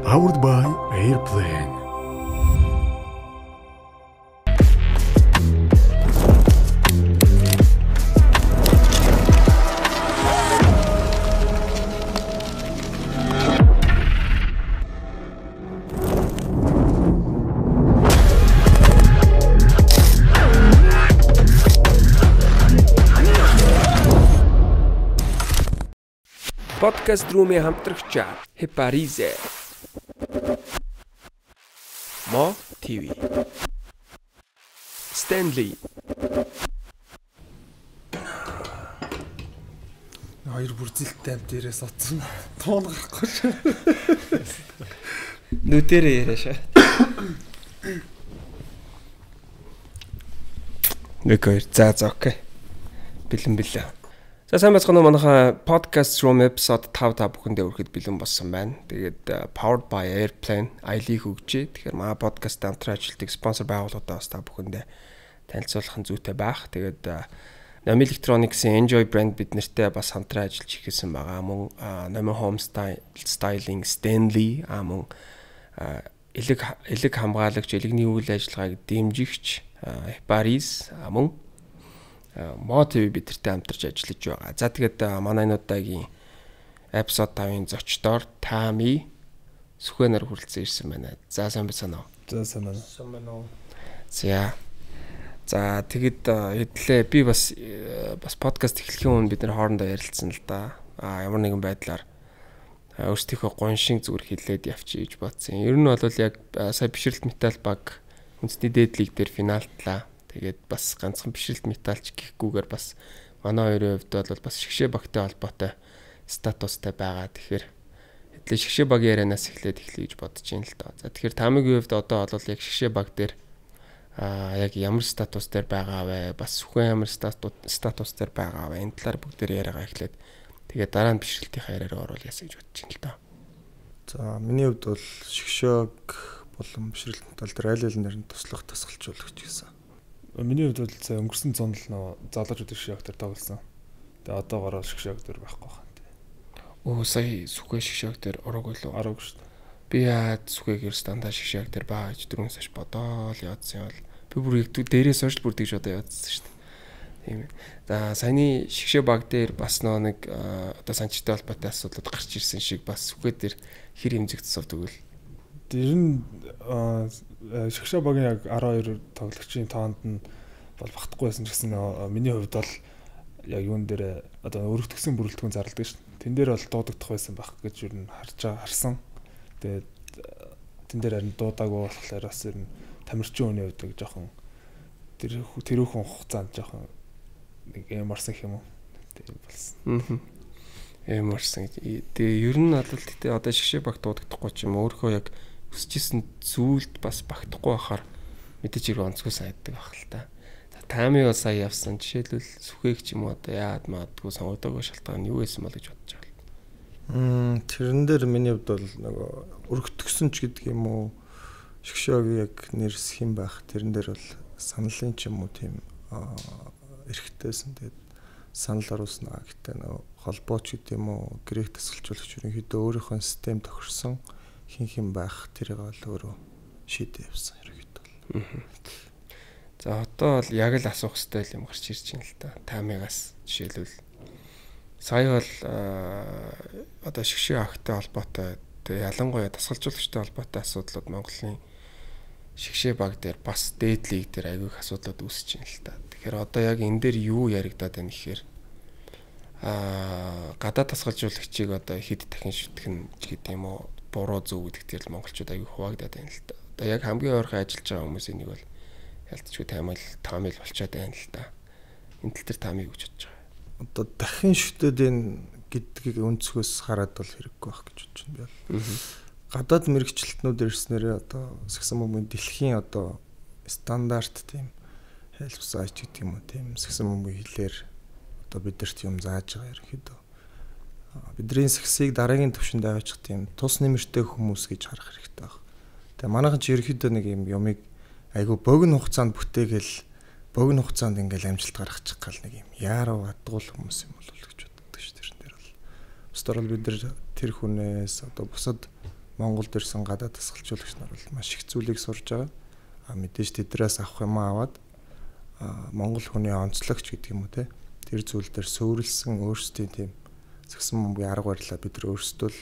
Powered by Airplane. Podcast рууми хамтрагч Хепаризе Мо ТV Стэнли Хоёр бүрзэлттэй амт дээрээс оцсон. Туун гарахгүй ш. нүдэрээ яриаш. Нэгэр за окей. Бэлэн. За сайн бацгаана уу манайха podcast room episode 5 та бүхэндээ өрэхэд бэлэн болсон байна. Тэгээд powered by Airplane айлыг хөгжээ. Тэгэхээр манай podcast хамтран ажилладаг спонсор байгууллагуудаа бас та бүхэндээ танилцуулах нь зүйтэй байх. Тэгээд Nami Electronics-ийн Enjoy брэнд бид нартэй бас хамтран ажиллаж ихсэн байгаа. Мөн Nami Home Styling Stanley мөн элэг хамгаалагч элэгний үйл ажиллагааг дэмжигч Paris мөн Мо ТV бидэртэй хамтарч ажиллаж байгаа. За тэгээд манай энэ удаагийн episode 5-ын зочдоор Тами Сүхэнээр хүрэлцэн ирсэн байна. За сайн байна уу? За сайн байна уу? За тэгэд хэдлээ би бас подкаст эхлэхийн өмнө бид нар хоорондоо ярилцсан л да. Ямар нэгэн байдлаар өөрсдийнхөө гоншин зүгээр хилээд явчих гэж бодсон. Ер нь бол яг сая бишрэлт металл баг үндэсний дээд лиг дээр финалтлаа. Тэгээд бас ганцхан бишрэлт металлч гэхгүйгээр бас манай хоёрын хувьд бол бас шгшээ багтай холбоотой статустай байгаа. Тэгэхээр хэдлээ шгшээ багийн ярианаас эхлэх гэж бодож байна л доо. За тэгэхээр Тамигийн хувьд одоо бол яг шгшээ баг дээр яг ямар статус дээр байгаа вэ? Бас Сүхэн ямар статус дээр байгаа вэ? Энэ талаар бүгдээр яриагаа эхлээд тэгээд дараа нь бишрэлтийн яриараа оруулъя гэж бодож байна л доо. За миний хувьд бол шгшөөг болон бишрэлт металл дээр аль алинаар нь туслах тасгалжуулагч гэсэн. Миний хувьд бол сая өнгөрсөн зонд л залуучууд шгшөөг дээр тоглосон. Тэгээ одоогоор шгшөөг дээр байхгүй байна. Сая Сүхэн шгшөөг дээр ороогүй л Ороогүй шүү дээ. Би яад Сүхэгээр стандарт шгшөөг дээр байгаа гэж 4 сарч бодоол явуулсан юм бол би бүр яг дээрээс хойш бүр тэгж одоо явуулсан шүү дээ. Тийм. За саяны шгшөө баг дээр бас нэг одоо санчтай холбоотой асуудлууд гарч ирсэн шиг бас Сүхэ дээр хэр хэмжигдсэн тэгвэл Тэр нь шгшөө багийн яг 12 тоглогчийн тоонд нь бол багтахгүй байсан ч гэсэн миний хувьд бол яг юун дээр одоо өргөтгсөн бүрэлдэхүүн зарладаг шүү дээ. Тэн дээр бол дуудагдах байсан байх гэж юу н харсан. Тэгээд тэн дээр харин дуудаагүй болохоор бас ер нь тамирчин хүний хувьд нэг жоохон тэрүүхэн хугацаанд жоохон нэг эмарсан юм уу. Тийм болсон. Эмарсан. Тэгээ ер нь бол тэгтээ одоо шгшээ баг дуудагдахгүй ч юм өөрөө яг өсчихсэн зүйлд бас багтахгүй байхаар мэдээж хэрэг онцгой санагддаг байх л та. Тами бас сая явсан жишээлбэл Сүхээг ч юм уу одоо яад маадгүй сонгодоогүй шалтгаан нь юу байсан бол гэж бодож байгаа. Тэрэн дээр миний хувьд бол нөгөө өргөтгсөн ч гэдэг юм уу шгшөөг яг нэрсэх юм байх. Тэрэн дээр бол саналын ч юм уу тийм эрхтэйсэн. Тэгээд санал оруулснаа гэхдээ нөгөө холбооч гэдэг юм уу грек тасгалжуулагч ерөнхийдөө өөрийнхөө систем тохирсон хин байх тэрийг бол өөрөө шийдээ явсан ерөнхийдөө бол. За одоо бол яг л асуух хэрэгтэй юм гарч ирж байна л та. Тамигаас жишээлбэл сая бол одоо шгшээ агтай холбоотой ялангуяа тасгалжуулагчтай холбоотой асуудлууд Монголын шгшээ баг дээр бас дээд лиг дээр аягүй их асуудлууд үүсэж байна л та. Тэгэхээр одоо яг энэ дээр юу яригадаад байна гэхээр гадаад тасгалжуулагчийг одоо хэд дахин шүтгэн гэдэг юм уу буруу зөв гэдэг дээр л монголчууд аягүй хуваагдаад байна л та. Одоо яг хамгийн ойрхон ажиллаж байгаа хүмүүсийн нэг бол ялцчгүй таамил болчиход байна л та. Энэ тал дээр таамиг өгч бодож байгаа. Одоо дахин шүтээд энэ гэдгийг өнцгөөс хараад бол хэрэггүй байх гэж бодож байна би бол. Гадаад мэрэгчлэлтнүүд ирснээр одоо сагсан бөмбөгийн дэлхийн одоо стандарт тийм хэлбсаач гэдэг юм уу тийм сагсан бөмбөгийн хэлээр одоо бидэрт юм зааж байгаа ерөнхийдөө. Бидний сагсыг дараагийн төвшөнд аваачих тийм тус нэмэртэй хүмүүс гэж харах хэрэгтэй байна. Тэгээ манайхан ч ерөнхийдөө нэг юм юмыг айгу богино хугацаанд бүтээгээл богино хугацаанд ингээл амжилт гаргачих гал нэг юм яаруу адгуул хүмүүс юм бол гэж боддог шүү дээ. Тэр нь бол. Бусдаар бол бид нар тэр хүнээс одоо бусад Монголд ирсэн гадаад дасгалжуулагч нар бол маш их зүйлийг сурж байгаа. Мэдээж тэдрээс авах юм аваад Монгол хүний онцлогч гэдэг юм уу те. Тэр зүйл дээр суурилсан өөрсдийн тийм згсэн бомбын арга барилаа бид нар өөрсдөө л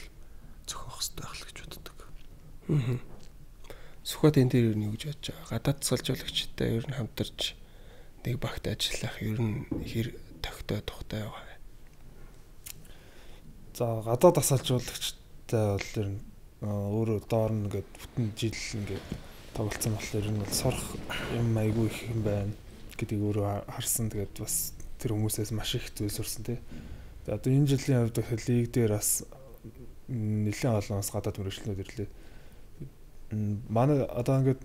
зохиох хэрэгтэй байх л гэж боддог. Сүхбат энэ дээр юу гэж бодож байгаа? Гадаад дасгалжуулагчтай ер нь хамтарч нэг багт ажиллах ер нь хэр тогтой тухтай байгаа. За гадаад дасгалжуулагчтай бол ер нь өөрөө доор нь ингээд бүтэн жил ингээд тоглолцсон болохоор ер нь бол сурах юм айгүй их юм байна гэдгийг өөрөө харсан. Тэгээд бас тэр хүмүүсээс маш их зүйл сурсан тий. Тэгээд одоо энэ жилийн хувьд лиг дээр бас нэлээд олон гадаад мөрөгчлөнүүд ирлээ. Манай одоо ингээд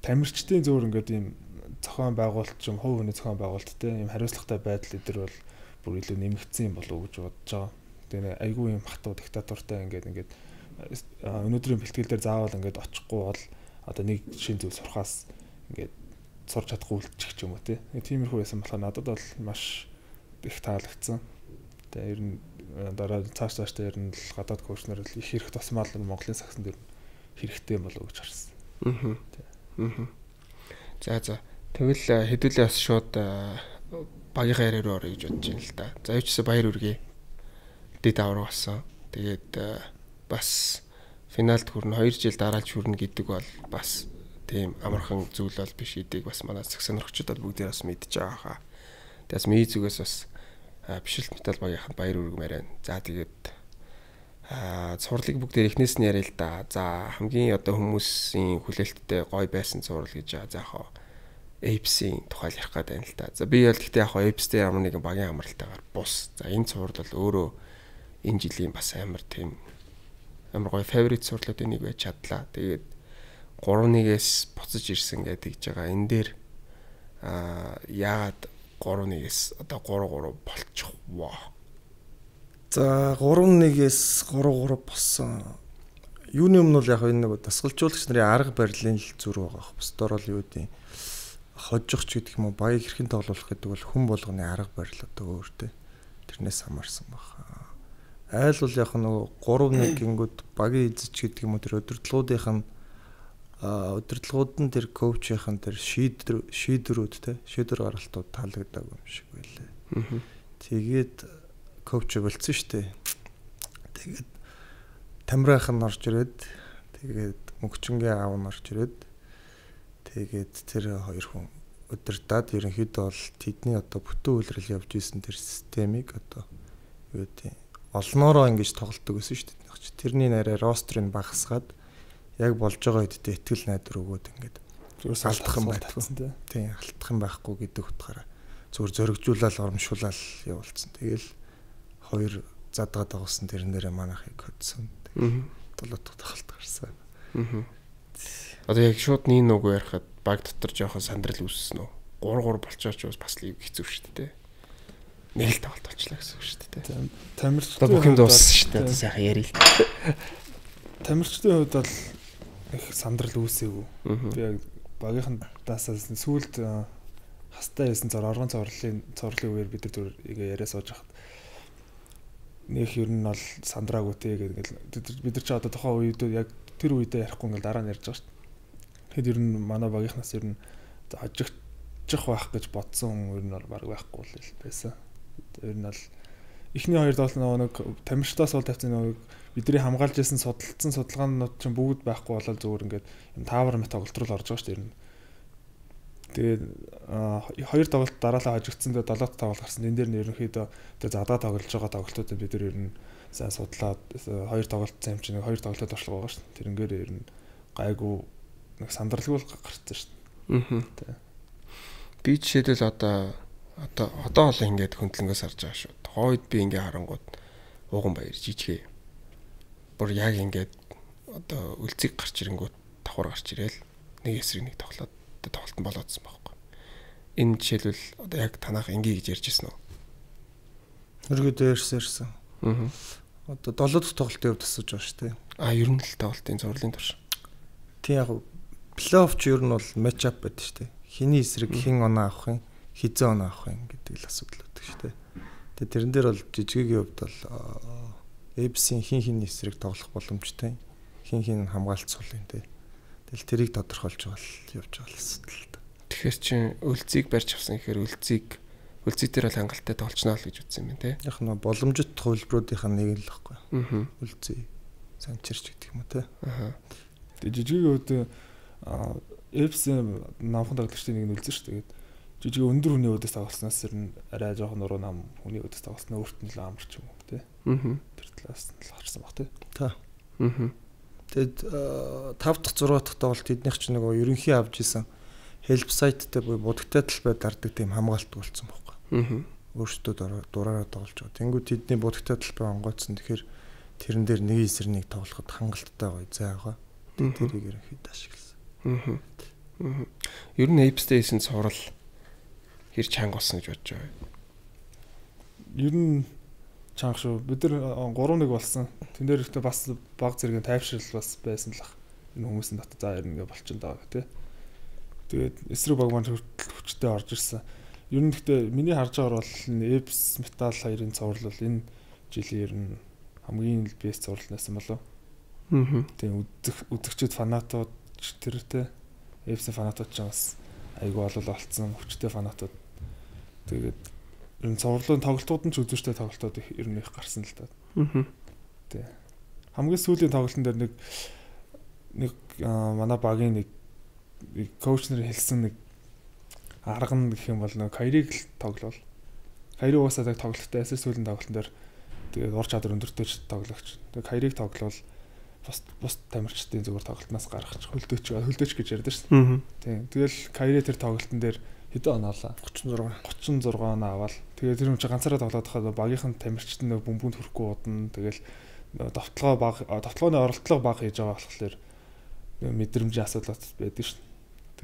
тамирчдын зөвөр ингээд ийм зохион байгуулалт юм, хувь хүний зохион байгуулалт тий ийм хариуцлагатай байдал эдэр бол бүр илүү нэмэгдсэн юм болов уу гэж бодож байгаа. Тэгээд айгүй юм хатуу диктатуртай ингээд өнөөдрийн бэлтгэл дээр заавал ингээд очихгүй бол одоо нэг шин зүйл сурахаас ингээд сурч чадахгүй үлдчих ч юм уу тиймэрхүү байсан болохоор надад бол маш их таалагдсан. Тэгээ ер нь дараа цаашдаа ер нь гадаад коучнаар их хэрэг тусмал Монголын сагсан дээр хэрэгтэй болов уу гэж харсан. За тэгвэл хэдүүлээ бас шууд багийнхаа яриа руу орё гэж бодож байна л да. За юучсаа баяр үргээ дэд авраг болсон. Тэгээд бас финалд хүрнэ 2 жил дараалж хүрнэ гэдэг бол бас тийм амархан зүйл бол биш гэдгийг бас манай цаг сонирхчдод бүгдээ бас мэдж байгаа хаа. Тэгээс ми зүгээс бас бишэлт метал багийнханд баяр үргэмээр байна. За тэгээд цувралыг бүгдээ эхнээс нь яриа л да. За хамгийн одоо хүмүүсийн хүлээлттэй гоё байсан цуврал гэж за яхаа Apes-ийн тухай ярих гээд байна л да. За би бол гэхдээ яхаа Apes-тэй ямар нэгэн багийн амралтайгаар бус. За энэ цуврал бол өөрөө энэ жилийн бас амар тийм амар гоё favorite цувралуудын нэг байж чадлаа. Тэгээд 3-1-ээс буцаж ирсэн гэдэг гэж байгаа. Энэ дээр яагаад 3-1-ээс одоо 3-3 болчих воо. За 3-1-ээс 3-3 болсон. Юуны өмнө бол яг энэ нэг дасгалжуулагч нарын арга барилын л зүр байгаа. Бусдаар бол юу гэдэг хожигч гэдэг юм уу баяг хэрхэн тоглох гэдэг бол хүн болгоны арга барил одоо өөртөө тэрнээс хамаарсан байна. Айл бол яг нөгөө 3-1 гингүүд багийн эзэж гэдэг юм уу тэр удирдлагууд нь тэр коучийн тэр шийдвэрүүд те шийдвэр гаргалтууд таалагдаагүй юм шиг байлаа. Тэгээд коуч болцсон штэ. Тэгээд Тамирах нь орж ирээд тэгээд мөнгчингийн аав нь орж ирээд тэгээд тэр хоёр хүн удирдаад ерөнхийдөө бол тэдний одоо бүтэн үйлрэл явж исэн тэр системийг одоо юу гэдэг олноороо ингэж тоглолдог гэсэн шүү дээ. Тэрний нарай рострыг багасгаад яг болж байгаа хэдтэй итгэл найдар өгөөд ингээд алдах юм байхгүй. Тийм алдах юм байхгүй гэдэг утгаараа зүгээр зөргижүүлэл оромшуулаад явуулсан. Тэгэл хоёр задгаад байгуулсан тэрэн дээрээ манайхыг хөдсөн. Толгой тоглолт гарсан. Одоо яг шууд нин нүг ярихад баг дотор жоохон сандрал үүссэн үү? 3-3 болчооч бас лиг хэцүү шүү дээ. Нэг л тоглолт болчлаа гэсэн үг шүү дээ. Тамирчдын бүх юм дууссан шүү дээ. Одоо сайхан ярил. Тамирчдын хувьд бол их сандрал үүсээгүй. Би яг багийнхандаас сүүлд хастай байсан оргон цоврлын үеэр бид нар яриа сууж хахад нэг ер нь бол сандраагүй те гэдэг бид нар ч одоо тухайн үед яг тэр үедээ ярихгүй ингээл дараа нь ярьж байгаа шүү дээ. Тэгэхэд ер нь манай багийнхнаас ер нь хожигчих байх гэж бодсон ер нь бол баг байхгүй л байсан. Ер нь бол эхний хоёр тоглолт нэг тамирчдаас бол тавьсан нэг бидний хамгаалж ирсэн судалсан судалгаанууд чинь бүгд байхгүй болол зөвөр ингээд юм таавар мэт тоглолт руу орж байгаа шүү дээ. Тэгээд хоёр тоглолт дараалал хожигдсан дээр 7 тоглолт гарсан. Энэ дээр нь ерөнхийдөө тэр задаа тоглож байгаа тоглолтуудыг бид нар ер нь сайн судлаад хоёр тоглолт зам чинь хоёр тоглолтод туршлага байгаа шүү дээ. Тэрнгээр ер нь гайгүй нэг сандралгүй гарцсан шүү дээ. Би жишээлбэл одоо л ингээд хөндлөнгөөс харж байгаа шүү. Тухайд би ингээ харангууд ууган баяр жижигэ. Бүр яг ингээд одоо үлцэг гарч ирэнгүүт давхар гарч ирээл нэг эсрэг нэг тоглолт нь болоодсан байхгүй. Энэ жишээлбэл одоо яг танах ингээ гэж ярьж ирсэн үү? Өргөдөө ярьсан. Одоо 7 дахь тоглолтын хувьд асууж байгаа шүү дээ. Ер нь л тоглолтын зурлалын турш. Тийм яг плей-офф ч ер нь бол матч ап байдаг шүү дээ. Хиний эсрэг хэн оноо авах юм, хизээ оноо авах юм гэдэг л асуудал байдаг шүү дээ. Тэгээ тэрэн дээр бол жижигийн хувьд бол Apes-ийн хин эсрэг тоглох боломжтой. хин хамгаалцуулын тий. Тэгэл тэрийг тодорхойлж байгаа л явж байгаа л асуудал л да. Тэгэхээр чи үлцийг барьж авсан гэхээр үлцийг дээр бол хангалттай тоолчноо л гэж үзсэн юм тий. Яг нь боломжит хувилбаруудынхаа нэг л байхгүй. Аа. Үлцээ санчирч гэдэг юм уу тий. Аа. Тэгээ жижигийн үед Эпсэн намхан тоглогчдын нэг нь үлдсэн шүү дээ. Жижиг өндөр хүний өдөөс тоглоснаас нь арай жоохон нуруу нам хүний өдөөс тоглосноо өөрт нь л амарч юм уу тий. Аа. Тэр талаас нь л харсан баг тий. Та. Аа. Тэгэд 5 дахь 6 дахь тоглолт эднийх чинь нөгөө ерөнхий авж исэн help site-тэй буюу будагтай талбай дардаг тийм хамгаалт болсон байхгүй. Аа. Өөрсдөө дураараа тоглож байгаа. Тэнгүүд тэдний будагтай талбай онгойцсон. Тэгэхээр тэрэн дээр нэг эсрэг нэг тоглоход хангалттай гоё зай байгаа. Тэрийг ерөнхийдөө ашигласан. Аа. Аа. Ер нь Ape-тэй цуврал хэр чанга болсон гэж бодож байгаа. Ер нь чанга шүү. Бид нар 3-1 болсон. Тэн дээр ихтэй бас баг зэргийн тайвшрал бас байсан л ах. Энэ хүмүүсийн дотор за ер нь ингээ болчихсон даа тий. Тэгээд эсрэг баг маань хүчтэй орж ирсэн. Ер нь гэхдээ миний харж байгаагаар бол Эпс Метал 2-ын цуврал бол энэ жилийн ер нь хамгийн бэст цуврал байсан болов. Аа. Тийм үзэгчд фанатууд тэр тий. Эпс фанатууд ч бас айгүй болцсон хүчтэй фанатууд. Тэгээд ер нь цувралын тоглолтууд нь ч үзүүштэй тоглолтууд ер нь их гарсан л та. Аа. Тий. Хамгийн сүүлийн тоглолтын дээр нэг манай багийн нэг коуч нар хэлсэн нэг арга нь гэх юм бол нэг Кайриг л тоглол. Кайри уусаа тоглолттой эсрэг сүүлийн тоглолтын дээр тэгээд ур чадвар өндөртэй тоглогч. Тэгээд Кайриг тоглол бус тамирчдын зүгээр тоглолтноос гаргах хөлдөөч гэж ярьдаа шүү дээ. Тийм. Тэгэл Кайри тэр тоглолтын дээр хэдэн он авлаа? 36 он аваад. Тэгээд тэр юм чи ганцаараа тоглоод хахад багийнхан тамирчид нэг бөмбөнд хүрэхгүй удна. Тэгэл товтлооны оролдлого баг хийж байгаа болохоор мэдрэмжийн асуудал байдаг шүү дээ.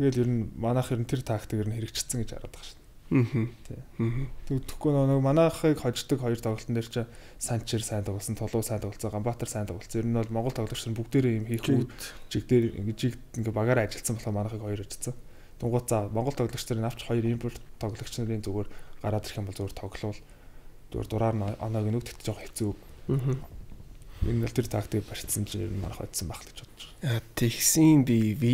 Тэгэл ер нь манайх ер нь тэр тактик ер нь хэрэгжчихсэн гэж хараад байгаа шүү дээ. Аа. Тэгвэл нэг манайхыг хождог хоёр тоглолтын дээр чи Санчир сайн тоглосон, Толуу сайн тоглосон, Ганбаатар сайн тоглосон. Ер нь бол Монгол тоглогч нар бүгдээрээ юм хийх үү жиг дээр ингээ багаараа ажилласан болохоор манайхыг хоёр ажилласан. Тунгууд за Монгол тоглогч нарын авч хоёр импорт тоглогч нарын зүгээр гараад ирэх юм бол зүгээр тоглол зүгээр дураар нь оноог нүгдэх жоох хэцүү. Аа. Энэ л тэр тактик барьцсан чинь ер нь манайх hodсон байх л гэж бодож байна. Тэгсэн BV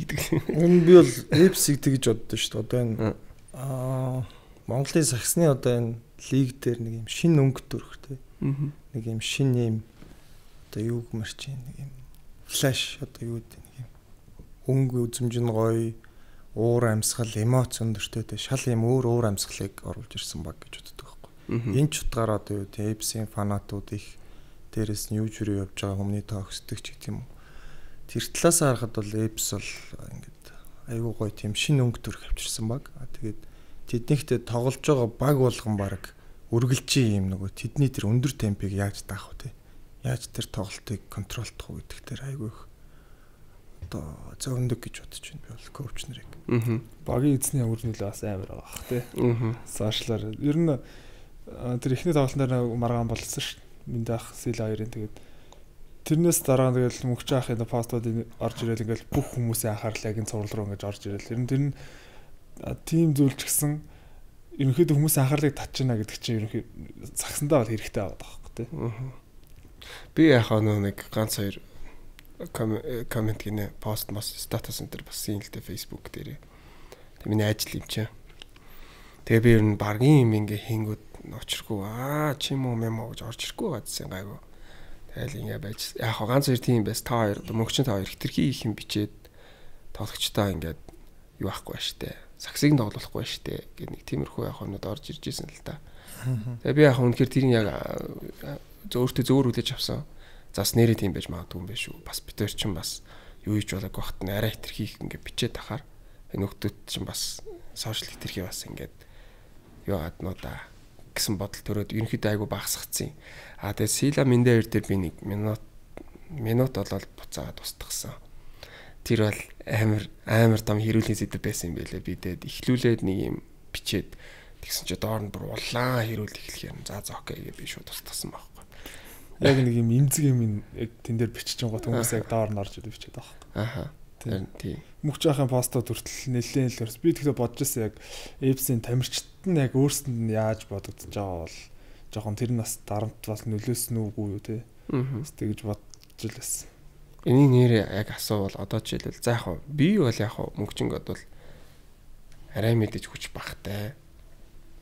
гэдэг. Энэ би бол Эпсиг тэгж боддоо шүү дээ. Одоо энэ Монголын сагсны одоо энэ лиг дээр нэг юм шин өнгө төрхтэй. Нэг юм шин юм одоо юу гэмэрч нэг юм флаш одоо юу гэдэг нэг юм өнгө үзмж нь гоё уур амьсгал эмоц өндөртэй шал юм өөр амьсгалыг оруулж ирсэн баг гэж боддог байхгүй. Энэ ч утгаараа одоо юу тийм Эпсийн фанатууд их дээрээс нь юу жирээ явж байгаа хүмүүний тоогсдөг ч гэх юм уу. Тэр талаас харахад бол Эпс бол ингээд айгүй гоё тийм шин өнгө төрх авчирсан баг. Тэгээд тэднийхтэй тоглож байгаа баг болгон баг үргэлжийн юм нөгөө тэдний тэр өндөр темпийг яаж даах вэ те. Яаж тэр тоглолтыг контролдох вэ гэдэг тэр айгүй их одоо зовндог гэж бодож байна би бол коуч нарыг. Аа. Багийн эзний өр нөлөө бас амар байгаа бах те. Аа. Сошиалар ер нь тэр ихний тоглолтоор маргаан болсон шүү дээ. Миндах сэл 2-ын тэгээд тэрнээс дараа тэгэл мөнхч ахын постууд орж ирэл ингээл бүх хүмүүсийн анхаарлыг энэ цуврал руу ингэж орж ирэл. Ер нь тэр нь тим зүйлч гисэн ерөнхийдөө хүмүүсийн анхаарлыг татчихна гэдэг чинь ерөнхий цагсандаа бол хэрэгтэй байгаа байхгүй тий. Би яхаа нэг ганц хоёр коммент гинэ пост статус энэ бас юм л дээ Facebook дээр. Тэг миний ажил юм чи. Тэгээ би ер нь баргийн юм ингээ хийнгүүд очиргүй чим юм гэж орж ирэхгүй байгаадсэн гайгүй. Тэгэл ингээ байж яг ганц хоёр тийм байс та хоёр мөнгөчин та хоёр хитрхи их юм бичээд тоглогчтой ингээд юу ахгүй штэ. Саксыг тоглохгүй штэ гэх нэг тиймэрхүү яг хонод орж ирж исэн л та. Тэгээ би яг үнэхээр тэрийг яг өөртөө зөөр үлээж авсан. Зас нэрээ тийм байж магадгүй юм биш үү. Бас битэр чинь бас юу хийж болоог багт нь арай хитрхи их ингээ бичээд тахаар энэ нөхдүүд чинь бас сошиал хитрхи бас ингээд юу гаднуудаа гэсэн бодол төрөөд ерөнхийдөө айгу багасгацсан. Тэгээ Сила Миндээр дээр би нэг минут болоод буцаагаад устгасан. Тэр бол амар том хэрүүлийн зэдэв байсан юм байлээ. Би тэгээд ихлүүлээд нэг юм бичээд тэгсэн чи доор нь бүр улаан хэрүүл эхлэх юм. За окей гэж би шууд устгасан байхгүй. Яг нэг юм имзэг юм яг тэн дээр бичиж байгаа хүмүүс яг доор нь орж ирээд бичээд байгаа. Аха. Тийм. Мөнхч ахын постод хүртэл нэлээд л би тэгэхээр бодож байсан яг Эпсийн тамирчид нь яг өөрсдөнд нь яаж бодогдож байгаа бол жоохон тэр нь бас дарамт бас нөлөөсөн үгүй юу те. Тэгэж бодож л байсан. Энийг нэр яг асуувал одоо жишээлбэл за яг би бол яг мөнгчөнгөд бол арай мэдээж хүч багтай.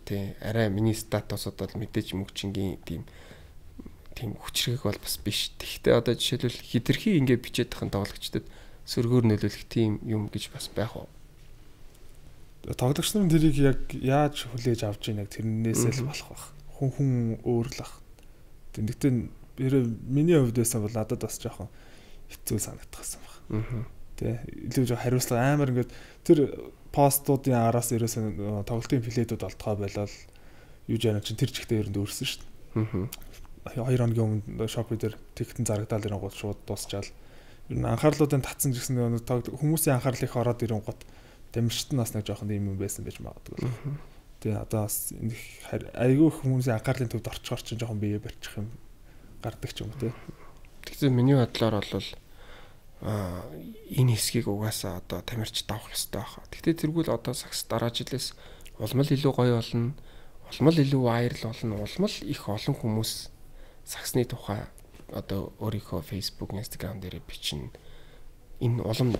Тий, арай миний статусод бол мэдээж мөнгчингийн тийм хүчрэг бол бас биш. Тэгвэл одоо жишээлбэл хитрхи ингэ бичээд тахын тоглогчдод сөргөөр нөлөөлөх тийм юм гэж бас байх уу? Тоглогч нар тэрийг яг яаж хүлээж авч ийнэ тэрнээсээ л болох байх. Хүн өөр л байх. Тэгвэл миний хувьд байсан бол надад бас жоохон хэцүү санагдчихсан баг. Тэ илүү жоо хариуцлага амар ингээд тэр постуудын араас ерөөсөө тоглолтын плейдүүд олдгоо байлаа юу жаа чинь тэр чигтээ ерөнд өөрсөн шүү дээ. 2 хоногийн өмнө шопи дээр тикетэн зарагдаад ирэнгууд шууд дуусчаал. Ер нь анхаарлуудын татсан гэсэн хүмүүсийн анхаарал их ороод ирэнгууд дамжирт нь бас нэг жоохон юм байсан байж магадгүй. Тэгээ одоо бас айгүй хүмүүсийн анхаарлын төвд орчхоор чинь жоохон бие барьчих юм гардаг ч юм уу те. Тэгсэн миний бодлоор бол энэ хэсгийг угаасаа одоо тамирч давах хэрэгтэй байна. Гэхдээ тэргүүл одоо сакс дараа жилээс улмал илүү гоё болно. Улмал илүү вайрал болно. Улмал их олон хүмүүс саксны тухай одоо өөрийнхөө Facebook, Instagram дээр бичнэ. Энэ улам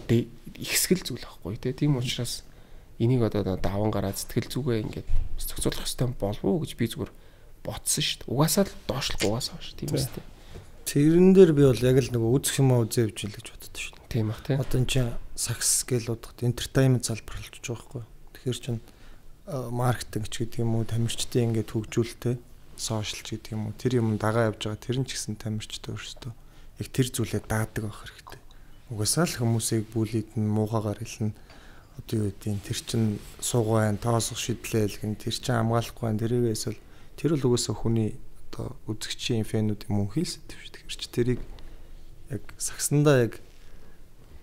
ихсгэл зүйл байхгүй тий. Тийм учраас энийг одоо даван гараад сэтгэл зүгээ ингээд зохицуулах хэрэгтэй болов уу гэж би зүгээр бодсон шүү дээ. Угаасаа л доошлох угаасаа шүү. Тийм үстэй. Тэрэн дээр би бол яг л нэг үзэх юм аа үзээ явж ил гэж боддог шүү дээ. Тийм бах тий. Одоо энэ чинь сакс гэл удахт entertainment залбар болж байгаа байхгүй. Тэгэхээр чинь маркетинг ч гэдэг юм уу, тамирчдын ингээд хөгжүүлэлтэй сошиал ч гэдэг юм уу, тэр юм дагаа явж байгаа тэр нь ч гэсэн тамирчтай өөрсдөө яг тэр зүйлээ даадаг байх хэрэгтэй. Угаасаа л хүмүүсийг бүлийд нь муугаагаар хэлнэ. Одоо юу гэдэг нь тэр чинь суугаа байна, тоосох шидлээл гэн тэр чинь хамгаалахгүй байна. Тэрийг эсвэл тэр бол угаасаа хүний одоо үзэгчийн фэнүүд юм хийсэв шүү. Тэгэхээр чи тэрийг яг сагсандаа яг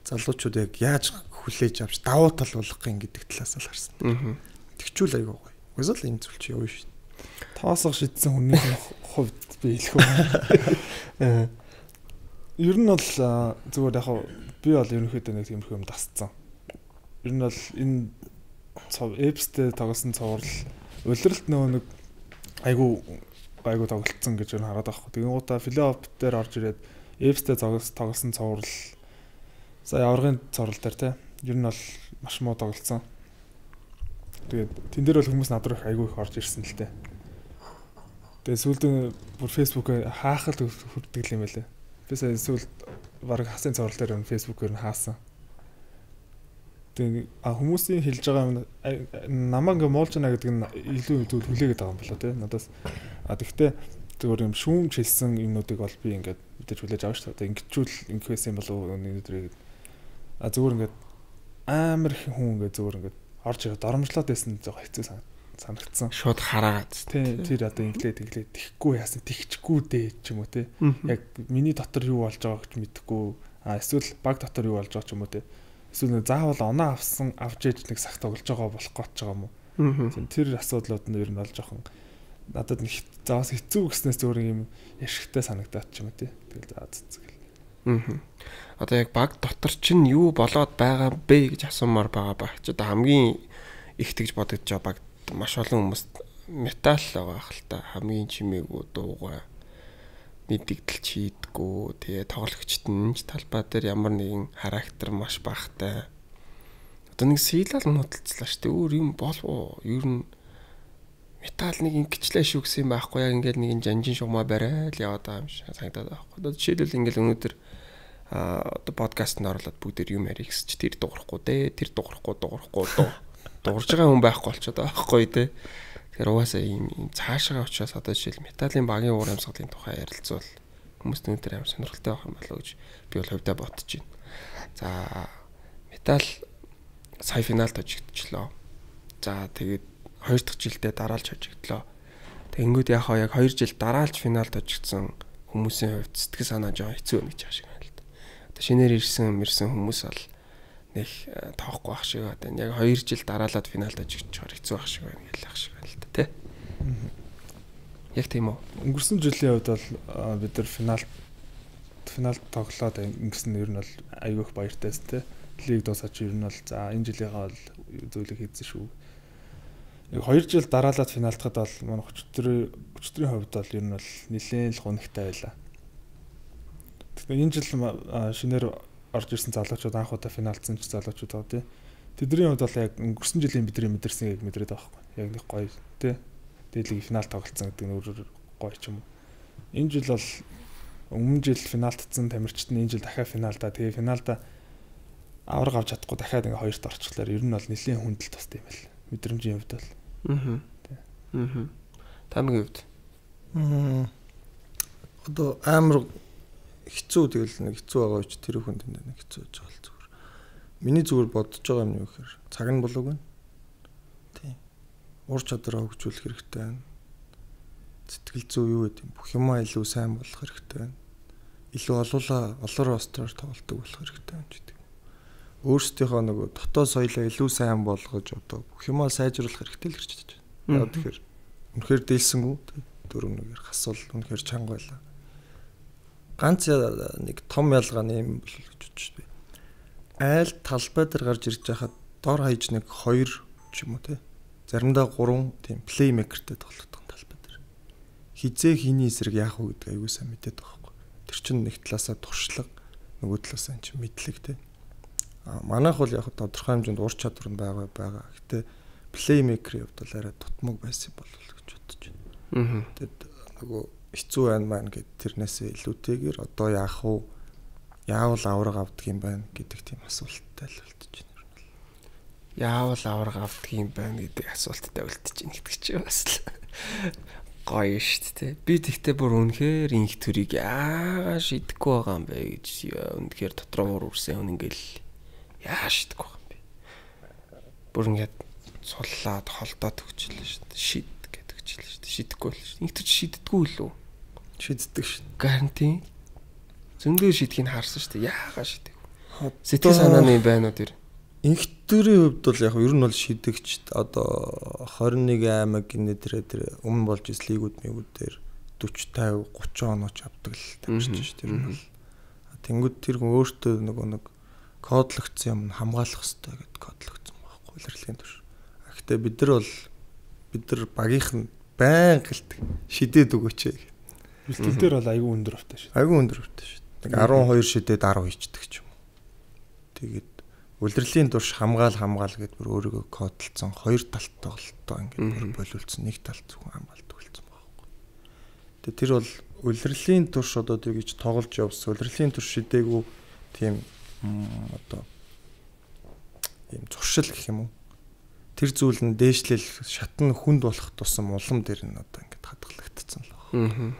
залуучууд яг яаж хүлээж авч давуу тал болгох юм гэдэг талаас нь харсан. Тэгчүүл айгүй гоё. Угаасаа л энэ зүйл чи явна шүү. Тоосох шидсэн хүний хувьд би хэлэх үү. Ер нь бол зүгээр яг би бол ерөнхийдөө нэг тиймэрхүү юм дасцсан. Ер нь бол энэ эпстэй тоглосон цуврал улиралт нэг айгу тоглолцсон гэж хараад байхгүй. Тэгэн гутаа флоп дээр орж ирээд эпстэй тоглосон цуврал сая аврагын цуврал дээр те ер нь бол маш муу тоглолцсон. Тэгээд тэн дээр бол хүмүүс над руу айгу их орж ирсэн л те. Тэгээд сүүлд бүр фэйсбүүк хаахал хүрдэг юм байлаа. Би сая сүүлд баг хасын цуврал дээр фэйсбүүкээр нь хаасан. Тэгээд хүмүүсийн хэлж байгаа намаа ингээ муулж байна гэдэг нь илүү хүлээгээд байгаа юм болоо те. Надаас тэгтээ зүгээр юм шүүмж хэлсэн юмнуудыг бол би ингээд мэдээж хүлээж авах шүү дээ. Ингэчүүл ингэхээс юм болов уу өнөөдрийг зүгээр ингээд амар их хүн ингээд зүгээр ингээд орж ирээд доромжлоод байсан зөө хэцүү санагдсан. Шууд хараад тэр одоо инглээд тихгүй яасан тихчгүй дээ ч юм уу те. Яг миний дотор юу болж байгааг ч мэдэхгүй. Эсвэл баг дотор юу болж байгаа ч юм уу те. Эсвэл заавал оноо авч ээж нэг сах тоглож байгаа болох гэж байгаа юм уу. Тэр асуудлууд нь ер нь бол жоохон надад нэг заавал хэцүү гэснээс зөөр юм яшигтай санагдаад ч юм уу те. Тэгэл заа цэцгэл. Одоо яг баг дотор чинь юу болоод байгаа бэ гэж асуумаар байгаа ба. Ч одоо хамгийн их тэгж бодож байгаа баг маш олон хүмүүс метал байгаа хэл та хамгийн чимээгүй дуугаа мэддэгдэл чийдгүү тэгээ тоглогчт нь талбай дээр ямар нэгэн характер маш багтай. Одоо нэг сийлал нуталцлаа шүү дээ. Өөр юм болов уу? Ер нь метал нэг ингэчлээ шүү гэсэн юм байхгүй яг ингээл нэг жанжин шугамаа барайл яваад байгаа юм шиг санагдаад байгаа. Одоо жишээлбэл ингээл өнөөдөр одоо подкастт оруулаад бүгдээр юм ярих гэж тэр дуурахгүй дээ. Тэр дуурахгүй дуурж байгаа хүн байхгүй болчиход байгаа байхгүй те. Тэгэхээр угаасаа ийм цаашаа учраас одоо жишээл металлын багийн уур амьсгалын тухай ярилцвал хүмүүс өнөөдөр амар сонирхолтой байх юм болоо гэж би бол хувьдаа бодож байна. За метал сая финалд хожигдчихлоо. За тэгээд 2 дахь жилдээ дараалж хожигдлоо. Тэнгүүд яг 2 жил дараалж финалд хожигдсан хүмүүсийн хувьд сэтгэл санаа жоо хэцүү байна гэж байгаа шиг байна л да. Одоо шинээр ирсэн хүмүүс бол нэг тоохгүй ах шиг одоо яг 2 жил дараалаад финалд хожигдчихоор хэцүү ах шиг байна гэх ах шиг байна л да тий. Яг тийм үү. Өнгөрсөн жилийн хувьд бол бид нар финалд тоглоод ингэсэн нь ер нь бол айгүй их баяртайс тий. Лиг дуусаач ер нь бол за энэ жилийнхаа бол зүйлийг хийсэн шүү. яг 2 жил дараалаад финалтахад бол манай өчтөрийн хувьд бол ер нь бол нэлээд л гонхтой байлаа. Тэгэхээр энэ жил шинээр орж ирсэн залуучууд анх удаа финалцсан ч залуучууд байгаа тий. Тэдний хувьд бол яг өнгөрсөн жилийн бидний мэдэрсэн яг мэдрээд байгаа байхгүй. Яг нэг гоё тий. Дээлийг финал тоглолцсон гэдэг нь өөр гоё ч юм уу. Энэ жил бол өмнө жил финалтцсан тамирчид нь энэ жил дахиад финалдаа тэгээ финалда авраг авч чадахгүй дахиад ингээ хоёрт орчихлоор ер нь бол нэлийн хүндэл тустай юм байл. Мэдрэмжийн хувьд бол. Тамгийн хувьд. Одоо амар хэцүү тэгэл нэг хэцүү байгаа ч тэр хүнд нэг хэцүү гэж байгаа л зүгээр. Миний зүгээр бодож байгаа юм юу гэхээр цаг нь болоог байна. Тийм. Ур чадвараа хөгжүүлэх хэрэгтэй байна. Сэтгэл зүй юу гэдэг юм бүх юмаа илүү сайн болгох хэрэгтэй байна. Илүү олоор ростоор тоглолтог болох хэрэгтэй байна гэдэг. Өөрсдийнхөө нөгөө дотоод соёлоо илүү сайн болгож одоо бүх юмаа сайжруулах хэрэгтэй л гэж бодож байна. Тэгэхээр үнэхээр дээлсэнгүү дөрөв нэгээр хасвал үнэхээр чанга байлаа. Ганц нэг том ялгааны юм бол гэж бодож байна. Айл талбай дээр гарч ирж байхад дор хаяж нэг 2 ч юм уу те. Заримдаа 3 тийм плеймейкертэй тоглодог талбай дээр. Хизээ хийний эсрэг яах вэ гэдэг аюу сайн мэдээд байгаа байхгүй. Тэр чинь нэг талаасаа туршлага, нөгөө талаасаа чинь мэдлэг те. Манайх бол яг тодорхой хэмжээнд ур чадвар нь байгаа. Гэтэ плеймейкерийн хувьд бол арай тутмаг байсан болов гэж бодож байна. Тэгэд нөгөө хэцүү байна маань гэд тэрнээсээ илүүтэйгээр одоо яах вэ? Яавал авраг авдаг юм байна гэдэг тийм асуулттай л үлдэж байна. Яавал авраг авдаг юм байна гэдэг асуулттай үлдэж байна гэдэг чинь бас л гоё шүү дээ. Би тэгтээ бүр үнэхээр инх төрийг яагаад шидэхгүй байгаа юм бэ гэж үнэхээр дотроо үрсэн хүн ингээл яа шидэхгүй байгаа юм бэ. Бүр ингээд суллаад холдоод өгчлээ шүү дээ. Шид гэдэг өгчлээ шүү дээ. Шидэхгүй л шүү дээ. Инх төч шиддэггүй лүү? Шиддэг шүү дээ. Гарантин. Зөндөө шидхийг харсан шүү дээ. Яагаад шидэхгүй? Сэтгэл санааны юм байна уу тэр? Инхтөрийн хувьд бол яг ер нь бол шидэгч одоо 21 аймаг гинэ тэр өмнө болж ирсэн лигүүд мэгүүдээр 40 50 30 онооч авдаг л тамирчиж шүү тэр нь бол. Тэнгүүд тэр хүн өөртөө нэг кодлогдсон юм хамгаалах хэрэгтэй гэд кодлогдсон байхгүй илэрхийлэлийн төш. Гэхдээ бид нар багийнх нь байн гэлдэг шидээд өгөөч. Бэлтгэл дээр бол айгүй өндөр автай шүү. Айгүй өндөр автай шүү. Нэг 12 шидээд 10 хийчдэг ч юм уу. Тэгээд үлрэлийн турш хамгаал гэдээ бүр өөрийгөө кодлцсон 2 талт тоглолтоо ингээд болиулсан нэг талт зөвхөн хамгаалт үлдсэн байхгүй. Тэгээд тэр бол үлрэлийн турш одоо тэгж тоглож явсан. Үлрэлийн турш шидээгүй тийм одоо ийм зуршил гэх юм уу. Тэр зүйл нь дээшлэл шатны хүнд болох тусам улам дээр нь одоо ингээд хадгалагдсан л байна.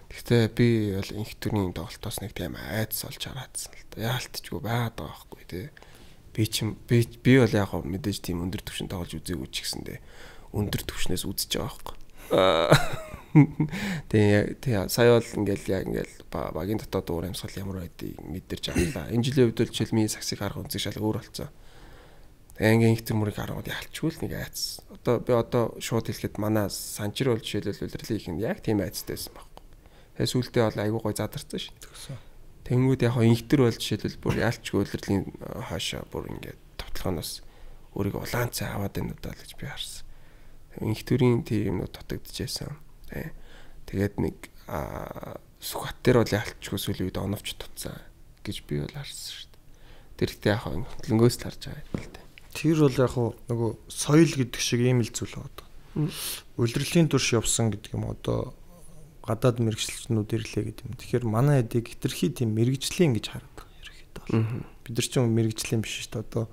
Гэхдээ би бол инх төрний тоглолтоос нэг тийм айдас олж хараадсан л да. Яалтчгүй байгаад байгаа байхгүй тий. Би бол яг мэдээж тийм өндөр түвшин тоглож үзээгүй ч гэсэндээ өндөр түвшнээс үзэж байгаа байхгүй. Тэгээ сая бол ингээл багийн дотоод уур амьсгал ямар байдгийг мэдэрч авлаа. Энэ жилийн үед бол жишээлбэл саксыг харах үнцэг шал өөр болцсон. Тэгээ инх төр мөрийг харангууд ялчгүй л нэг айц. Одоо би шууд хэлэхэд манай санчир бол жишээлбэл үлрэлийн их нь яг тийм айцтай байсан баг. Тэгээ сүултээ бол айгүй гой задарсан шин. Тэнгүүд яг инх төр бол жишээлбэл бүр ялчгүй үлрэлийн хаашаа бүр ингээд товтлохоноос өөрийгөө улаан цай аваад байна удаа л гэж би харсан. Инх төрийн тийм юмнууд дутагдчихсан. Тэгээд нэг сүхат дээр бол ялчгүй сүлийн үед оновч тутсан гэж би бол харсан шүү дээ. Тэр ихтэй яг хөдөлгөөс л харж байгаа юм л дээ. Тэр бол яг нөгөө соёл гэдэг шиг ийм л зүйл байна. Үлрэлийн турш явсан гэдэг юм одоо гадаад мэрэгчлэнүүд ирлээ гэдэг юм. Тэгэхээр манай хэдийг хитрхи тийм мэрэгжлийн гэж хараад байгаа ерөөхдөө. Бид нар ч юм мэрэгжлийн биш шүү дээ. Одоо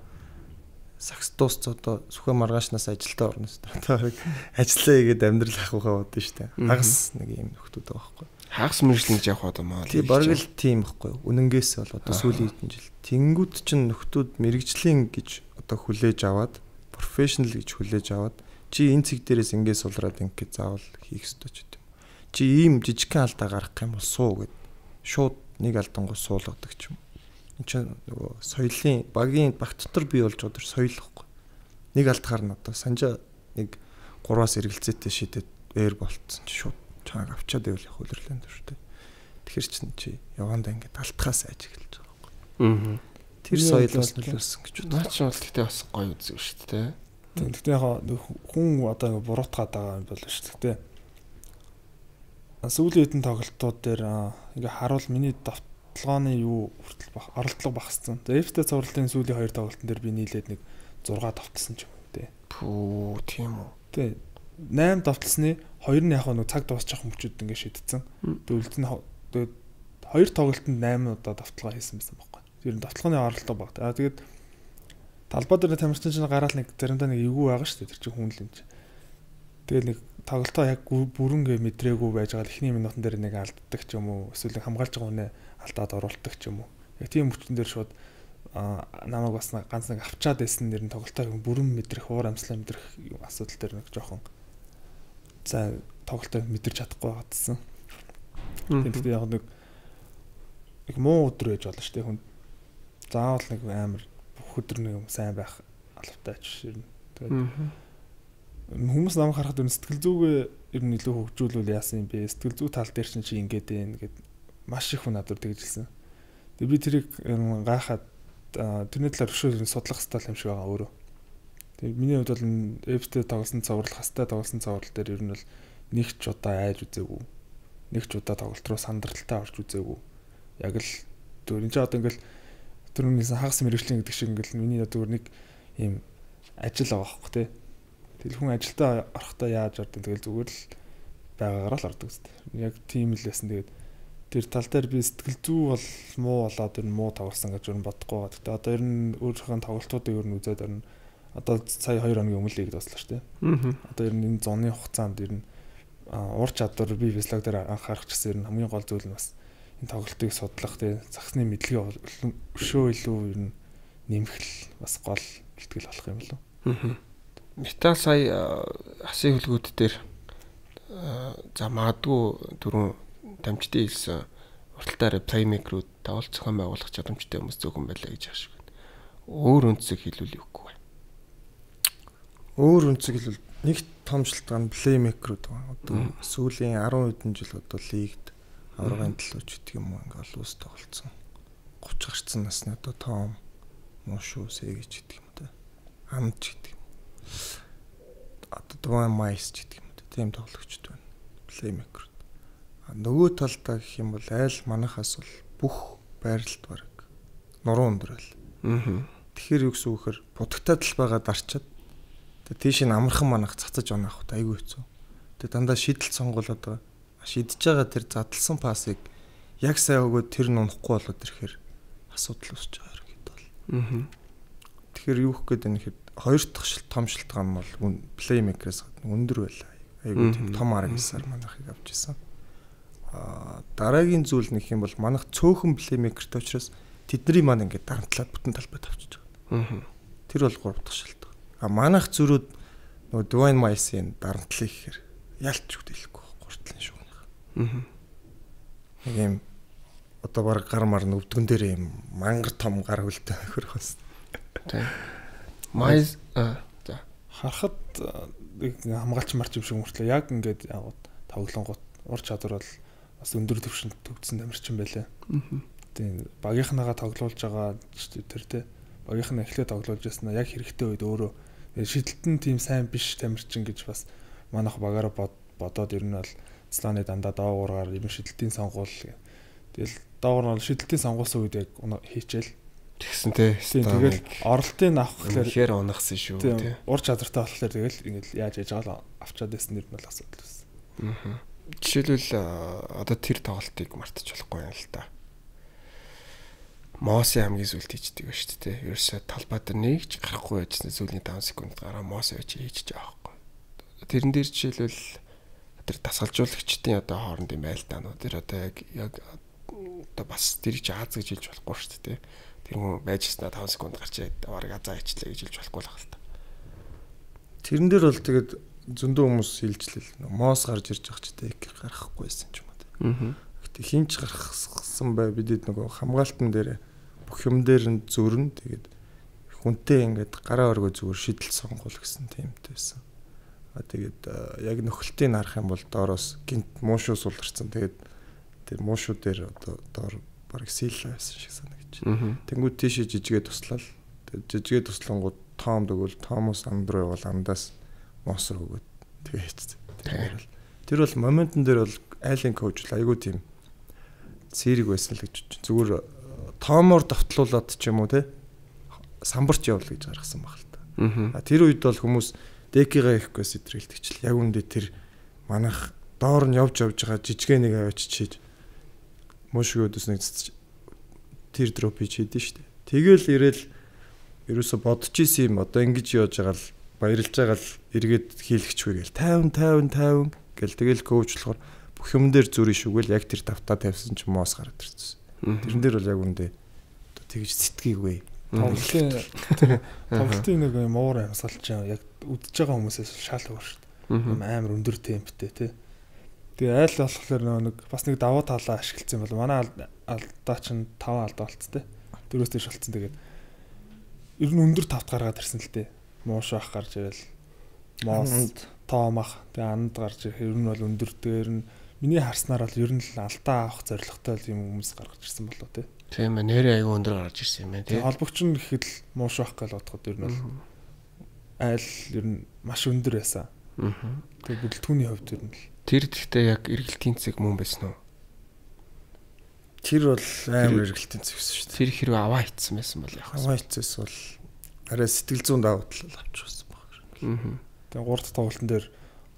сакстуус одоо сүхэ маргаашнаас ажилдаа орно шүү дээ. Одоо ажиллаа хийгээд амьдрал ахуйхаа бодсон шүү дээ. Хагас нэг юм нөхдүүд байгаа байхгүй. Хагас мэрэгчлэн гэж явах одоо маа. Тий бараг л тийм байхгүй. Үнэнгээс бол одоо сүүлийн хэдэн жил. Тэнгүүд чинь нөхдүүд мэрэгжлийн гэж одоо хүлээж аваад, профешнл гэж хүлээж аваад чи энэ цэг дээрээс ингээд сулраад ингээд заавал хийх ёстой ч гэдэг юм. Чи ийм жижигхэн алдаа гарах юм бол суу гэд шууд нэг алдангуу суулгадаг ч юм. Энд чинь нөгөө соёлын багийн баг дотор бий болж байгаа соёл ихгүй. Нэг алдахаар нь одоо санжаа нэг 3-аас эргэлзээтэй шидэд ээр болцсон чи шууд чааг авчаад байвал их үлрэлийн төртэй. Тэгэхэр чин чи явандаа ингээд алтхаас айж эхэлж байгаа байхгүй. Тэр соёлоос нөлөөлсөн гэж бодсон. Наач бол тэгтээ бас гоё үзэг шүү дээ. Тэгтээ яг хүн одоо буруутгаад байгаа юм бол шүү дээ. Сүүлийн хэдэн тоглолтууд дээр ингээ харуул миний давталгааны юу хүртэл оролдлого багассан. Тэгээ FT цувралтын сүүлийн 2 тоглолтын дээр би нийлээд нэг 6 давталсан ч юм уу те. Пүү тийм үү. Тэ 8 давталсны 2 нь яг нэг цаг дуусчих мөчүүд ингээ шийдсэн. Тэгээд 2 тоглолтод 8 удаа давталгаа хийсэн байсан байхгүй. Тэр нь давталгааны оролдлого баг. Тэгээд талбай дээр тамирчин чинь гараал нэг заримдаа нэг эвгүй байгаа шүү дээ. Тэр чинь хүн л юм чи. Тэгэл нэг тоглолтоо яг бүрэнгээ мэдрээгүй байж байгаа эхний минутын дээр нэг алддаг ч юм уу. Эсвэл хамгаалж байгаа хүнээ алдаад оруулдаг ч юм уу. Яг тийм хүчин дээр шууд намайг бас ганц нэг авчаад байсан нэр нь тоглолтоо бүрэн мэдрэх, уур амьслаа мэдрэх асуудал дээр нэг жоохон за тоглолтоо мэдэрч чадахгүй байгаадсан. Тэгээд яг нэг муу өдөр байж болно шүү дээ хүн. Заавал нэг амар бүх өдөр нэг сайн байх албатай ч ширнэ. Тэгээд хүмүүс намайг харахад сэтгэл зүгээ ер нь илүү хөгжүүлвэл яасан юм бэ? Сэтгэл зүй тал дээр чи ингэж байна гэд маш их хүн надад тэгжилсэн. Тэгээд би тэрийг гайхаад тэрний талаар өшөө судлах хэрэгтэй юм шиг байгаа өөрөө. Тэгээд миний хувьд бол FT тоглосон цовруул, хастай тоглосон цовруул дээр ер нь бол нэг ч удаа айж үзээгүй. Нэг ч удаа тоглолт руу сандралтаа орж үзээгүй. Яг л энэ ч одоо ингээл түрүүнээс хагас мэрэгжлийн гэдэг шиг ингээл миний одоо нэг ийм ажил байгаа байхгүй тий. Тэгэл хүн ажилдаа орохдоо яаж ордог тэгэл зүгээр л байгаагаар л ордог үстэй. Яг тийм л байсан. Тэгээд тэр тал дээр би сэтгэл зүй бол муу болоод ер нь муу тоглосон гэж ер нь бодохгүй байгаа. Гэтэ одоо ер нь өөрийнхөө тоглолтуудыг ер нь үзээд ер нь одоо сая 2 хоногийн өмнө лиг дуслаа шүү дээ. Одоо ер нь энэ зуны хугацаанд ер нь ур чадвар би физиолог дээр анхаарах гэсэн ер нь хамгийн гол зүйл нь бас энэ тоглолтыг судлах тий загсны мэдлэгээ өшөө илүү ер нь нэмэх л бас гол бэлтгэл болох юм болов. Метал сая хасын хөлгүүд дээр за магадгүй түрүүн дамжтын хэлсэн урталтаараа плеймейкерүүд тавал зохион байгуулах чадамжтай хүмүүс зөвхөн байлаа гэж ааш байна. Өөр өнцөг хэлүүл юугүй байна. Өөр өнцөг хэлвэл нэг том шалтгаан плеймейкерүүд байна. Одоо сүүлийн 10 хэдэн жил одоо лигт аврагын төлөөч гэдэг юм уу ингээл улс тоглолцсон. 30 гарцсан насны одоо том муушуу сэгэж гэдэг юм да. Амж гэдэг юм. Одоо Дуан Майс гэдэг юм да. Тийм тоглогчд байна. Плеймейкер. Нөгөө талдаа гэх юм бол айл манахаас бол бүх байралд бараг нуруу өндрөл. Тэгэхээр юу гэсэн үг хэр будагтаад л байгаа дарчаад тэгээ тийш нь амархан манах цацаж оноох айгүй хэцүү. Тэгээ дандаа шийдэл сонгуулаад байгаа. Шидэж байгаа тэр задлсан пассыг яг сайн өгөөд тэр нь унахгүй болоод ирэхээр асуудал үүсэж байгаа хэрэг бол. Тэгэхээр юу гэх гээд байна гэхэд хоёр дахь том шалтгаан бол плеймейкерээс өндөр байлаа. Айгүй тийм том аргасаар манахыг авч ирсэн. Дараагийн зүйл нэг юм бол манах цөөхөн плеймейкертэй учраас тэдний маань ингээд дарамтлаад бүтэн талбайд авчиж байгаа. Тэр бол 3 дахь шалтгаан. Манах зүрүүд нөгөө Дуан Майсын дарамтлыг гэхээр ялч үдэлэхгүй гуртлын шүү. Нэг юм одоо баг гар мар өвдгөн дээр юм мангар том гар хөлтэй хөрөх бас. Тийм. Майс за харахад хамгаалч марч юм шиг мөртлөө яг ингээд тоглонгууд ур чадвар бол бас өндөр түвшинд төгссөн тамирчин байлаа. Тийм багийнхнаагаа тоглуулж байгаа тэр тэ багийнхнаа эхлээд тоглуулж яснаа яг хэрэгтэй үед өөрөө шидэлтэн тийм сайн биш тамирчин гэж бас манайх багаараа бодоод ер нь бол Сланы дандаа доогуураар юм шидэлтийн сонгуул. Тэгэл доогуур нь шидэлтийн сонгуулсан үед яг хийчихэл. Тэгсэн тий. Тэгэл оролтын авах гэхээр ихээр унахсан шүү тий. Ур чадвартай болохоор тэгэл ингээд яаж яж байгаа л авчаад байсан нэр нь бол асуудал байсан. Жишээлбэл одоо тэр тоглолтыг мартаж болохгүй юм л та. Моси хамгийн сүлд хийждэг ба шүү дээ. Ерөөсө талбай дээр нэг ч гарахгүй байжсэн сүүлийн 5 секунд гараа Моси байж хийж байгаа байхгүй. Тэрэн дээр жишээлбэл тэр дасгалжуулагчдын одоо хоорондын байлдаанууд тэр одоо яг одоо бас тэр чи Аз гэж хэлж болохгүй шүү дээ. Тэр хүн байжснаа 5 секунд гарч бараг азаа ичлээ гэж хэлж болохгүй л байна л та. Тэрэн дээр бол тэгээд зөндөө хүмүүс хэлжлээ. Моос гарч ирж байгаа ч тэгээд гарахгүйсэн ч юм уу. Гэтэ хинч гаргасан бай бидэд нөгөө хамгаалтан дээр бүх юм дээр нь зөрн тэгээд хүнтэй ингээд гараа өргөө зүгээр шидэл сонгуул гэсэн тиймтэй байсан. Тэгээд яг нөхөлтийг харах юм бол доороос гинт муушуу суларсан. Тэгээд тэр муушуу дээр одоо доор бараг сийл байсан шиг санагдаж. Тэнгүүд тийшээ жижигээ туслал. Тэгээд жижигээ туслангууд Том дэгвэл Томос Андруу бол андаас моос руу өгөөд тэгээ хийчихсэн. Тэр бол моментн дээр бол айлын коуч л айгүй тийм зэрэг байсан л гэж бодчих. Зүгээр Томоор давтлуулаад ч юм уу те самбарч явуул гэж гаргасан баг л та. Тэр үед бол хүмүүс декига ихгүй сэтрэлтгчл яг үндэ тэр манайх доор нь явж байгаа жижигэн нэг авчиж мөшгөөдөс нэг тэр дроп хийдэж штэ. Тэгэл ирээл ерөөсө бодож исэн юм одоо ингэж яаж байгаа л баярлж байгаа л эргээд хийлгэчгүй гээл 50 гэл тэгэл коучлохоор бүх юм дээр зүрийн шүгэл яг тэр тавтаа тавьсан ч моос гараад ирсэн. Тэрэн дээр бол яг үндэ тэгж сэтгэйгүй. Тоглолтын нэг юм уур амьсгалж яг үдж байгаа хүмүүсээс шал өөр шүү дээ. Амар өндөр темптэй тий. Тэгээ айл болохоор нэг бас нэг давуу талаа ашигласан бол манай алдаа чинь 5 алдаа болцтой. 4-өөс дээш болцсон. Тэгээд ер нь өндөр тавт гаргаад ирсэн л дээ. Мууш ах гарч ирэл. Моос тоомах. Тэгээ анд гарч ер нь бол өндөр дээр нь миний харснаар бол ер нь л алдаа авах зорилготой юм хүмүүс гаргаж ирсэн болоо тий. Тийм ээ нэрээ аягүй өндөр гарч ирсэн юм байна тий. Холбогч нь гэхэд л мууш ах гэж бодоход ер нь бол айл ер нь маш өндөр байсан. Тэгээ бүлтгүүний хувьд ер нь л тэр гэхдээ яг эргэлтийн цэг мөн байсан уу? Тэр бол амар эргэлтийн цэг байсан шүү дээ. Тэр хэрэг аваа ицсэн байсан бол яг аваа ицээс бол арай сэтгэл зүйн давуу тал авчихсан баг. Тэгээ 3 дахь тоглолтын дээр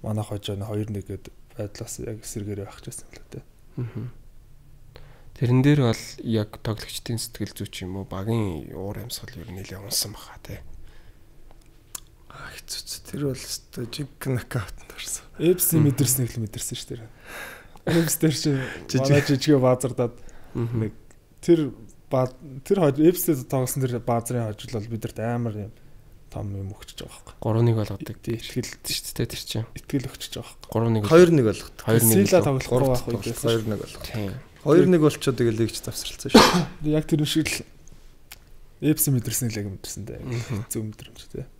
манай хожоо 2-1 гээд байдлаас яг эсэргээрээ авчихсан л үү. Тэрэн дээр бол яг тоглогчдын сэтгэл зүй ч юм уу багийн уур амьсгал ер нь нэлээд унсан баха тий. Хэцүү. Тэр бол өстой жиг нокаут нарсан. Эпс мэдэрсэн их л мэдэрсэн шүү дээ. Эпс дээр чи манай жижиг баазардаад нэг тэр эпстэй тоглосон тэр баазрын хожил бол бидэрт амар юм том юм өгчөж байгаа байхгүй. 3-1 болгодог. Итгэл шүү дээ тэр чинь. Итгэл өгчөж байгаа байхгүй. 3-1 болгодог. 2-1 Сила тоглохгүй байх үедээс 2-1 болгодог. Тийм. 2-1 болчоо тэгэл лигч завсралцсан шүү. Яг тэр шиг л эпс мэдэрсэн л яг мэдэрсэн дээ. Зөв мэдрэмж тий.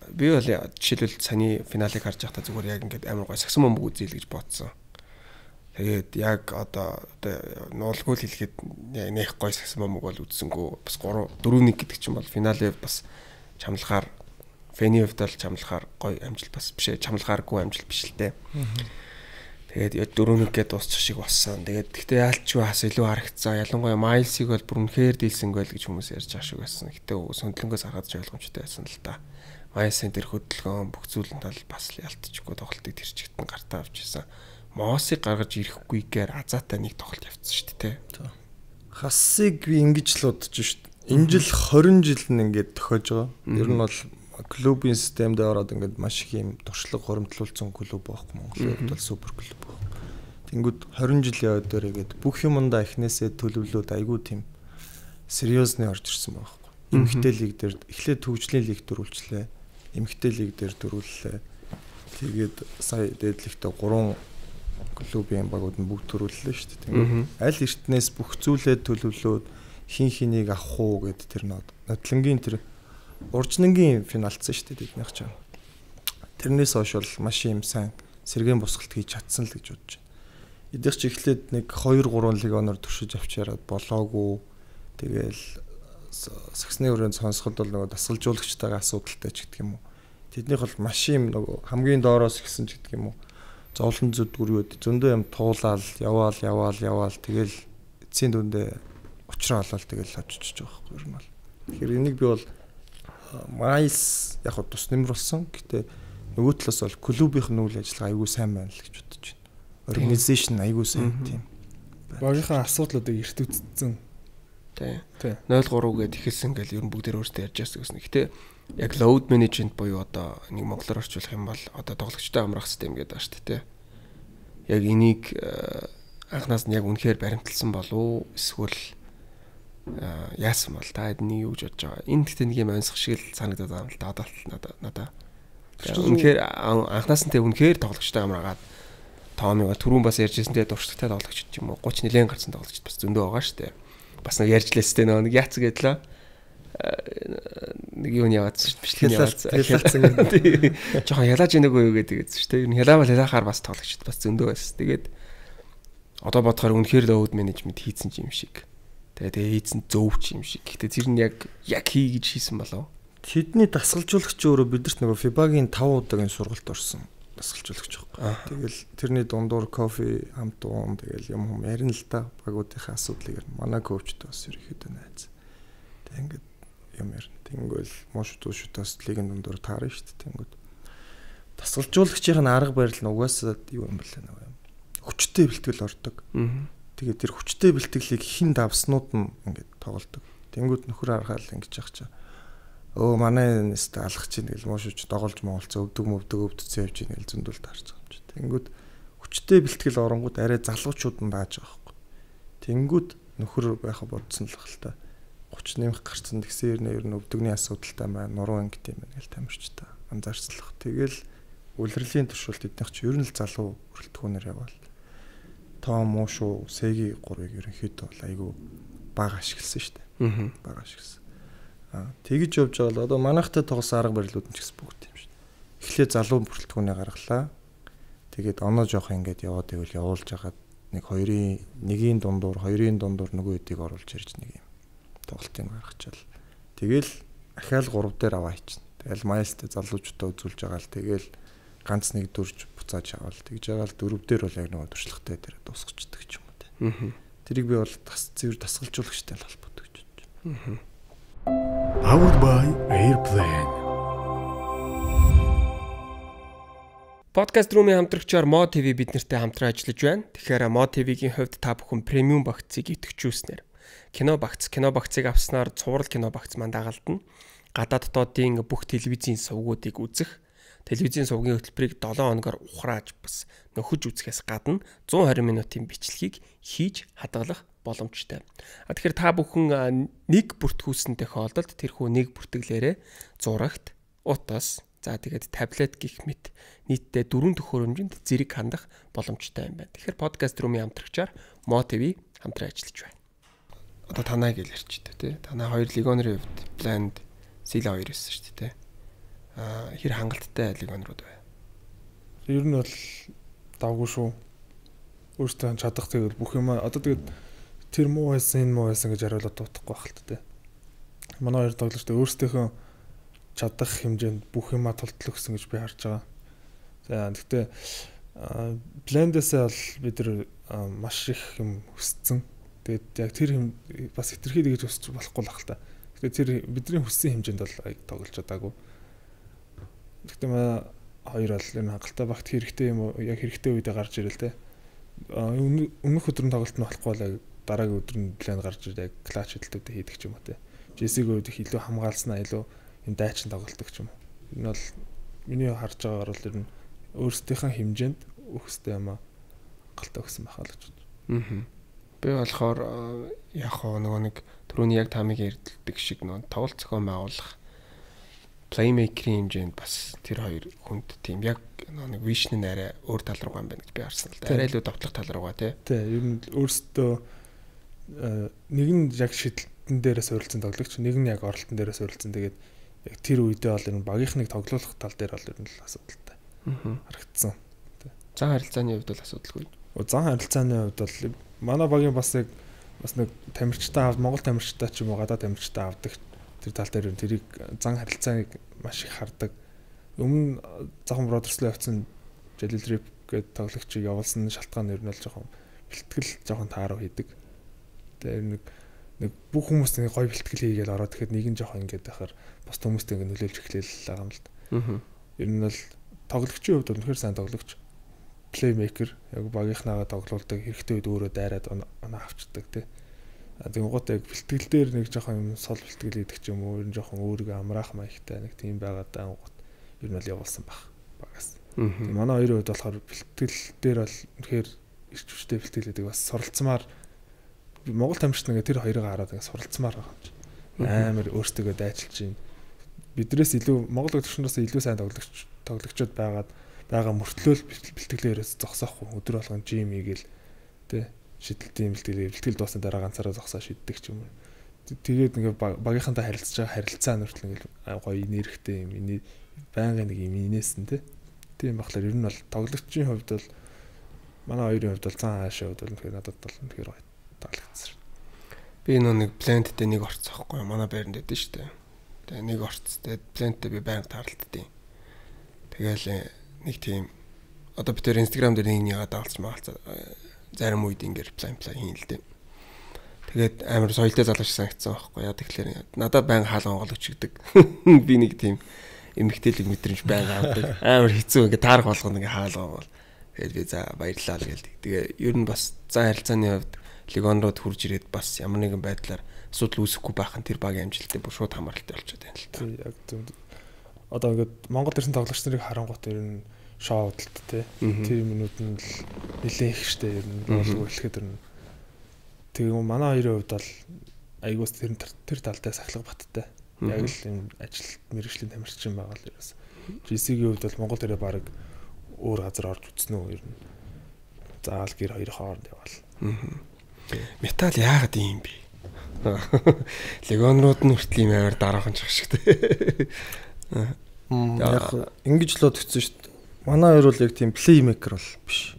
Би бол жишээлбэл саний финалыг харж байхдаа зүгээр яг ингээд амар гой сагсан бөмбөг үзээл гэж бодсон. Тэгээд яг одоо нуулгүй л хэлэхэд нэх гой сагсан бөмбөг бол үзсэнгүү бас 3-4-1 гэдэг чинь бол финалээ бас чамлахаар фэнивд бол чамлахаар гой амжилт бас биш ээ чамлахааргүй амжилт биш л дээ. Тэгээд 4-1 гээд дуусчих шиг болсон. Тэгээд гэхдээ яалчгүй хас илүү харагцсан. Ялангуяа Майлсыг бол бүр үнэхээр дийлсэнгүй л гэж хүмүүс ярьж байгаа шиг байсан. Гэтэ сөндлөнгөөс харахад ч ойлгомжтой байсан л та. Майлсын тэр хөдөлгөөн бүх зүйлэн тал бас ялтчихгүй тоглолтыг тэр чигт нь гартаа авчихсан. Моосыг гаргаж ирэхгүйгээр азаатай нэг тоглолт явцсан шүү дээ. Хассыг би ингэж л бодож шүү дээ. Энэ жил 20 жил нь ингээд тохиож байгаа. Ер нь бол клубын системд ороод ингээд маш их юм туршлага хуримтлуулсан клуб байхгүй Монголын хувьд бол супер клуб байна. Тэнгүүд 20 жил яваад дээрээгээд бүх юмдаа эхнээсээ төлөвлөөд айгүй тийм сериусны орж ирсэн байхгүй. Эмхтэй лиг дээр эхлээд төвжлийн лиг дөрвөлжлээ. Эмхтэй лиг дээр дөрвөллээ. Тэгээд сая дээдлэгтээ 3 клубын багууд нь бүгд төрүүллээ шүү дээ. Тэгээд аль эртнээс бүх зүйлээ төлөвлөөд хин хэнийг авах уу гэд тэр нотлонгийн тэр уржнангийн финалцсан шүү дээ тэднийх ч. Тэрнээс хойш бол маш юм сайн сэргээн босголт хийж чадсан л гэж бодож байна. Эдгээр чи эхлээд нэг 2-3 лигоноор туршиж авчираад болоогүй. Тэгээл сагсны өрөөнд сонсоход бол нөгөө дасгалжуулагчтайгаа асуудалтай ч гэдэг юм уу. Тэднийх бол маш юм нөгөө хамгийн доороос ихсэн ч гэдэг юм уу. Зовлон зүдгүрүүд зөндөө юм туулаад яваал тэгэл эцсийн дүндээ учраа олоод тэгэл очиж байгаа байхгүй юм бол. Тэгэхээр энийг би бол Майлс яг хөө тус нэмэр болсон. Гэтэ нөгөө талаас бол клубийн үйл ажиллагаа айгүй сайн байна л гэж бодож байна. Организашн айгүй сайн тийм. Багийнхаа асуудлуудыг эрт үзсэн. Тий. 0-3 гээд ихэлсэн гэл ер нь бүгдээр өөрсдөө ярьж байсан гэсэн. Гэтэ яг load management буюу одоо нэг монголоор орчуулах юм бол одоо тоглогчтой амрах систем гэдэг байна шүү дээ. Яг энийг анхнаас нь яг үнэхээр баримталсан болов эсвэл яасан бол та эднийг юу гэж бодож байгаа. Энэ гэхдээ нэг юм онцгой шиг л санагдаад байгаа юм л да надаа. Үнэхээр анхнаас нь тэ үнэхээр тоглогчтой амраагаад тоомыг түрүүн бас ярьжсэн тэ дуршлагтай тоглогч юм уу 30 нэлээд гарсан тоглогч бас зөндөө байгаа шүү дээ. Бас нэг ярьжлээстэй нэг яац гэдлээ. Нэг юу яваадсан шүү дээ. Ялаалцсан. Жохон ялааж ийнэгөө юу гэдэг шүү дээ. Ер нь ялаахаар бас тоглогчд бас зөндөө байсан. Тэгээд одоо бодохоор үнэхээр load management хийцэн юм шиг. Тэгээ хийцэн зөвч юм шиг. Гэхдээ тэр нь яг хий гэж хийсэн болов. Тэдний дасгалжуулагч өөрөө бидэрт нөгөө FIBA-гийн 5 удаагийн сургалт орсон дасгалжуулагч байхгүй. Тэгэл тэрний дундуур кофе, хамт уун тэгэл юм ярина л да. Багуудынхаа асуудлыг манай коучтой бас ерөөхдөө найз. Тэг ингээд юм ярина. Тэнгүүл мошдуушудаас лигийн дундуур таарна шүү дээ. Тэнгүүд дасгалжуулагчийн арга барил нь угаасаа юу юм бэлээ нөгөө юм. Хүчтэй бэлтгэл ордог. Тэгээд тэр хүчтэй бэлтгэлийг хин давснууд нь ингээд тоглодог. Тэнгүүд нөхөр харахаал ингэж яах чаа. Манай нэстэ алгах чинь тэгэл муушууч доголж моолцоо өвдөгцөө явж ийн гэл зөндөл таарч байгаа юм чи. Тэнгүүд хүчтэй бэлтгэл оронгууд арай залуучууд нь дааж байгаа байхгүй. Тэнгүүд нөхөр байха бодсон л хэл та 30 нэмэх гарцсан тэгсэн ер нь өвдөгний асуудалтай байна. Нуруу ангит юм байна гэл тамирч та анзаарчлах. Тэгэл үлрэлийн туршилт эднийх чи ер нь л залуу хүрэлтгүүнээр яваал. Том муушуу сэги 3-ыг ерөнхийдөө бол айгүй бага ашигласан шүү дээ. Бага ашигласан. Тэгж явж байгаа л одоо манайхтай тоглосон арга барилууд нь ч гэсэн бүгд юм шүү дээ. Эхлээ залуу бүрэлдэхүүнээ гаргалаа. Тэгээд оноо жоох ингээд яваад ивэл явуулж хагаад нэгийн дундуур нөгөө хэдийг оруулж ирж нэг юм тоглолтын гаргачаал. Тэгэл ахаал 3 дээр аваа хийчихнэ. Тэгэл майлстай залуучуудаа үзүүлж байгаа л тэгэл ганц нэг дүрж буцааж аваад тэгж байгаа л 4 дээр бол яг нөгөө туршлагатай дээр дуусчихдаг ч юм уу те. Тэрийг би бол цэвэр дасгалжуулагчтай холбоотой гэж бодож байна. Powered by Airplane. Podcast Room-ийн хамтрагчаар Mo TV бид нартай хамтран ажиллаж байна. Тэгэхээр Mo TV-гийн хувьд та бүхэн премиум багцыг идэвхжүүлснээр кино багцыг авснаар цуврал кино багц маань дагалдана. Гадаад дотоодын бүх телевизийн сувгуудыг үзэх, телевизийн сувгийн хөтөлбөрийг 7 хоногоор ухрааж бас нөхөж үзэхээс гадна 120 минутын бичлэгийг хийж хадгалах боломжтой. Тэгэхээр та бүхэн нэг бүртгүүлсэн тохиолдолд тэрхүү нэг бүртгэлээрээ зурагт, утас, за тэгээд таблет гэх мэт нийтдээ 4 төхөөрөмжөнд зэрэг хандах боломжтой юм байна. Тэгэхээр podcast room-ийн хамтрагчаар Mo TV хамтран ажиллаж байна. Одоо танай гэж ярьчихдээ тий. Танай хоёр легионерын хувьд Blend Sila 2 байсан шүү дээ тий. Хэр хангалттай легионерууд бай. Ер нь бол давгүй шүү. Өөртөө чадах тэгэл бүх юм одоо тэгээд тэр муу байсан энэ муу байсан гэж хариулаад дуутахгүй байх л та. Манай хоёр тоглогчтой өөрсдийнхөө чадах хэмжээнд бүх юмаа тултал өгсөн гэж би харж байгаа. За гэхдээ Blend-ээс бол бид нар маш их юм хүссэн. Тэгээд яг тэр юм бас хэтэрхий гэж өсч болохгүй л хэл та. Тэгэхээр тэр бидний хүссэн хэмжээнд бол тоглож чадаагүй. Гэхдээ манай хоёр бол энэ хангалттай багт хэрэгтэй юм уу? Яг хэрэгтэй үедээ гарч ирэл те. Өмнөх өдөр нь тоглолт нь болохгүй л дараагийн өдөр нь план гарч ирээд яг клатч хөдөлтөд хийдэг ч юм уу те. Джессигийн үед их илүү хамгаалснаа илүү энэ дайчин тоглолдог ч юм уу. Энэ бол миний харж байгаагаар бол ер нь өөрсдийнхээ хэмжээнд өгөхтэй юм аа хангалттай өгсөн байхаа л гэж бодож. Би болохоор яг нөгөө нэг түрүүний яг тамиг ярьдаг шиг нөгөө тоглолт зохион байгуулах playmaker-ийн хэмжээнд бас тэр хоёр хүнд тийм яг нэг vision нь арай өөр тал руугаа юм байна гэж би харсан л да. Арай илүү давтлах тал руугаа тий. Ер нь өөрсдөө нэг нь яг шидэлтэн дээрээс суурилсан тоглогч, нэг нь яг оролтон дээрээс суурилсан. Тэгээд яг тэр үедээ бол ер нь багийнхныг тоглуулах тал дээр бол ер нь л асуудалтай харагдсан. Зан харилцааны хувьд бол асуудалгүй. Зан харилцааны хувьд бол манай багийн бас нэг тамирчтай Монгол тамирчтай ч юм уу гадаад тамирчтай авдаг тэр тал дээр тэрийг зан харилцааг маш их хардаг. Өмнө Захан Бродерслоо явцсан Жалил Рип гэдэг тоглогчийг явуулсан шалтгаан нь бол жоохон бэлтгэл жоохон тааруу хийдэг. Тэр нэг бүх хүмүүс нэг гоё бэлтгэл хийгээл ороод тэгэхэд нэг нь жоохон ингэж байхаар бос хүмүүстэй ингэ нөлөөлж эхлээл байгаа юм л да. Ер нь бол тоглогчийн хувьд үнэхээр сайн тоглогч, playmaker яг багийнхнаагаа тоглуулдаг, хэрэгтэй үед өөрөө дайраад оноо авчдаг тий. Тэгвэл гот яг бэлтгэл дээр нэг жоохон юм сол бэлтгэл хийдэг ч юм уу, ер нь жоохон өөрийгөө амраах маягтай нэг тийм байгаад гот ер нь бол явуулсан баг багаас. Манай хоёрын хувьд болохоор бэлтгэл дээр бол үнэхээр ирч хүчтэй бэлтгэл хийдэг бас суралцмаар Монгол тамирчид ингээ тэр хоёрыг хараад ингээ суралцмаар байгаа юм чи. Амар өөртөө дайчилж байна. Бидрээс илүү Монгол төвчнөөс илүү сайн тоглогчдод байгаа мөртлөөл бэлтгэлээрээс зогсоохгүй өдөр болгон жим хийгээл тэ шидэлтийн бэлтгэл дуусна дараа ганцаараа зогсоо шиддэг ч юм уу. Тэгээд ингээ багийнхантай харилцаж байгаа харилцаа нүртэл ингээ гоё нэрхтэй юм. Байнгын нэг юм инээсэн тэ. Тийм болохоор ер нь бол тоглогчийн хувьд бол манай хоёрын хувьд бол цаан хаашаа хувьд бол тэгэхээр надад бол тэгэхээр гоё таалагдсан. Би нэг Blend-тэй нэг орцоохгүй манай байранд байдсан шүү дээ. Тэгээ нэг орц. Тэгээд пленттэй би байнга тааралддیں۔ Тэгээл нэг тийм одоо би тэр Instagram дээр нэг даалцсан. Зарим үед ингээд план хийн л дээ. Тэгээд амар соёлтой залууч санагдсан байхгүй яа тэгэхээр надад байнга хаалга онгоолгч гэдэг. Би нэг тийм эмгтээлэг мэдрэмж байнга авдаг. Амар хэцүү ингээд таарах болгоно ингээд хаалга бол. Тэгээд би за баярлалаа л гэлдэг. Тэгээ ер нь бас зан харилцааны хувьд Легон руу хурж ирээд бас ямар нэгэн байдлаар асуудал үүсэхгүй байх нь тэр багийн амжилттай бүр шууд хамааралтай болчиход байна л та. Яг зөв. Одоо ингээд Монгол ирсэн тоглогч нарыг харангуут ер нь шоу хөдөлт те. Тэр минут нь л нэлээд их штэ ер нь болов эхлэхэд ер нь. Тэгээ манай хоёрын хувьд бол айгуус тэр талтай сахилга баттай. Яг л юм ажил мэргэжлийн тамирчин байгаа л ерөөс. GC-ийн хувьд бол Монгол төрөө баг өөр газар орж үзсэн үү ер нь. Заавал гэр хоёр хооронд яваал. Метал яагаад ийм бэ? Легонрууд нь хүртэл ийм амар дараахан ч шиг те. Яг ингэж л бодсон шүү дээ. Манай хоёр бол яг тийм плеймейкер бол биш.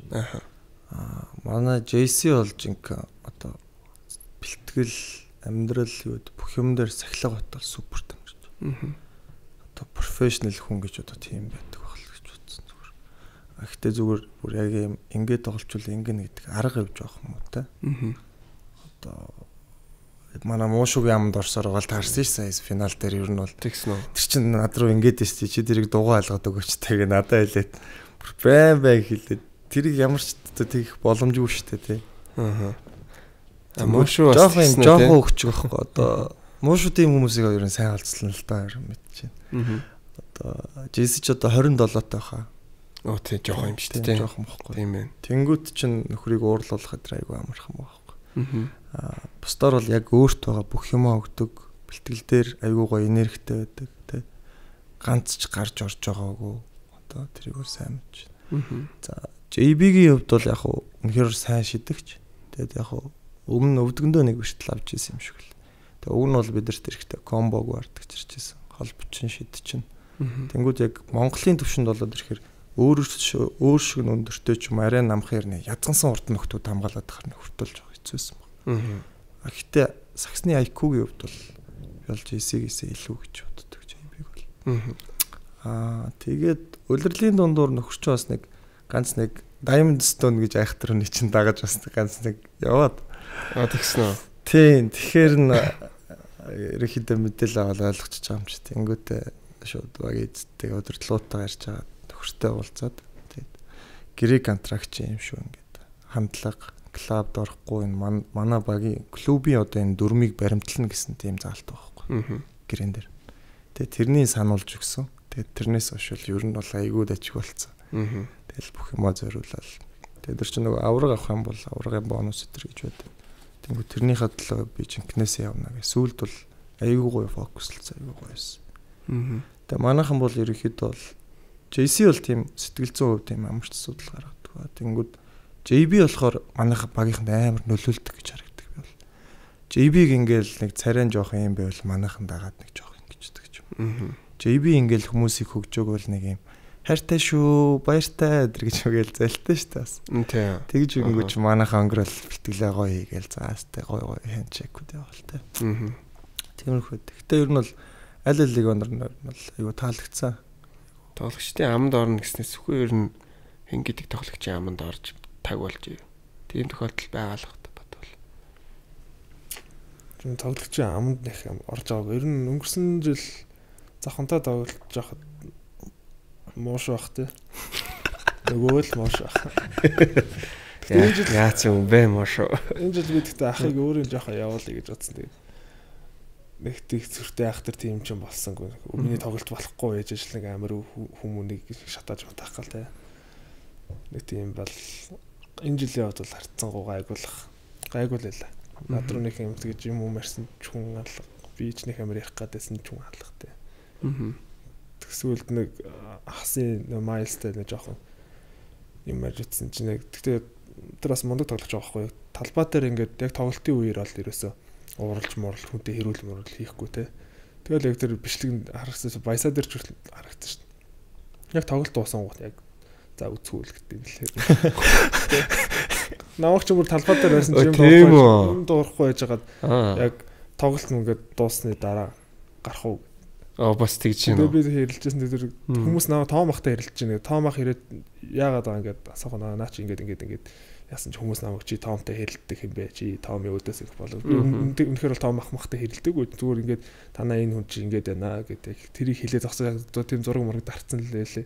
Манай JC бол жинк одоо бэлтгэл амьдрал юу бүх юм дээр сахилга батал супер тамирч. Одоо профешнл хүн гэж одоо тийм байдаг байх л гэж бодсон зүгээр. Гэхдээ зүгээр бүр яг юм ингээд тоглолчвол ингэнэ гэдэг арга явж байгаа юм уу те. Одоо манай Муушугийн амд орсоор гал таарсан ш сая финал дээр ер нь бол тэгсэн үү. Тэр чинь над руу ингээд шүү чи тэрийг дугаа алгаад өгөөч тэгээ надад хэлээд бай хэлээд тэрийг ямар ч тэгэх боломжгүй шүү дээ тий. Муушу бас жоохон өгч байхгүй одоо Муушуу тийм хүмүүсийг ер нь сайн олцлон л та ер нь мэдчихээн. Одоо JC ч одоо 27-тай хаа. Оо тий жоохон юм шүү дээ. Жоохон бохгүй. Тийм ээ. Тэнгүүт чинь нөхрийг уурлуулах гэдэг айгүй амархан байхгүй. Бусдаар бол яг өөрт байгаа бүх юмаа өгдөг. Бэлтгэл дээр айгүй гоё энергитэй байдаг тий. Ганц ч гарч орж байгаагүй. Одоо тэрийг сайн мэдж байна. За JB-гийн хувьд бол яг үнэхээр сайн шидэгч. Тэгээд яг өмнө өвдгөндөө нэг биштэл авч ирсэн юм шиг л. Тэгээд уг нь бол бидэрт эрэхтэй комбог вардагч ирчихсэн. Холбочин шидчин. Тэнгүүд яг Монголын төвшөнд болоод ирэхээр өөр шиг өндөртэй ч юм арай намхаар нэ язгансан урд нөхдүүд хамгаалаад харна хөртөлж байгаа хэцүүсэн баг. Гэхдээ саксны IQ-гийн хувьд бол ялж JC-гээс илүү гэж боддог JB-г бол. Тэгээд улирлын дундуур нөхөрч бас нэг ганц нэг Diamond Stone гэж айхтар хүний чинь дагаж бас ганц нэг яваад. Тэгсэн үү. Тийм. Тэгэхээр ерөнхийдөө мэдээлэл аваад ойлгочих байгаа юм чи. Тэнгүүтээ шууд баг эзтэй өдөрлөутаа ярьж байгаа нөхөртэй уулзаад тэгээд гэрээ контракт юм шүү ингээд хандлага клубд орохгүй энэ манай багийн клубын одоо энэ дөрмийг баримтлана гэсэн тийм заалт байхгүй. Гэрэн дээр. Тэгээд тэрний сануулж өгсөн. Тэгээд тэрнээс хойш ер нь бол айгууд ажиг болцсон. Тэгэл бүх юмаа зориулаад. Тэгээд тэр чинь нөгөө авраг авах юм бол аврагын бонус өтер гэж байдаг. Тэнгүү тэрнийхээ төлөө би жинкнээсээ явна гэх. Сүүлд бол айгүй гоё фокуслцсан айгүй гоёсэн. Тэгээд манайхан бол ерөнхийдөө бол JC бол тийм сэтгэл зүйн хувьд тийм амарч асуудал гаргадаг. Тэнгүүд JB болохоор манайхан багийнханд амар нөлөөлдөг гэж харагддаг би бол. JB-г ингээл нэг царайн жоох юм байвал манайхан дагаад нэг жоох ингэждэг ч юм. JB ингээл хүмүүсийг хөгжөөг бол нэг юм хайртай шүү, баяртай гэж үгээл зайлтай шүү тас. Тэгж өгөнгөч манайхан өнгөрөл бэлтгэлээ гоё хийгээл заастай гоё хэнчэкүүд яваалтай. Тиймэрхүү. Гэхдээ ер нь бол аль алиг онор нь бол айгу таалагдсан. Тоглогчдын аманд орно гэснээс үгүй ер нь хэн гэдэг тоглогчийн аманд орж таг болж ив. Тийм тохиолдол байгаа л бодвол. Тийм тоглогчийн аманд нэх орж байгааг ер нь өнгөрсөн жил завхантаа тоглож байхад мууш бах тий. Нөгөө л мууш бах. Энэ жил яац юм бэ мууш. Энэ жил би тэгтээ ахыг өөрөө жоохон явуулъя гэж бодсон тэгээд нэг тийг зүртэй ахтар тийм ч юм болсонгүй. Өмнөний тоглолт болохгүй ээж ажлыг амар хүмүүнийг шатааж матах гал тий. Нэг тийм бол энэ жилийн хувьд бол харцсангуу гайгууллаа. Над руу нэг юм тэгж юм уу марсан ч хүн алга. Би ч нэг амар ярих гадсэн ч хүн алга тий. Тэгсүүлд нэг хасын майлстай нэг жоохон юм ажитсан чинь нэг тэгтээ тэр бас мундаг тоглож байгаа байхгүй. Талбай дээр ингээд яг тоглолтын үеэр бол ерөөсөө ууралж муурал хүнтэй хэрүүл мөрөл хийхгүй те. Тэгэл яг тэр бичлэг харагдсан баясаа дээр ч харагдсан шүү дээ. Яг тоглолт дуусан гот яг за үцгүүл гэдэг нэлээ. Намайг ч бүр талбай дээр байсан юм дуурахгүй байж хагаад яг тоглолт нь ингээд дуусны дараа гарах уу Бас тэгж байна. Би хэрэлжсэн тэр хүмүүс наваа тоом ахтай хэрэлж байна. Тоом ах ирээд яагаад байгаа ингээд асуух наа чи ингээд яасан ч хүмүүс намайг чи тоомтой хэрэлдэх юм бэ? Чи тоомын өөдөөс их болов. Үнэхээр бол тоом ах махтай хэрэлдэг үү? Зүгээр ингээд танаа энэ хүн чи ингээд байна гэдэг. Тэрийг хэлээ зогсоод тийм зураг мураг дарцсан л лээ.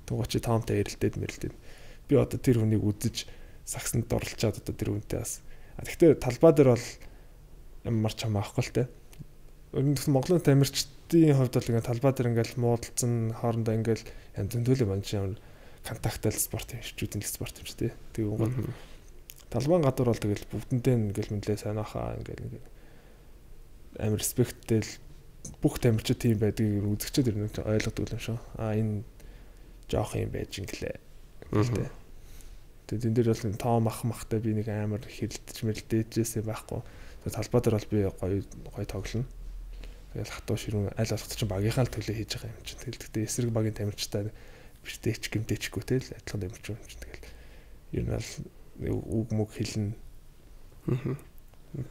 Тугаа чи тоомтой хэрэлдээд мэрэлдээд. Би одоо тэр хүнийг үзэж сагсанд орлчаад одоо тэр хүнтэй бас. Гэхдээ талбай дээр бол ямар ч юм аахгүй л те. Монголын тамирчдын хувьд бол ингээд талбай дээр ингээд муудалцсан хоорондоо ингээд янз бүрийн манчин контактал спорт юм шиг үдэн спорт юм шиг тий. Тэгээд талбайн гадуур бол тэгэл бүгдэндээ ингээл мэдлээ сайн ахаа ингээл амар респекттэй бүх тамирчид тийм байдгийг үзэгчд ер нь ойлгодог юм шүү. Энэ жоох юм байж инглээ. Гэхдээ тэгээд энэ дээр бол тоом ах махтай би нэг амар хэрэлдэж мэлдээжсэн байхгүй. Талбай дээр бол би гоё тоглоно. Тэгэл хатуу ширүүн аль болох чинь багийнхаа л төлөө хийж байгаа юм чинь. Тэгэл гэхдээ эсрэг багийн тамирчтай бэртэйч гэмтэйчгүй те л адилхан тамирч юм чинь. Тэгэл ер нь бол үг мөг хэлнэ.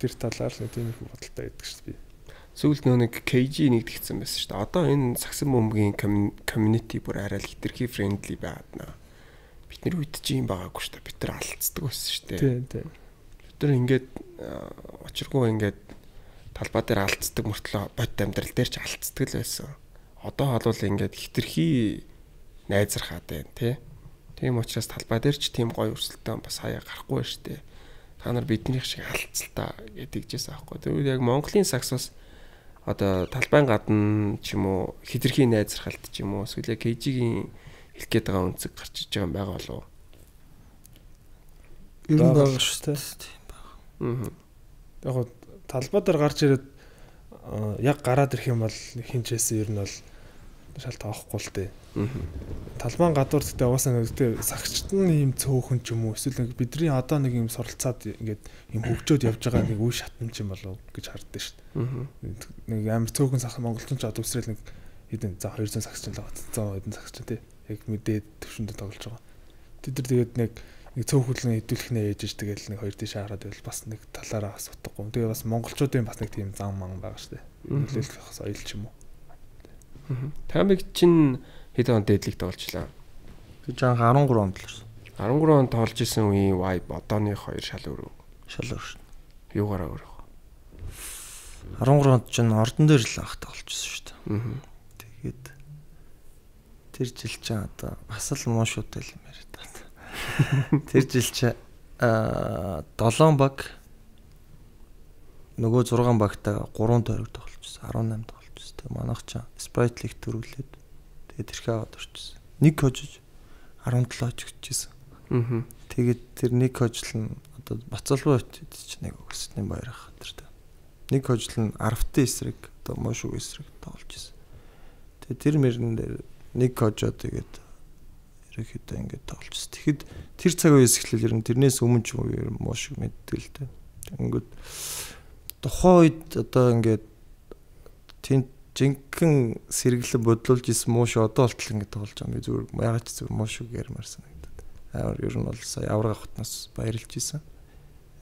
Тэр талаар нэг тийм их бодолтой байдаг шүү дээ. Сүүлд нэг KG нэгдэгдсэн байсан шүү дээ. Одоо энэ сагсан бөмбөгийн community бүр арай л хитрхи friendly байгаад наа. Бид нэр үйдэж юм байгаагүй шүү дээ. Бид нар алдцдаг байсан шүү дээ. Тийм. Бид нар ингээд очиргүй ингээд талбай дээр алдцдаг мөртлөө бод амьдрал дээр ч алдцдаг л байсан. Одоо бол ингээд хитрхи найзрахаад байна тий. Тийм учраас талбай дээр ч тийм гоё өрсөлдөөн бас хаяа гарахгүй байна шүү дээ. Та нар биднийх шиг алдцалтаа гэдэгжээс аахгүй. Тэгвэл яг Монголын саксос одоо талбайн гадна ч юм уу хитрхи найзрахалт ч юм уу эсвэл KG-ийн хэлэх гээд байгаа үнцэг гарч иж байгаа юм байгаа болов уу? Ер нь байгаа шүү дээ. Яг гоо талбай дээр гарч ирээд яг гараад ирэх юм бол хинчээсэн ер нь бол шал тоохгүй л дээ. Талбайн гадуур гэдэг угаасаа нэг сагчт нь юм цөөхөн ч юм уу эсвэл нэг бидний одоо нэг юм суралцаад ингээд юм хөгжөөд явж байгаа нэг үе шатамж юм болов гэж харддаг шүү дээ. Нэг амар цөөхөн сагч монголчин ч одоо үсрээл нэг хэдэн за 200 сагч л байгаа. 100 хэдэн сагч тий. Яг мэдээд төвшөндө тоглож байгаа. Тэд нар тэгээд нэг цөөхөлн хэдүүлэхнээ ээжж тэгэл нэг хоёр тийш хараад байвал бас нэг талаараа бас утгагүй. Тэгээ бас монголчуудын бас нэг тийм зам ман байгаа шүү дээ. Нөлөөлөх соёл ч юм уу. Тамиг чинь хэд он дээдлийг тоглочлаа. Би жан 13 онд л ирсэн. 13 онд тоглож исэн үеийн vibe одооны хоёр шал өөр. Шал өөр шин. Юугаараа өөр вэ? 13 онд чинь ордон дээр л анх тоглож исэн шүү дээ. Тэгээд тэр жил чинь одоо бас л муушуутай л юм яриад байна. Тэр жил чинь 7 баг нөгөө 6 багтаа 3 тойрог тоглож исэн. 18 тоглож исэн. Тэгээд манайх чинь Sprite League төрүүлээд тэгээд тэрхээ аваад орчихсон. Нэг хожиж 17 оччихжээ. Тэгээд тэр нэг хожил нь одоо Бацалбай чинь нэг өсөлтний баяр ах тэр. Нэг хожил нь Арвтын эсрэг одоо Мошуг эсрэг тоглож исэн. Тэгээд тэр мөрөн дээр нэг хожоо тэгээд ерөөхдөө ингэж тоглож исэн. Тэгэхэд тэр цаг үеэс эхлээл ер нь тэрнээс өмнө ч юм Мошуг мэддэг л дээ. Тэнгүүд тухайн үед одоо ингээд тийм жинхэнэ сэргэлэн бодлуулж исэн Мошуг одоо болтол ингэж тоглож байгаа юм. Би зүгээр ягаад ч зүгээр Мошуг ярмаарсан гэдэг. Амар ер нь бол сая авраг авахтнаас баярлж исэн.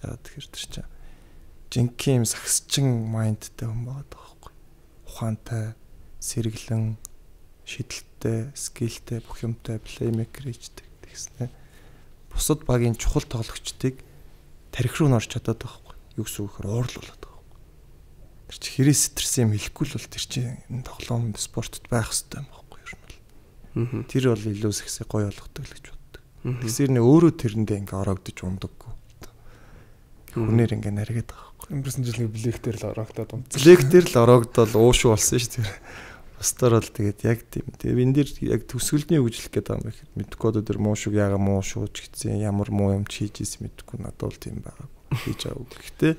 Ягаад тэгэхээр тэр чинь жинхэнэ юм сагсчин майндтай хүн байгаа байхгүй. Ухаантай, сэргэлэн, шидэлтэй, скиллтэй, бүх юмтай плеймейкер хийдэг гэсэн. Бусад багийн чухал тоглогчдыг тарих руу норч чадаад байхгүй. Юу гэсэн үг вэ? Уурлуулад байгаа байхгүй. Тэр чи хэрэг стресс юм хэлэхгүй л бол тэр чи энэ тоглоом спортод байх хэрэгтэй юм байхгүй ер нь бол. Тэр бол илүү сексээ гоё болгодог л гэж боддог. Тэгсэр нэ өөрөө тэрэндээ ингээ ороогдож ундаггүй. Хүнээр ингээ наргээд байгаа байхгүй. Өнгөрсөн жил нэг блэк дээр л ороогдоод унтсан. Блэк дээр л ороогдол уушуу болсон шүү дээ. Бусдаар бол тэгээд яг тийм. Тэгээд энэ дэр яг төсгөлний үгжлэх гэдэг юм их мэдгүй одоо тэр муушуг яага муушууж гисэн ямар муу юм хийж ийсэн мэдгүй надад бол тийм байгаа. Хийж авах. Гэхдээ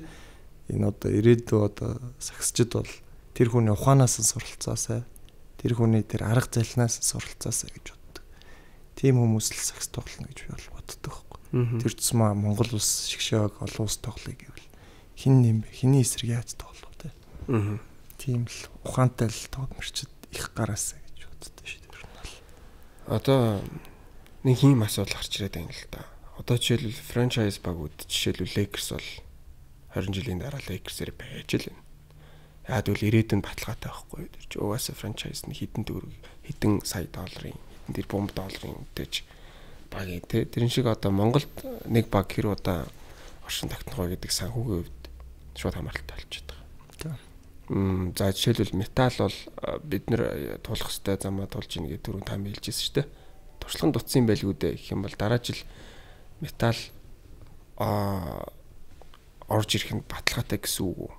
энэ одоо ирээдүйн одоо сагсчд бол тэр хүний ухаанаас нь суралцаасаа тэр хүний тэр арга зайлнаас нь суралцаасаа гэж боддог. Тийм хүмүүс л сагс тоглоно гэж би бол боддог байхгүй. Тэр цэсмээ Монгол улс шигшээг олон улс тоглоё гэвэл хин нэм бэ? Хиний эсрэг яаж тоглох вэ? Тийм л ухаантай л тогломчд их гараасаа гэж боддог шүү дээ. Одоо нэг ийм асуудал гарч ирээд байна л да. Одоо жишээлбэл франчайз багууд жишээлбэл Lakers бол 20 жилийн дараа Lakers-ээр байж л байна. Яад үл ирээдүйн баталгаатай байхгүй. Тэр чи угаасаа франчайз нь хэдэн төгрөг, хэдэн сая долларын, хэдэн тэрбум долларын үдээж багийн те. Тэрэн шиг одоо Монголд нэг баг хэр удаа оршин тогтнох вэ гэдэг санхүүгийн хувьд шууд хамааралтай болчиход байгаа. За жишээлбэл металл бол бид нэр туулах хэвээр замаа тулж ийн гэдэг түрүүн та хэлжсэн шүү дээ. Туршлага дутсан байлгүй дээ гэх юм бол дараа жил металл орж ирэх нь баталгаатай гэсэн үг үү?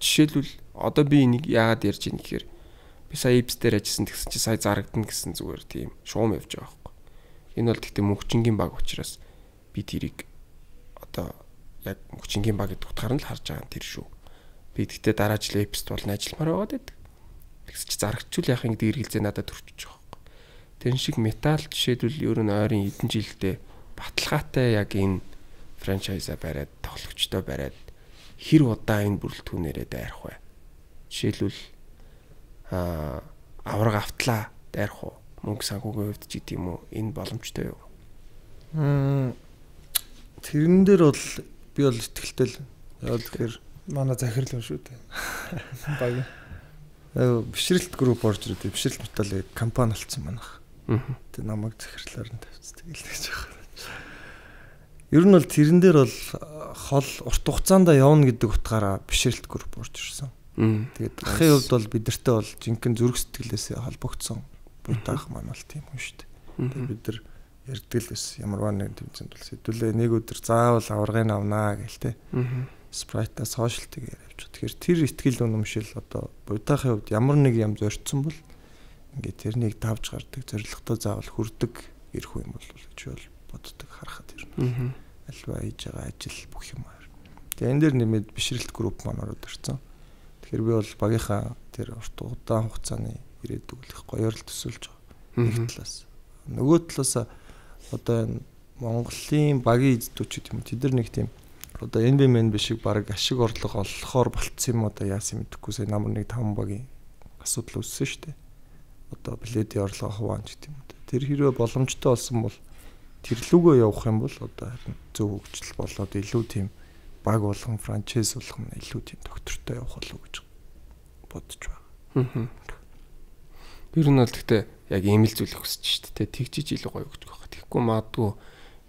Жишээлбэл одоо би энийг яагаад ярьж ийн гэхээр би сая Ипс дээр ажилласан тэгсэн чи сая зарагдана гэсэн зүгээр тийм шуум явж байгаа байхгүй. Энэ бол тэгтээ мөнхчингийн баг учраас би тэрийг одоо яг мөнхчингийн баг гэдэг утгаар нь л харж байгаа тэр шүү. Би тэгтээ дараа жил Ипст болно ажилламаар байгаад байдаг. Тэгс чи зарагчул яхаа гэдэг эргэлзээ надад төрчихөж байгаа байхгүй. Тэрэн шиг металл жишээлбэл ер нь ойрын хэдэн жилдээ баталгаатай яг энэ франчайза бариад тоглогчтой бариад хэр удаа энэ бүрэлдэхүүнээрээ дайрах вэ? Жишээлбэл авраг автлаа дайрах уу? Мөнгө санхүүгийн хувьд ч гэдэг юм уу? Энэ боломжтой юу? Тэрэн дээр бол би бол итгэлтэй л. Яагаад гэхээр манай захирал юм шүү дээ. Баг. Бишрэлт групп орж ирээд бишрэлт металлын компани болсон манайх. Тэ намайг захирлаар нь тавьчихдаг л гэж байна. Ер нь бол тэрэн дээр бол хол урт хугацаанд явна гэдэг утгаараа бишрэлт групп орж ирсэн. Тэгээд ахын хувьд бол бидэртээ бол жинхэнэ зүрх сэтгэлээсээ холбогдсон буйтаах маань бол тийм хүн шүү дээ. Тэгээд бид нар ярьдаг л байсан. Ямарваа нэг тэмцээнд бол сэдвүлээ нэг өдөр заавал аваргыг авнаа гэлтэй. Спрайтаа сошиалтыг явж. Тэгэхээр тэр ихтгэл үнэмшил одоо буйтаахын хувьд ямар нэг юм зорьцсон бол ингээд тэрнийг давж гардаг зорилготой заавал хүрдэг ирэх юм бол гэж бол боддог харахад ирнэ. Альва хийж байгаа ажил бүх юм аа. Тэгээ энэ дээр нэмээд бишрэлт групп маань ороод ирсэн. Тэгэхээр би бол багийнхаа тэр урт удаан хугацааны ирээдүг их гоёор л төсөөлж байгаа. Нэг талаас. Нөгөө талаас одоо энэ Монголын багийн эзэдүүчид юм. Тэд нар нэг тийм одоо NBMN биш шиг баг ашиг орлого олохоор болцсон юм одоо яасан мэдэхгүй сая намар нэг 5 багийн асуудал үүссэн шүү дээ. Одоо билетийн орлого хуваан гэдэг юм. Тэр хэрвээ боломжтой болсон бол тэр лүгөө явах юм бол одоо зөв хөгжил болоод илүү тийм баг болгон франчайз болгон илүү тийм доктортой явах болов уу гэж бодож байгаа. Тэр нь бол гэхдээ яг ийм л зүйл өгсөж шүү дээ. Тэгжиж илүү гоё өгч байгаа. Тэгэхгүй магадгүй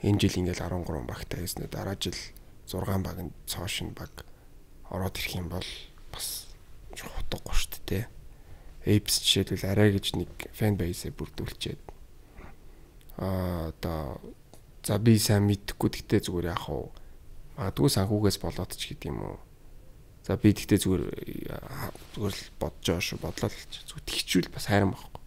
энэ жил ингээл 13 багтай хийснээр дараа жил 6 багийн цоошин баг ороод ирэх юм бол бас утгагүй шүү дээ. Apes жишээлбэл арай гэж нэг фэн бейсээ бүрдүүлчихэд одоо за би сайн мэдхгүй гэхдээ зүгээр яах вэ? Магадгүй санхүүгээс болоод ч гэдэг юм уу. За би гэхдээ зүгээр л бодож байгаа шүү. Бодлоо л зүгээр тэгчүүл бас хайран байхгүй.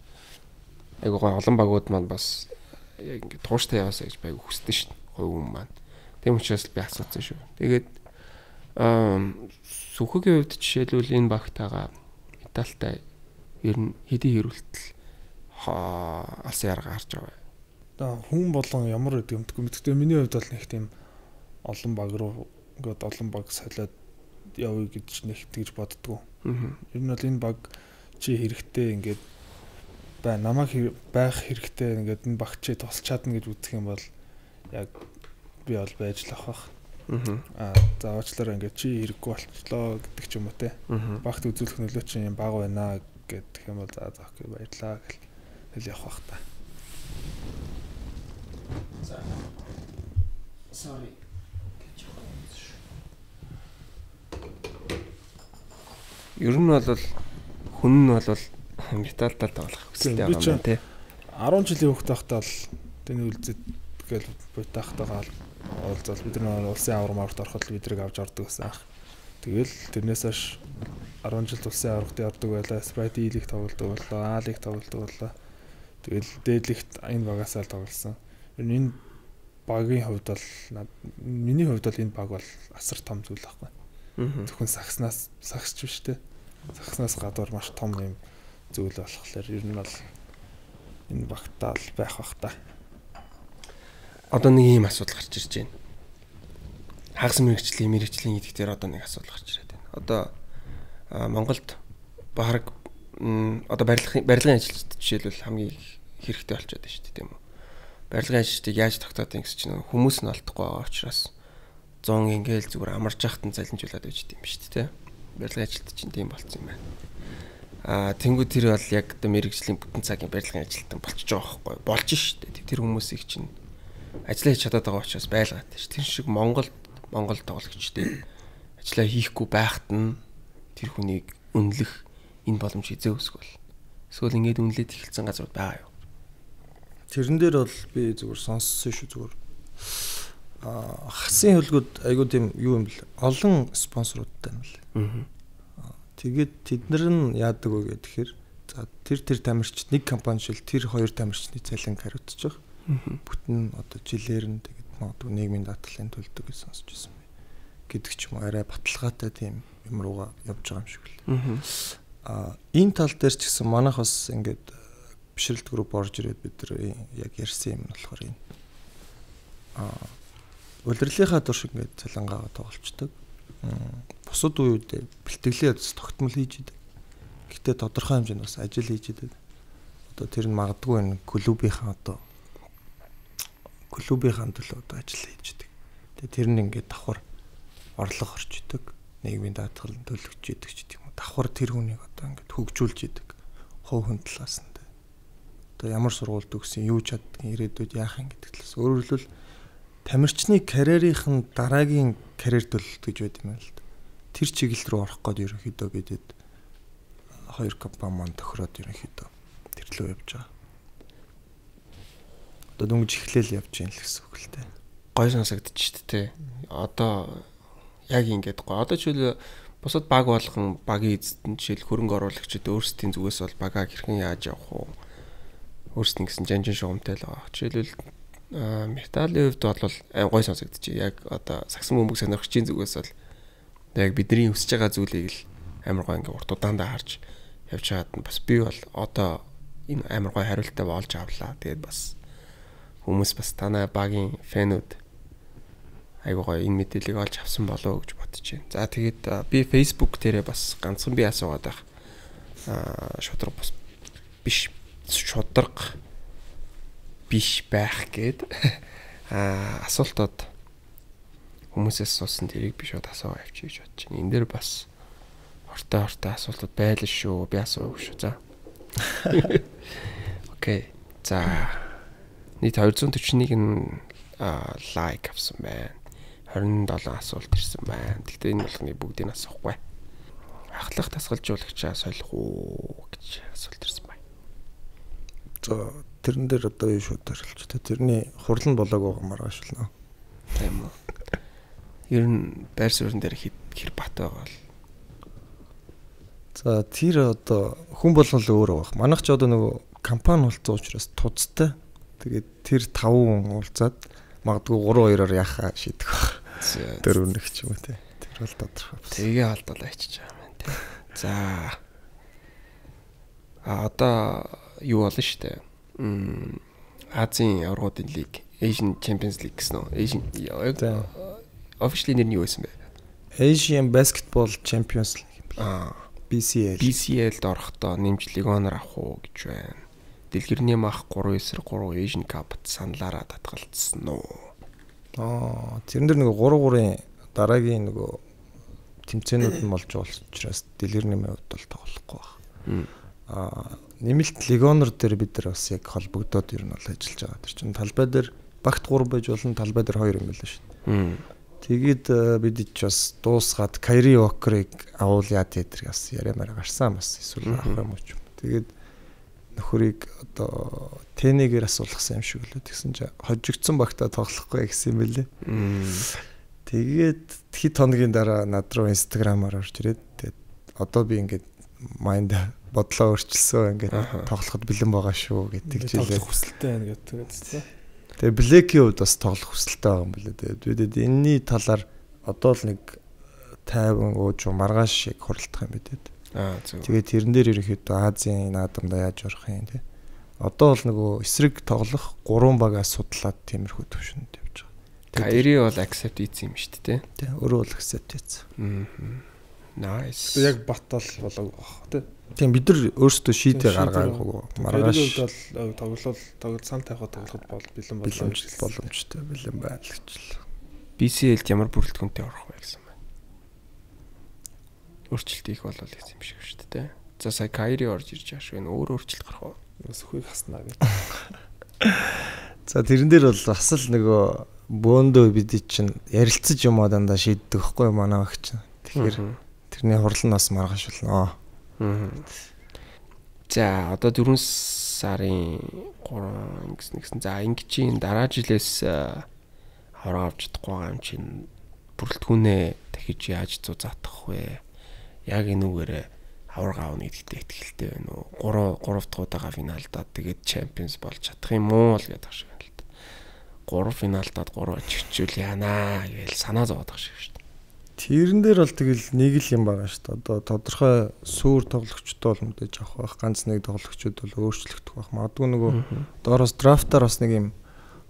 Айгуу гой олон багууд маань бас яг ингэ тууштай яваасаа гэж байг хүсдэн шүү. Хой юм маань. Тэм учраас би асуусан шүү. Тэгээд сүхэгийн хувьд жишээлбэл энэ багтайгаа металлтай ер нь хэдий хэрүүлтэл алсын арга харж байгаа. Одоо хүн болгон ямар гэдэг юм тэгвэл мэдээ миний хувьд бол нэг тийм олон баг руу ингээд олон баг солиод явъя гэж нэг тэгж боддгоо. Ер нь бол энэ баг чи хэрэгтэй ингээд намайг байх хэрэгтэй ингээд энэ баг чи тусч чадна гэж үзэх юм бол яг би бол байж л авах. За уучлаарай ингээд чи хэрэггүй болчлоо гэдэг ч юм уу те. Багт үзүүлэх нөлөө чинь юм баг байна гэдэг юм бол за окей баярлаа гэл явах та. За. Sorry. Ер нь бол хүн нь бол металлтай тоглох хүсэлтэй байгаа юм тий. 10 жилийн хүүхэд байхдаа л тэний үлзэд гээл буйтаахтайгаа уулзал бид нар улсын авармаарт ороход бидрийг авч ордог гэсэн ах. Тэгэл тэрнээс хойш 10 жил улсын аваргад ордог байлаа. Sprite E-лиг тоглодог боллоо, A-лиг тоглодог боллоо. Тэгэл дээдлэгт энэ багасаа л тоглосон. Ер нь энэ багийн хувьд бол миний хувьд бол энэ баг бол асар том зүйл байхгүй. Зөвхөн сагсч биш те. Сагснаас гадуур маш том юм зүйл болохоор ер нь бол энэ багтаа л байх бах та. Одоо нэг ийм асуудал гарч ирж байна. Хагас мэрэгчлийн гэдэг дээр одоо нэг асуудал гарч ирээд байна. Одоо Монголд баг одоо барилгын ажилчид жишээлбэл хамгийн хэрэгтэй болчиход байна шүү дээ тийм үү. Барилгын ажилчдыг яаж тогтоодгийг гэсэн чинь хүмүүс нь олдохгүй байгаа учраас 100 ингээл зүгээр амарч яхад нь залинжуулаад байж тийм шүү дээ. барилгын ажилт чинь тийм болцсон юм байна. Тэнгүү тэр бол яг одоо мэрэгжлийн бүтэн цагийн барилгын ажилтан болчихж байгаа байхгүй болж штэ. Тэр хүмүүсийг чинь ажиллаа хийж чадаад байгаа учраас байлгаад ш. Тэр шиг Монгол тоглогчдын ажиллаа хийхгүй байхад нь тэр хүнийг үнэлэх энэ боломж хизээ өсгөл. Эсвэл ингээд үнэлээд эхэлсэн газрууд байгаа юу? Тэрэн дээр бол би зүгээр сонссон шүү зүгээр. Хасын хөлгүүд айгуу тийм юу юм бэл олон спонсоруудтай юм л. Тэгээд тэд нар нь яадаг вэ гэхээр за тэр тамирчид нэг компани шил тэр хоёр тамирчны цалин хариуцж байгаа. Бүтэн одоо жилээр нь тэгээд магадгүй нийгмийн даатгалын төлдөг гэж сонсч байсан бай. Гэдэг ч юм уу арай баталгаатай тийм юм руугаа явж байгаа юм шиг л. Энэ тал дээр ч гэсэн манайх бас ингээд бишрэлт групп орж ирээд бид нар яг ярьсан юм нь болохоор энэ улирлынхаа турш ингээд цалингаа тоглолцдог. Бусад үед бэлтгэлээ тогтмол хийж идэг. Гэхдээ тодорхой хэмжээнд бас ажил хийж идэг. Одоо тэр нь магадгүй энэ клубийнхаа төлөө одоо ажил хийж идэг. Тэгээ тэр нь ингээд давхар орлого орж идэг. Нийгмийн даатгал төлөгч идэг ч гэдэг юм уу. Давхар тэр хүнийг одоо ингээд хөгжүүлж идэг. Хов хүн талаас нь. Одоо ямар сургуульд өгсөн, юу чаддгийг ирээдүйд яах юм гэдэг талаас. Өөрөөр хэлбэл тамирчны карьерийн дараагийн карьер төлөлт гэж байд юм л да. Тэр чиглэл рүү орох гээд ерөнхийдөө бидэд хоёр компани маань тохироод ерөнхийдөө тэр лөө явж байгаа. Одоо дөнгөж эхлээл явж юм л гэсэн үг л дээ. Гой сонсогдчих шүү дээ. Одоо яг ингэж гоо. Одоо жишээл бусад баг болгон багийн эзэдэн жишээл хөрөнгө оруулагчид өөрсдийн зүгээс бол багаа хэрхэн яаж явах вэ? Өөрсдийн гэсэн жанжин шугамтай л байгаа. Жишээлбэл металлын хувьд бол гой сонсогдчих. Яг одоо сагсан бөмбөг сонирхчийн зүгээс бол яг бидний өсөж байгаа зүйлийг л амар гой ингээ урт удаандаа харж явж чаад нь бас би бол одоо энэ амар гой хариултаа болж авлаа. Тэгээд бас хүмүүс бас танай багийн фэнүүд айгуу гой энэ мэдээллийг олж авсан болоо гэж бодож байна. За тэгээд би Facebook дээрээ бас ганцхан би асуугаад байх. Шудраг биш шудраг биш байх гээд асуултууд хүмүүсээс суусан тэрийг би шууд асуугаа явчих гэж бодож байна. Энд дээр бас хортой асуултууд байлаа шүү. Би асуув шүү. За. Окей. За. Нийт 241 нь лайк авсан байна. 27 асуулт ирсэн байна. Гэхдээ энэ болгоны бүгдийг асуухгүй. Ахлах тасгалжуулагчаа солих уу гэж асуулт ирсэн байна. За тэрэн дээр одоо юу шууд төрөлч тэ тэрний хурлан болоог байгаа маргаашилнаа. Тийм үү. Ер нь байр суурин дээр хэр бат байгаа бол. За тэр одоо хүн болгол өөр байх. Манайх ч одоо нөгөө компани болцсон учраас туцтай. Тэгээд тэр 5 хүн уулзаад магадгүй 3-2-оор яхаа шийдэх баг. Тэр үнэх ч юм уу те. Тэр бол тодорхой. Тэгээ алдуулаа ичиж байгаа юм те. За. Одоо юу болно штэ. Азийн аврагуудын лиг, Asian Champions League гэсэн үү? Asian officially нэр нь юу байсан бэ? Asian Basketball Champions League. BCL. BCL-д орохдоо нэмж легоноор авах уу гэж байна. Дэлгэрний мах 3 эсрэг 3 Asian Cup саналаараа татгалцсан уу? Тэрэн дээр нөгөө 3-3-ын дараагийн нөгөө тэмцээнүүд нь болж байгаа учраас дэлгэрний хувьд бол тоглохгүй байна. Нэмэлт легонор дээр бид нар бас яг холбогдоод ер нь бол ажиллаж байгаа. Тэр чинь талбай дээр багт 3 байж болно, талбай дээр 2 юм байлаа шүү дээ. Тэгээд бид ч бас дуусгаад Kyrie Walker-ыг авуулъя гэдэр бас яриамаар гарсан бас эсвэл авах юм уу ч юм. Тэгээд нөхөрийг одоо тэнэгээр асуулгасан юм шиг лээ. Тэгсэн чинь хожигдсон багтаа тоглохгүй гэсэн юм байлээ. Тэгээд хэд хоногийн дараа над руу Instagram-аар орж ирээд тэгээд одоо би ингээд майнд бодлоо өөрчилсөн ингээд тоглоход бэлэн байгаа шүү гэдэг жилээ. Тоглох хүсэлтэй байна гэдэг. Тэгээ Блэкийн хувьд бас тоглох хүсэлтэй байгаа юм билээ. Тэгээд бид энэний талаар одоо л нэг 50 ууж маргааш шиг хуралдах юм бидэд. Зөв. Тэгээд тэрэн дээр ерөнхийдөө Азийн наадамдаа яаж орох юм те. Одоо бол нөгөө эсрэг тоглох 3 багаа судлаад тиймэрхүү төвшөнд явж байгаа. Kyrie бол accept хийсэн юм шүү дээ. Тэ өөрөө л accept хийсэн. Nice. Яг батал болоог баг тий. Тийм бид нар өөрсдөө шийдээ гаргаагүй. Маргааш тоглол сан тайхад тоглоход бол бэлэн боломжтой бэлэн байна л гэж. BCL-д ямар бүрэлдэхүүнтэй орох вэ гэсэн байна. өөрчлөлт их болол гэсэн юм шиг шүү дээ. За сая Кайри орж ирж байгаа шүү. Өөр өөрчлөлт гарах уу? Бас хүйг хаснаа гэж. За тэрэн дээр бол бас л нөгөө бөөндөө бид чинь ярилцаж юм аа дандаа шийддэг байхгүй манай багч. Тэгэхээр тэрний хурал нь бас маргааш болно. За одоо 4 сарын 3 гэсэн. За ингэчийн дараа жилээс авраг авч чадахгүй байгаа юм чинь бүрэлдэхүүнээ дахиж яаж зузаатах вэ? Яг энэ үгээрээ авраг аавна гэдэгтээ ихтэй байна уу? 3 дахь удаага финалдаад тэгээд чемпионс болж чадах юм уу л гэдэг шиг байна л да. 3 финалдаад 3 очигчүүл яанаа гээл санаа зовоод байгаа шиг шүү дээ. Тэрэн дээр бол тэгэл нэг л юм байгаа шүү дээ. Одоо тодорхой суур тоглогчтой бол мэдээж авах байх. Ганц нэг тоглогчд бол өөрчлөгдөх байх. Магадгүй нөгөө доороос драфтаар бас нэг юм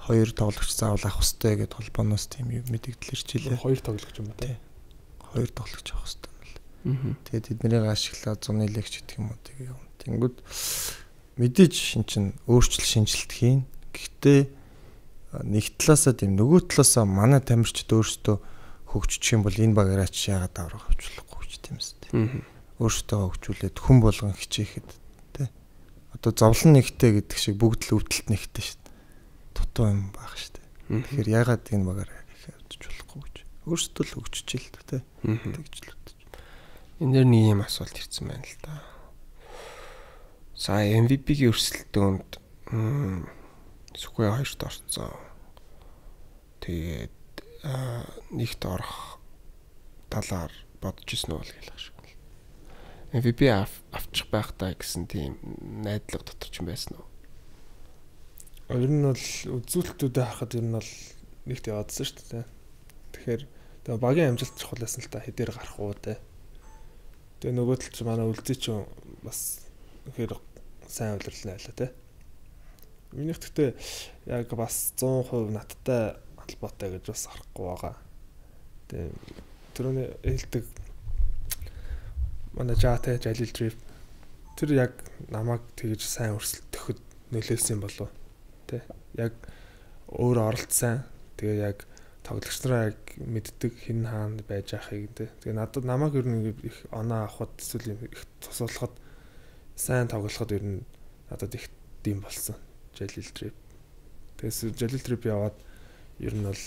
2 тоглогч заавал авах хэрэгтэй гэдээ холбооноос тийм юм мэдэгдэл ирчихлээ. 2 тоглогч юм ба тий. 2 тоглогч авах хэрэгтэй юм л. Тэгээд тэднийг ашиглаад зуны легч гэдэг юм уу тэгээ юм. Тэнгүүд мэдээж шин чин өөрчлөлт шинжилт хийн. Гэхдээ нэг талаасаа тийм нөгөө талаасаа манай тамирчид өөрсдөө хөгжчих юм бол энэ багаараа ч яагаад аврах авчлахгүй ч тийм үстэй. Өөрсдөө хөгжүүлээд хүн болгон хичээхэд тий. Одоо зовлон нэгтэй гэдэг шиг бүгд л өвдөлт нэгтэй шүү дээ. Дутуу юм баг шүү дээ. Тэгэхээр яагаад энэ багаараа хийх болохгүй гэж. Өөрсдөө л хөгжиж л тий. Тэгж л бодож. Энэ дэр нэг юм асуулт ирсэн байна л да. Сая MVP-ийн өрсөлдөөнд Сүхбай 2-т орсон. Тэгээд нэгт орох талаар бодож ирсэн үү гэж шиг. MVP авчих байхтаа гэсэн тийм найдлага дотор ч юм байсан уу? Ер нь бол үзүүлэлтүүдэд харахад ер нь бол нэгт яваадсан шүү дээ. Тэгэхээр тэгээ багийн амжилт чухал байсан л та хэдээр гарах уу те. Тэгээ нөгөө тал чи манай үлзий ч бас ихээр сайн удирлаа байлаа те. Минийх гэхдээ яг бас 100% надтай холбоотой гэж бас харахгүй байгаа. Тэгээ түрүүний хэлдэг манай Жаатай Жалил Дриф тэр яг намайг тэгж сайн өрсөлдөхөд нөлөөсөн болов тий. Яг өөр оролцсон. Тэгээ яг тоглогч нараа яг мэддэг хэн хаана байж байхыг тий. Тэгээ надад намайг ер нь их оноо авахд эсвэл их тусуулахад сайн тоглоход ер нь надад их дэм болсон. Жалил Дриф. Тэгээс Жалил Дриф яваад ер нь бол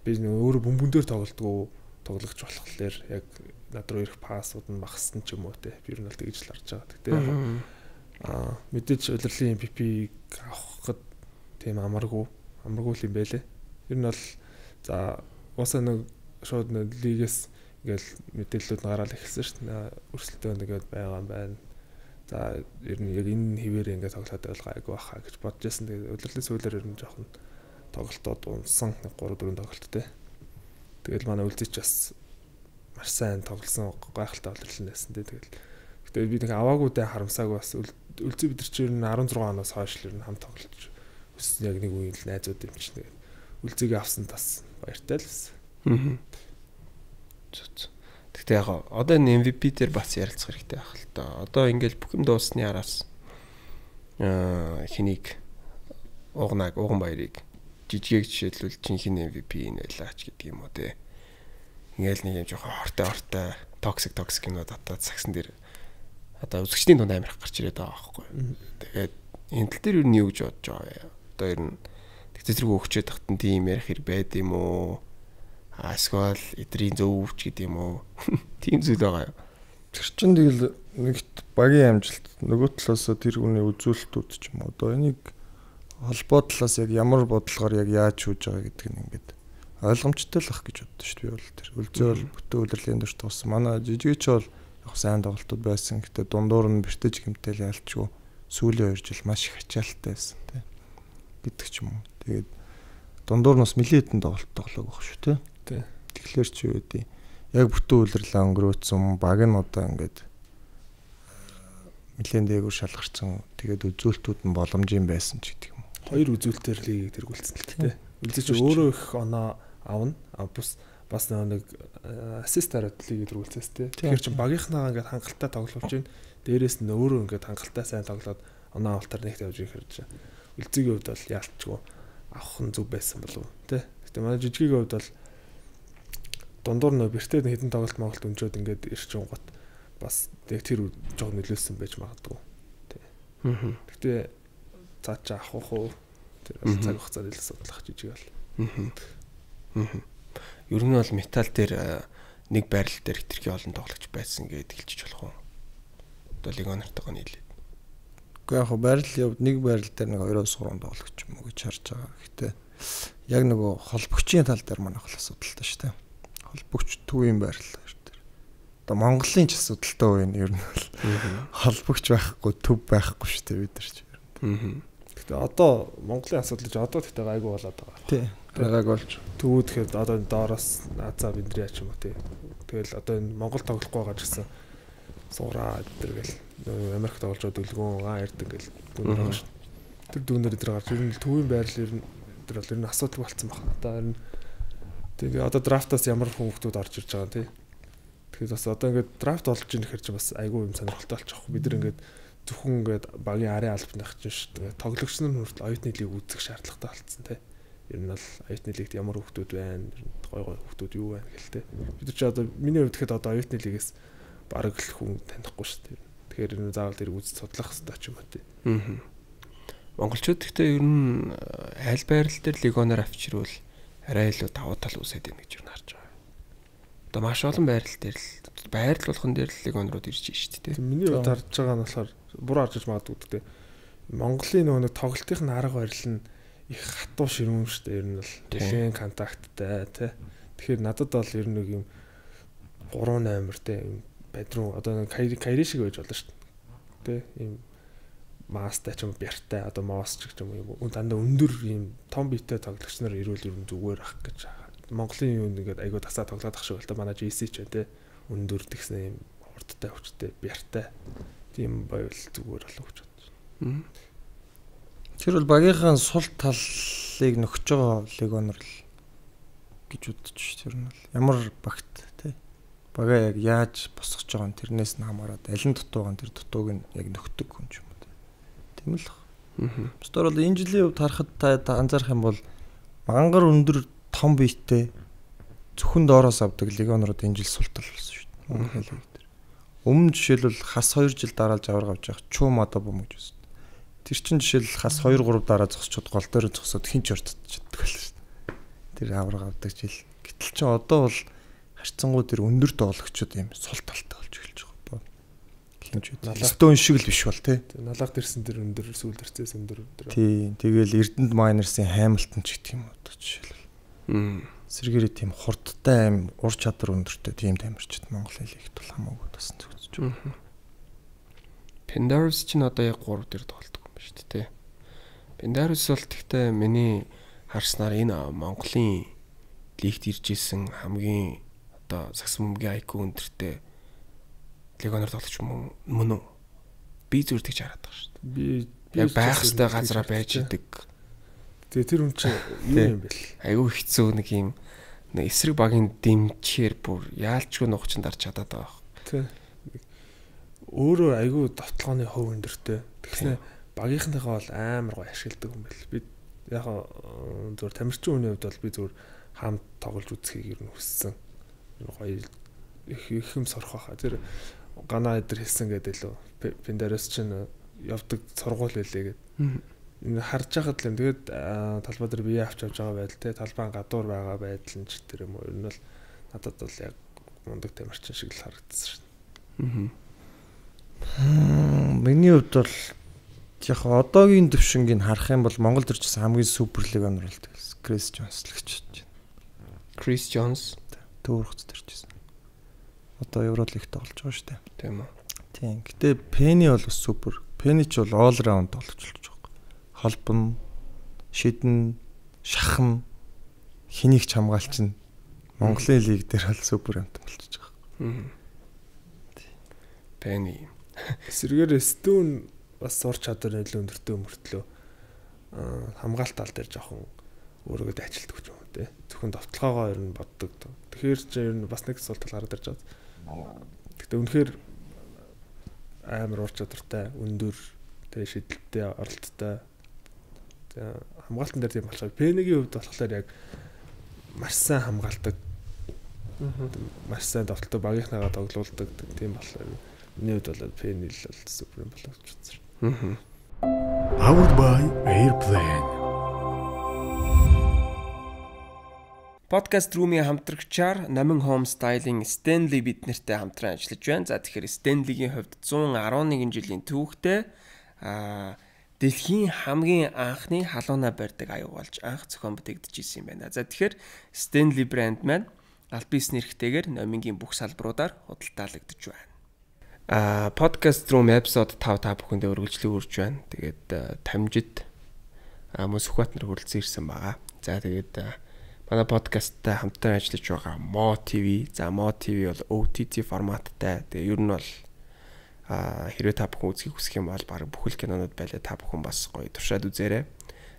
би өөрөө бөмбөн дээр тоглолтгоо тоглогч болохоор яг над руу ирэх пассууд нь багассан ч юм уу те. Би ер нь бол тэгж л харж байгаа. Тэгтээ мэдээж удирлын MVP авахд тийм амаргүй л юм байлээ. Ер нь бол за уусаа нэг шууд нэг лигээс ингээл мэдээллүүд нь гараад эхэлсэн шүү дээ. Өрсөлдөөн нэгэд байгаа юм байна. За ер нь яг энэ хിവэр ингээд тоглоод байлгаа айгу баха гэж бодож байсан. Тэгээд удирлын сүүлээр ер нь жоохон тоглолтод унсан 3-4 тоглолт те. Тэгэл манай үлзийч бас маш сайн тоглосон гайхалтай удирлын байсан те. Тэгэл би нэг аваагүйдээ харамсааг бас үлзий бид нар чи ер нь 16 оноос хойш л ер нь хамт тоглож өссөн яг нэг үеийн л найзууд юм чинь. Тэгээд үлзийгээ авсан тас баяртай л байсан. Тэгтээ яг одоо энэ MVP дээр бас ярилцах хэрэгтэй байх л та. Одоо ингээл бүх юм дуусны араас хэнийг уган баярыг жижигийг жишээлбэл чинхэнэ MVP нь байлаач гэдэг юм уу те. Ингээл нэг юм жоохон хортой токсик юмнууд татаад сагсан дээр одоо үзэгчдийн дунд амирх гарч ирээд байгаа байхгүй. Тэгээд энэ тал дээр юу нь юу гэж бодож байгаа вэ? Одоо ер нь тэгтэрэг өгчээд тахтан тийм ярих хэрэг байд юм уу? Эсвэл эдрийн зөвөвч гэдэг юм уу? Тийм зүйл байгаа юу? Тэр чин тэгэл нэгт багийн амжилт нөгөө талаас тэр хүний үзүүлэлтүүд ч юм уу. Одоо энийг холбоо талаас яг ямар бодлогоор яг яаж шүүж байгаа гэдг нь ингээд ойлгомжтой л ах гэж боддоо шүү дээ. Бол тэр үлзий бол бүтэн удирлын дөрт туссан. Манай жижигч бол яг сайн тоглолтууд байсан. Гэтэ дундуур нь бэртэж гэмтэл ялчгүй сүүлийн 2 жил маш их ачаалттай байсан тий. Гэдэг ч юм уу. Тэгээд дундуур нь бас нэлээдэн тоглоог байх шүү тий. Тэгэхээр ч юу гэдэг яг бүтэн удирлаа өнгөрөөцсөн баг нь одоо ингээд нэлээд дээгүүр шалгарсан. Тэгээд үзүүлэлтүүд нь боломжийн байсан ч гэдэг юм. 2 үзүүлэлтээр лигийг тэргүүлсэн л тий. Үлзий ч өөрөө их оноо авна. Бас нэг ассистараад лигийг тэргүүлсээс тий. Тэгэхээр чи багийнхнаа ингээд хангалттай тоглуулж байна. Дээрээс нь өөрөө ингээд хангалттай сайн тоглоод оноо авалтаар нэгт явж ирэх хэрэг. Үлзийгийн хувьд бол яалтчгүй авах нь зүг байсан болов тий. Гэтэ манай жижигийн хувьд бол дундуур нөө бэртээ хэдэн тоглолт Монголд өнжөөд ингээд ирчин гот бас яг тэр жоо нөлөөсөн байж магадгүй. Тий. Гэтэ цаачаа авах уу тэр цаг хугацаанд л судлах жижиг бол. Ер нь бол металл дээр нэг байрал дээр хэтэрхий олон тоглогч байсан гэдээ хэлчих болох уу? Одоо легионертойгоо нийлээд. Гэхдээ яг байрал явд нэг байрал дээр нэг 2-3 тоглогч юм уу гэж харж байгаа. Гэхдээ яг нөгөө холбогчийн тал дээр манайх л асуудалтай шүү дээ. Холбогч төвийн байрал дээр. Одоо Монголын ч асуудалтай байна ер нь бол. Холбогч байхгүй, төв байхгүй шүү дээ бид нар ч. Гэхдээ одоо Монголын асуудал ч одоо тэгтээ гайгүй болоод байгаа. Тий. Гайг болж. Төвүүд тэгэхээр одоо доороос Азаа Биндрия ч юм уу тий. Тэгэл одоо энэ Монгол тоглохгүй байгаа ч гэсэн сууraa гэдэргээл Америк тоглож байгаа дүлгүүн ярддаг гэл дүүнэр байгаа шүү. Тэр дүүнэр дээр гарч ер нь төвийн байрал ер нь тэр бол ер нь асуудал болцсон байна. Одоо ер нь тэгээ одоо драфтаас ямар хүмүүсүүд орж ирж байгаа тий. Тэгэхээр бас одоо ингээд драфт болж ийн гэхэр чи бас айгүй юм сонирхолтой болчих. Бид нар ингээд зөвхөн ингээд багийн арын албаных чинь шүү. Тоглогч нар хүртэл оюутны лиг үзэх шаардлагатай болцсон тий. Ер нь бол оюутны лигт ямар хүмүүс байна, гой хүмүүс юу байна гэлтэй. Бид чи одоо миний хувьд гэхэд одоо оюутны лигээс бараг л хүн танихгүй шүү дээ. Тэгэхээр энэ заавал тэр үзэж судлах хэрэгтэй ч юм уу тий. Монголчууд гэхдээ ер нь аль байрал дээр легионоор авчирвал арай илүү давуу тал үсээд байна гэж юу харж байгаа. Одоо маш олон байрал дээр л байрал болгон дээр л легионрууд ирж байна шүү дээ. Миний хувьд харж байгаа нь болохоор буруу харж магадгүй гэдэг. Монголын нөгөө тоглолтын арга барил нь их хатуу ширүүн шүү дээ. Ер нь бол дэлхийн контакттай тий. Тэгэхээр надад бол ер нь нэг юм 3 номер тий бадруу одоо кайри шиг байж болно шүү дээ. Тэ ийм мастай ч юм бяртай одоо моос ч юм уу дандаа өндөр ийм том биетэй тоглогч нар ирүүл ер нь зүгээр ах гэж Монголын юу нэгээд айгуу тасаа тоглоод ах шиг л та манай GC ч байна тэ өндөр тэгсэн ийм урдтай хүчтэй бяртай тийм байвал зүгээр болов гэж бодож. Тэр бол багийнхаа сул талыг нөхөж байгаа легионер л гэж бодож ш. Тэр нь бол ямар багт тий. Бага яг яаж босгож байгаа нь тэрнээс нь хамаарат аль нь дутуу байгаа тэр дутууг нь яг нөхдөг хүн ч юм уу. Тийм л баг. Босдор бол энэ жилийн хувьд харахад та анзаарах юм бол мангар өндөр том биетэй зөвхөн доороос авдаг легионерууд энэ жил сул тал болсон шүү дээ. Монгол хэл дээр. Өмнө жишээлбэл хас 2 жил дараалж аваар авч явах чум одоо бом гэж байна. Тэр чин жишээл хас 2 3 дараа зогсчод гол дээр зогсоод хинч ортчихдаг л шүү дээ. Тэр авраг авдаг жил. Гэтэл чи одоо бол харьцангуй тэр өндөр тоглогчдод юм сул талтай болж эхэлж байгаа. Хинч үү. Стон шиг л биш бол тий. Налах дэрсэн тэр өндөр сүүл дэрцээс өндөр. Тий. Тэгэл Эрдэнэт Майнерсын Хаймилтон ч гэх юм одоо жишээлбэл. Сэргээрээ тийм хурдтай аим ур чадвар өндөртэй тийм тамирчид Монгол хэлийг тул хамаагүй тасан зөвсөж байгаа. Pendarus ч одоо яг 3 дээр тоглодог юм байна шүү дээ. Pendarus бол тэгтээ миний харснаар энэ Монголын лигт ирж исэн хамгийн одоо сагс мөмгийн IQ өндөртэй легионер тоглогч мөн үү? Би зүгээр тэгж хараад байгаа шүү дээ. Би яг байх хэвээр газараа байж идэг. Тэгээ тэр хүн чинь юу юм бэл? Айгүй хэцүү нэг юм эсрэг багийн дэмчээр бүр яалчгүй нухчин дарж чадаад байгаа. Тий. Өөрөө айгүй довтлооны хөв өндөртэй. Тэгснэ багийнхныхаа бол амар гоё ашигладаг юм бэл. Би яг зөвхөн тамирчин хүний хувьд бол би зөвхөн хамт тоглож үзхийг ер нь хүссэн. Гоё их юм сорох байхаа. Тэр гана эдэр хэлсэн гэдэг лөө. Pendarus чинь явдаг сургууль байлээ гэдэг. Энэ харж байхад л тэгээд талбай дээр бие авч явж байгаа байдал те талбайн гадуур байгаа байдал нь ч тэр юм уу. Ер нь бол надад бол яг мундаг тамирчин шиг л харагдсан шүү дээ. Миний хувьд бол яг одоогийн төвшингийг харах юм бол Монгол төрчс хамгийн супер легионер болдог. Крис Джонс л гэж бодож байна. Крис Джонс төөрхөц төрчсэн. Одоо Евролигт тоглож байгаа шүү дээ. Тийм үү. Тийм. Гэтэ Пенни бол супер. Пенни ч бол all round тоглож байгаа. Холбон, шидэн, шахан хэнийг ч хамгаалчин Монголын лиг дээр бол супер амт болчихж байгаа. Пенни. Сэргээр Стүүн бас ур чадвар нөлөө өндөртэй мөртлөө хамгаалт тал дээр жоохон өөрийгөө дайчилдаг ч юм уу те. Зөвхөн довтлогоогоо ер нь боддог. Тэгэхээр ч ер нь бас нэг сул тал гараад ирж байгаа. Гэхдээ үнэхээр амар ур чадвартай, өндөр, тэ шидэлттэй, оролттой хамгаалтан дээр тийм болохоор Пеннигийн хувьд болохоор яг маш сайн хамгаалдаг. Маш сайн тоглолтоо багийнхнаагаа тоглуулдаг тийм болохоор миний хувьд бол Penny л супер юм болоо гэж үзсэн. Powered by Airplane. Podcast Room-ийн хамтрагчаар Номин Home Style-ийн Stanley бид нартай хамтран ажиллаж байна. За тэгэхээр Stanley-гийн хувьд 111 жилийн түүхтэй дэлхийн хамгийн анхны халууна барьдаг аюу болж анх зохион бүтээгдэж ирсэн юм байна. За тэгэхээр Stanley брэнд маань аль бисний нэрхтэйгээр Номингийн бүх салбаруудаар худалдаалагдж байна. Podcast Room episode 5 та бүхэндээ үргэлжлэн үрж байна. Тэгээд тамжид мөн Сүхбаатар хүрэлцэн ирсэн байгаа. За тэгээд манай подкасттай хамтдаа ажиллаж байгаа Mo TV. За Mo TV бол OTT форматтай. Тэгээ ер нь бол хэрвээ та бүхэн үзхийг хүсэх юм бол баг бүхэл кинонууд байлаа та бүхэн бас гоё туршаад үзээрэй.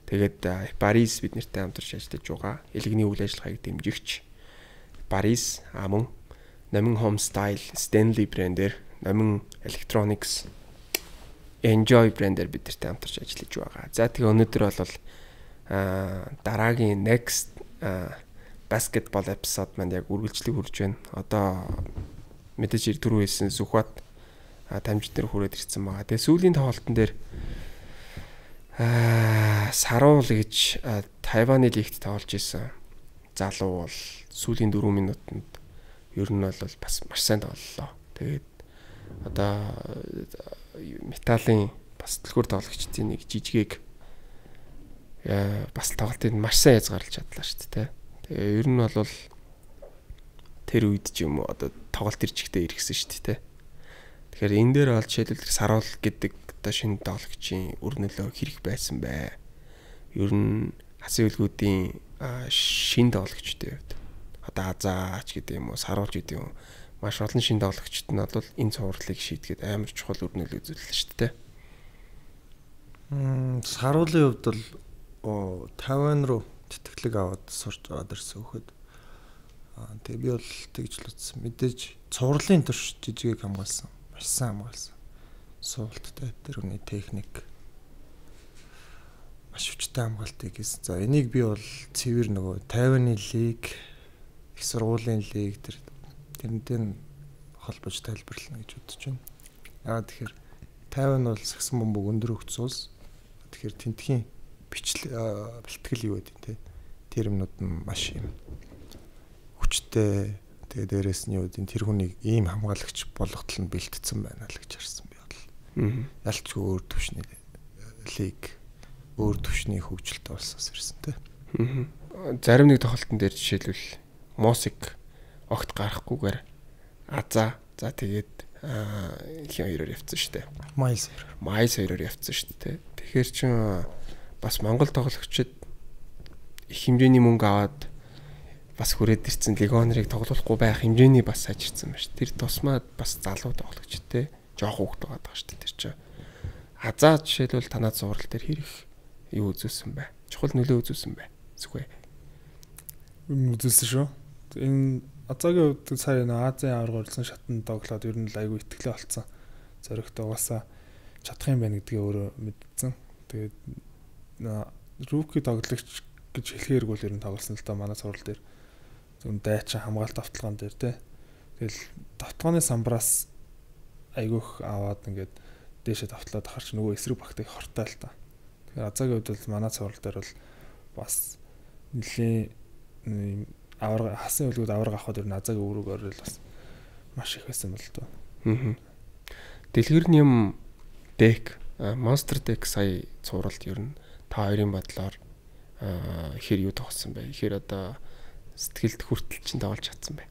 Тэгээд Paris бид нартай хамтарч ажиллаж байгаа. Элэгний үйл ажиллагааг дэмжигч Paris мөн Номин Home Style Stanley брэндээр Номин Electronics Enjoy брэндээр бид нартай хамтарч ажиллаж байгаа. За тэгээ өнөөдөр бол дараагийн next basketball episode маань яг үргэлжлэх хүрж байна. Одоо мэдээж түрүү хэлсэн Сүхбат тамжид дээр хүрээд ирсэн байгаа. Тэгээ сүүлийн тоглолтын дээр Саруул гэж Тайваны лигт тоглож исэн залуу бол сүүлийн 4 минутанд ер нь бол бас маш сайн тоглолоо. Тэгээд одоо металлын бас дэлгүүр тоглогчдын нэг жижигээг бас тоглолтыг маш сайн язгаарлаж чадлаа шүү дээ. Тэгээ ер нь бол тэр үед ч юм уу одоо тоглолт ирчгтээ иргэсэн шүү дээ. Тэгэхээр энэ дээр бол жишээлбэл Саруул гэдэг одоо шинэ тоглогчийн өрнөлөө хэрэг байсан бай. Ер нь хасын үлгүүдийн шинэ тоглогчдын хувьд одоо Азаач гэдэг юм уу Саруулж гэдэг юм маш олон шинэ тоглогчд нь бол энэ цувралыг шийдгээд амар чухал өрнөлөө үзүүллээ шүү дээ. Саруулын хувьд бол Тайван руу тэтгэлэг аваад сурч аваад ирсэн хөхөд. Тэгээ би бол тэгж л үзсэн. Мэдээж цувралын турш жижигийг хамгаалсан. Маш сайн хамгаалсан. Суулттай тэр үний техник маш хүчтэй хамгаалтыг хийсэн. За энийг би бол цэвэр нөгөө Тайваны лиг, их сургуулийн лиг тэрнтэй холбож тайлбарлана гэж бодож байна. Тэгэхээр Тайван бол сагсан бомбог өндөр хөгц улс. Тэгэхээр тентхийн бэлтгэл юу гэдэг те тэр юмнууд нь маш юм хүчтэй. Тэгээ дээрэс нь юу гэдэг тэр хүнийг ийм хамгаалагч болготол нь бэлтгэсэн байна л гэж харсан би бол. Ялчгүй өөр төвшний лиг өөр төвшний хөгжилтэй болсоос ирсэн те. Зарим нэг тоглолтын дээр жишээлбэл Мосик огт гарахгүйгээр Азаа за тэгээд хин хоёроор явцсан шүү дээ. Майс хоёроор явцсан шүү дээ. Тэгэхээр чин бас Монгол тоглогчид их хэмжээний мөнгө аваад бас хүрээд ирсэн легионерыг тоглохгүй байх хэмжээний бас сайжирсан байна шүү. Тэр тусмаа бас залуу тоглогчд те жоох хүүхд байгаа даа шүү. Тэр чинь Азаа жишээлбэл танаа зурал дээр хэрэг юу үзүүлсэн бэ? Чухал нөлөө үзүүлсэн бэ? Зүгэй. Үзүүлсэн шүү. Энэ Азаагийн хувьд сая Азийн аварга урьдсан шатанд тоглоод ер нь айгүй итгэлээ олцсон. Зоригт угаасаа чадах юм байна гэдгээ өөрөө мэдсэн. Тэгээд рүүки тоглогч гэж хэлэхээрг бол ер нь тоглосон л да манай сурал дээр. Зөв дайчин хамгаалт авталгаан дээр тий. Тэгэл давтгааны самбраас айгүйх аваад ингээд дээшээ давтлаад харч нөгөө эсрэг багтыг хортой л та. Тэгэхээр Азаагийн хувьд бол манай сурал дээр бол бас нэлийн аварга хасан үлгүүд аварга авахд ер нь Азаагийн өрөөгөөр л бас маш их байсан бол тоо. Дэлгэрний юм deck Monster Deck сая цувралд ер нь та хоёрын бодлоор ихэр юу тоглосон бэ? Ихэр одоо сэтгэлд хүртэл чинь тоглож чадсан бай.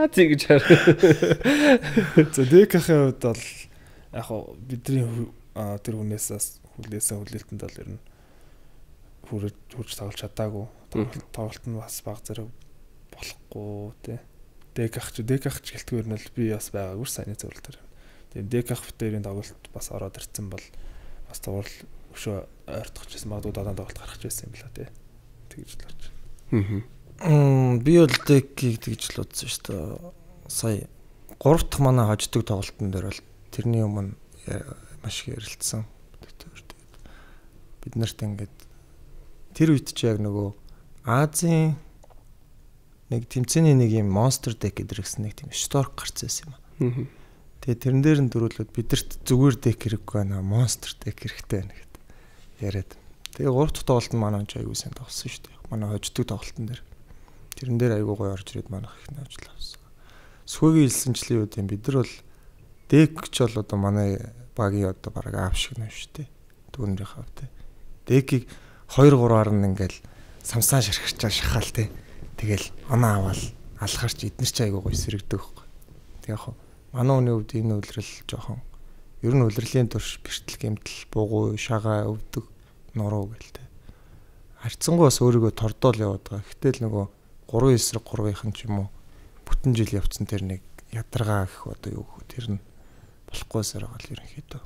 Тэгж хаа. За Deck-ийн хувьд бол яг хоо бидний тэр хүнээс хүлээлтэнд бол ер нь хурж тоглож чадаагүй. Тоглолт нь бас баг зэрэг болохгүй тий. Deck-ах ч гэлтгээр нь л би бас байгаагүй сайн зөвлөл төр. Тэгээд Deck-ах битэрийн тоглолт бас ороод ирсэн бол бас тоглол өшөө ойртохчихсан магадгүй дадаан тоглолт гарах гэсэн юм байна тий. Тэгж л болж. Би бол Deck-ийг тэгж л үзсэн шүү дээ. Сая 3 дахь манай хождог тоглолтын дээр бол тэрний өмнө маш их ярилцсан. Бид нарт ингээд тэр үед чи яг нөгөө Азийн нэг тэмцээний нэг юм monster deck гэдэг гэсэн нэг тийм stork гарцсан юм аа. Тэгээ тэрэн дээр нь дөрүүлээд бидэрт зүгээр deck хэрэггүй байна, monster deck хэрэгтэй байна гэд яриад. Тэгээ 3 дахь тоглолт нь манай ч аягүй сайн тоглосон шүү дээ. Манай хождог тоглолтын дээр. Тэрэн дээр аягүй гоё орж ирээд манайх их навжлаа авсан. Сүхөгийн хэлсэнчлийн үед бид нар бол deck ч бол одоо манай багийн одоо бараг аав шиг нэ шүү дээ. Түүнийх хав те. Deck-ийг 2-3-аар нь ингээл самсаа шархарч шахаал те. Тэгэл оноо аваад алхарч эднэр ч аягүй гоё сэрэгдэг байхгүй. Тэг яг манай хүний хувьд энэ үйлрэл жоохон ер нь үйлрэлийн турш бэртэл гэмтэл бугуй шагаа өвдөг нуруу гэлтэй. Харцсангуу бас өөрийгөө тордоол яваад байгаа. Гэтэл нөгөө 3 эсрэг 3-ын ч юм уу бүтэн жил явцсан тэр нэг ядаргаа гэх одоо юу гэх тэр нь болохгүйсээр байгаа л ерөнхийдөө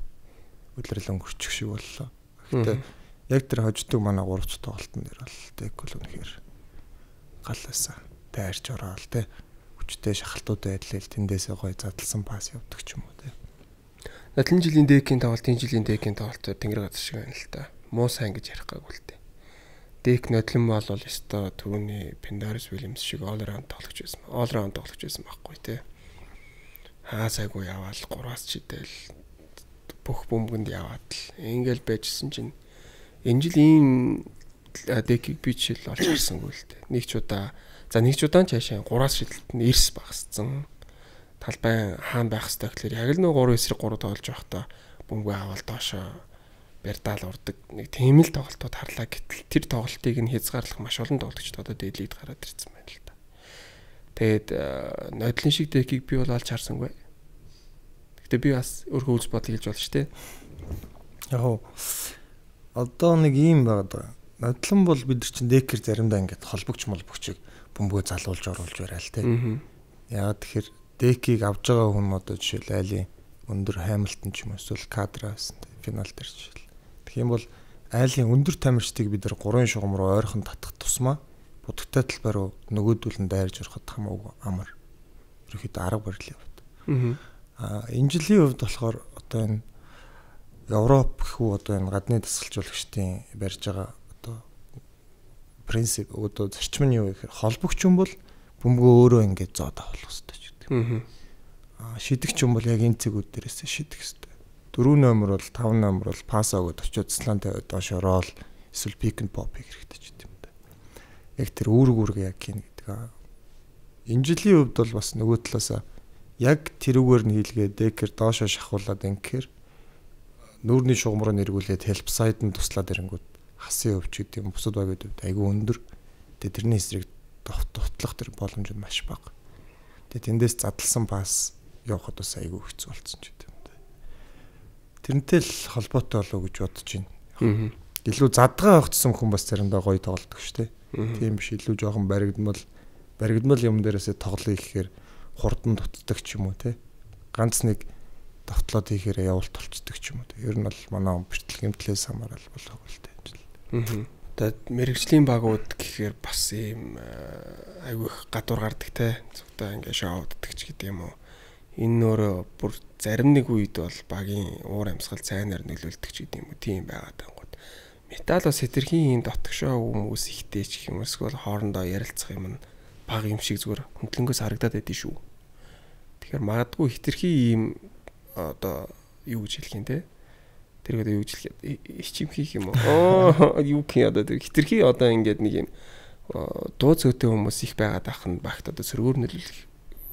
үйлрэл өнгөрчих шиг боллоо. Гэхдээ яг тэр хождог манай 3 дахь тоглолтын дээр бол тэг бол үнэхээр галаасаа тайрч ороод те хүчтэй шахалтууд байдлаа тэндээсээ гой задлсан пас явдаг ч юм уу те. Надлын жилийн декийн тоглолт, энэ жилийн декийн тоглолт тэнгэр газар шиг байна л та. Муу сайн гэж ярих гайгүй л те. Дек нодлон бол ёстой түүний Pendaris Williams шиг all round тоглож байсан. All round тоглож байсан байхгүй те. Хаасайгүй яваал 3-аас чидэл бүх бөмбөгөнд яваад л ингээл байжсэн чинь энэ жилийн декийг би ч л олж харсангүй л те. Нэг ч удаа нь цаашаа 3-аас шидэлт нь эрс багассан. Талбай хаан байх хэрэгтэй гэхээр яг л нөгөө 3 эсрэг 3 тоглож байхдаа бөмбөг аваад доошоо барьдаал урдаг нэг тийм л тоглолтууд харлаа гэтэл тэр тоглолтыг нь хязгаарлах маш олон тоглогчдод одоо дээлийд гараад ирсэн байна л да. Тэгээд нодлын шиг декийг би бол олж харсангүй. Гэтэ би бас өөрөө үз бодол хийж болж штэ. Яг одоо нэг юм байгаа. Нодлон бол бид нар чинь декер заримдаа ингээд холбогч молбогчийг бөмбөгөө залуулж оруулж барайл те. Яагаад тэгэхээр декийг авж байгаа хүн одоо жишээл айлын өндөр Hamilton ч юм уу эсвэл Kadra финал дээр жишээл. Тэгэх юм бол айлын өндөр тамирчдыг бид нар 3 шугам руу ойрхон татах тусмаа будагтай талбай руу нөгөөдүүлэн дайрж ороход хамаагүй амар. Ерөнхийдөө арга барил яваад. Энэ жилийн хувьд болохоор одоо энэ Европ гэхүү одоо энэ гадны дасгалжуулагчдын барьж байгаа одоо принцип одоо зарчим нь юу гэхээр холбогч юм бол бөмбөгөө өөрөө ингэж зоод авах хэрэгтэй ч гэдэг. Шидэгч юм бол яг энэ цэгүүд дээрээс шидэх хэрэгтэй. 4 номер бол 5 номер бол пас өгöd очиод слан тавиад доош ороол эсвэл пик н поп хэрэгтэй ч гэдэг юм да. Яг тэр үүрэг яг хийн гэдэг. Энэ жилийн хувьд бол бас нөгөө талаасаа яг тэрүүгээр нь хийлгээ декер доошоо шахуулаад ингэхээр нүүрний шугам руу нэргүүлээд help side нь туслаад ирэнгүүт хасын өвч гэдэг юм бусад багийн хувьд айгүй өндөр. Тэгээ тэрний эсрэг дутлах тэр боломж нь маш бага. Тэгээ тэндээс задлсан пас явахд бас айгүй хэцүү болсон ч гэдэг юм да. Тэрнтэй л холбоотой болов уу гэж бодож байна. Илүү задгаа огцсон хүн бас заримдаа гоё тоглодог шүү дээ. Тийм биш илүү жоохон баригдмал юм дээрээсээ тоглоё гэхээр хурдан дутдаг ч юм уу те. Ганц нэг давтлоод хийхээр явуулт толцдог ч юм уу. Ер нь бол манай бэртэл гэмтлээс хамаарал болох л дээ. Тэгээд мэрэгжлийн багууд гэхээр бас ийм айгүй их гадуур гардаг те. Зөвхөн ингээ шоуддаг ч гэдэг юм уу. Энэ нөрөө бүр зарим нэг үед бол багийн уур амьсгал цайнаар нөлөөлдөг ч гэдэг юм уу. Тийм байгаад ангууд. Метал бас хэтэрхийн дотгошоо хүмүүс ихтэй ч гэх юм эсвэл хоорондоо ярилцах юм баг юм шиг зүгээр хөндлөнгөөс харагдаад байдгийн шүү. Тэгэхээр магадгүй хэтэрхий ийм одоо юу гэж хэлэх юм те. Тэр одоо юу гэж хэлэх ичим хийх юм уу? Юу гэх одоо тэр хэтэрхий одоо ингээд нэг юм дуу цөөтэй хүмүүс их байгаад ах нь багт одоо сөргөөр нөлөөлөх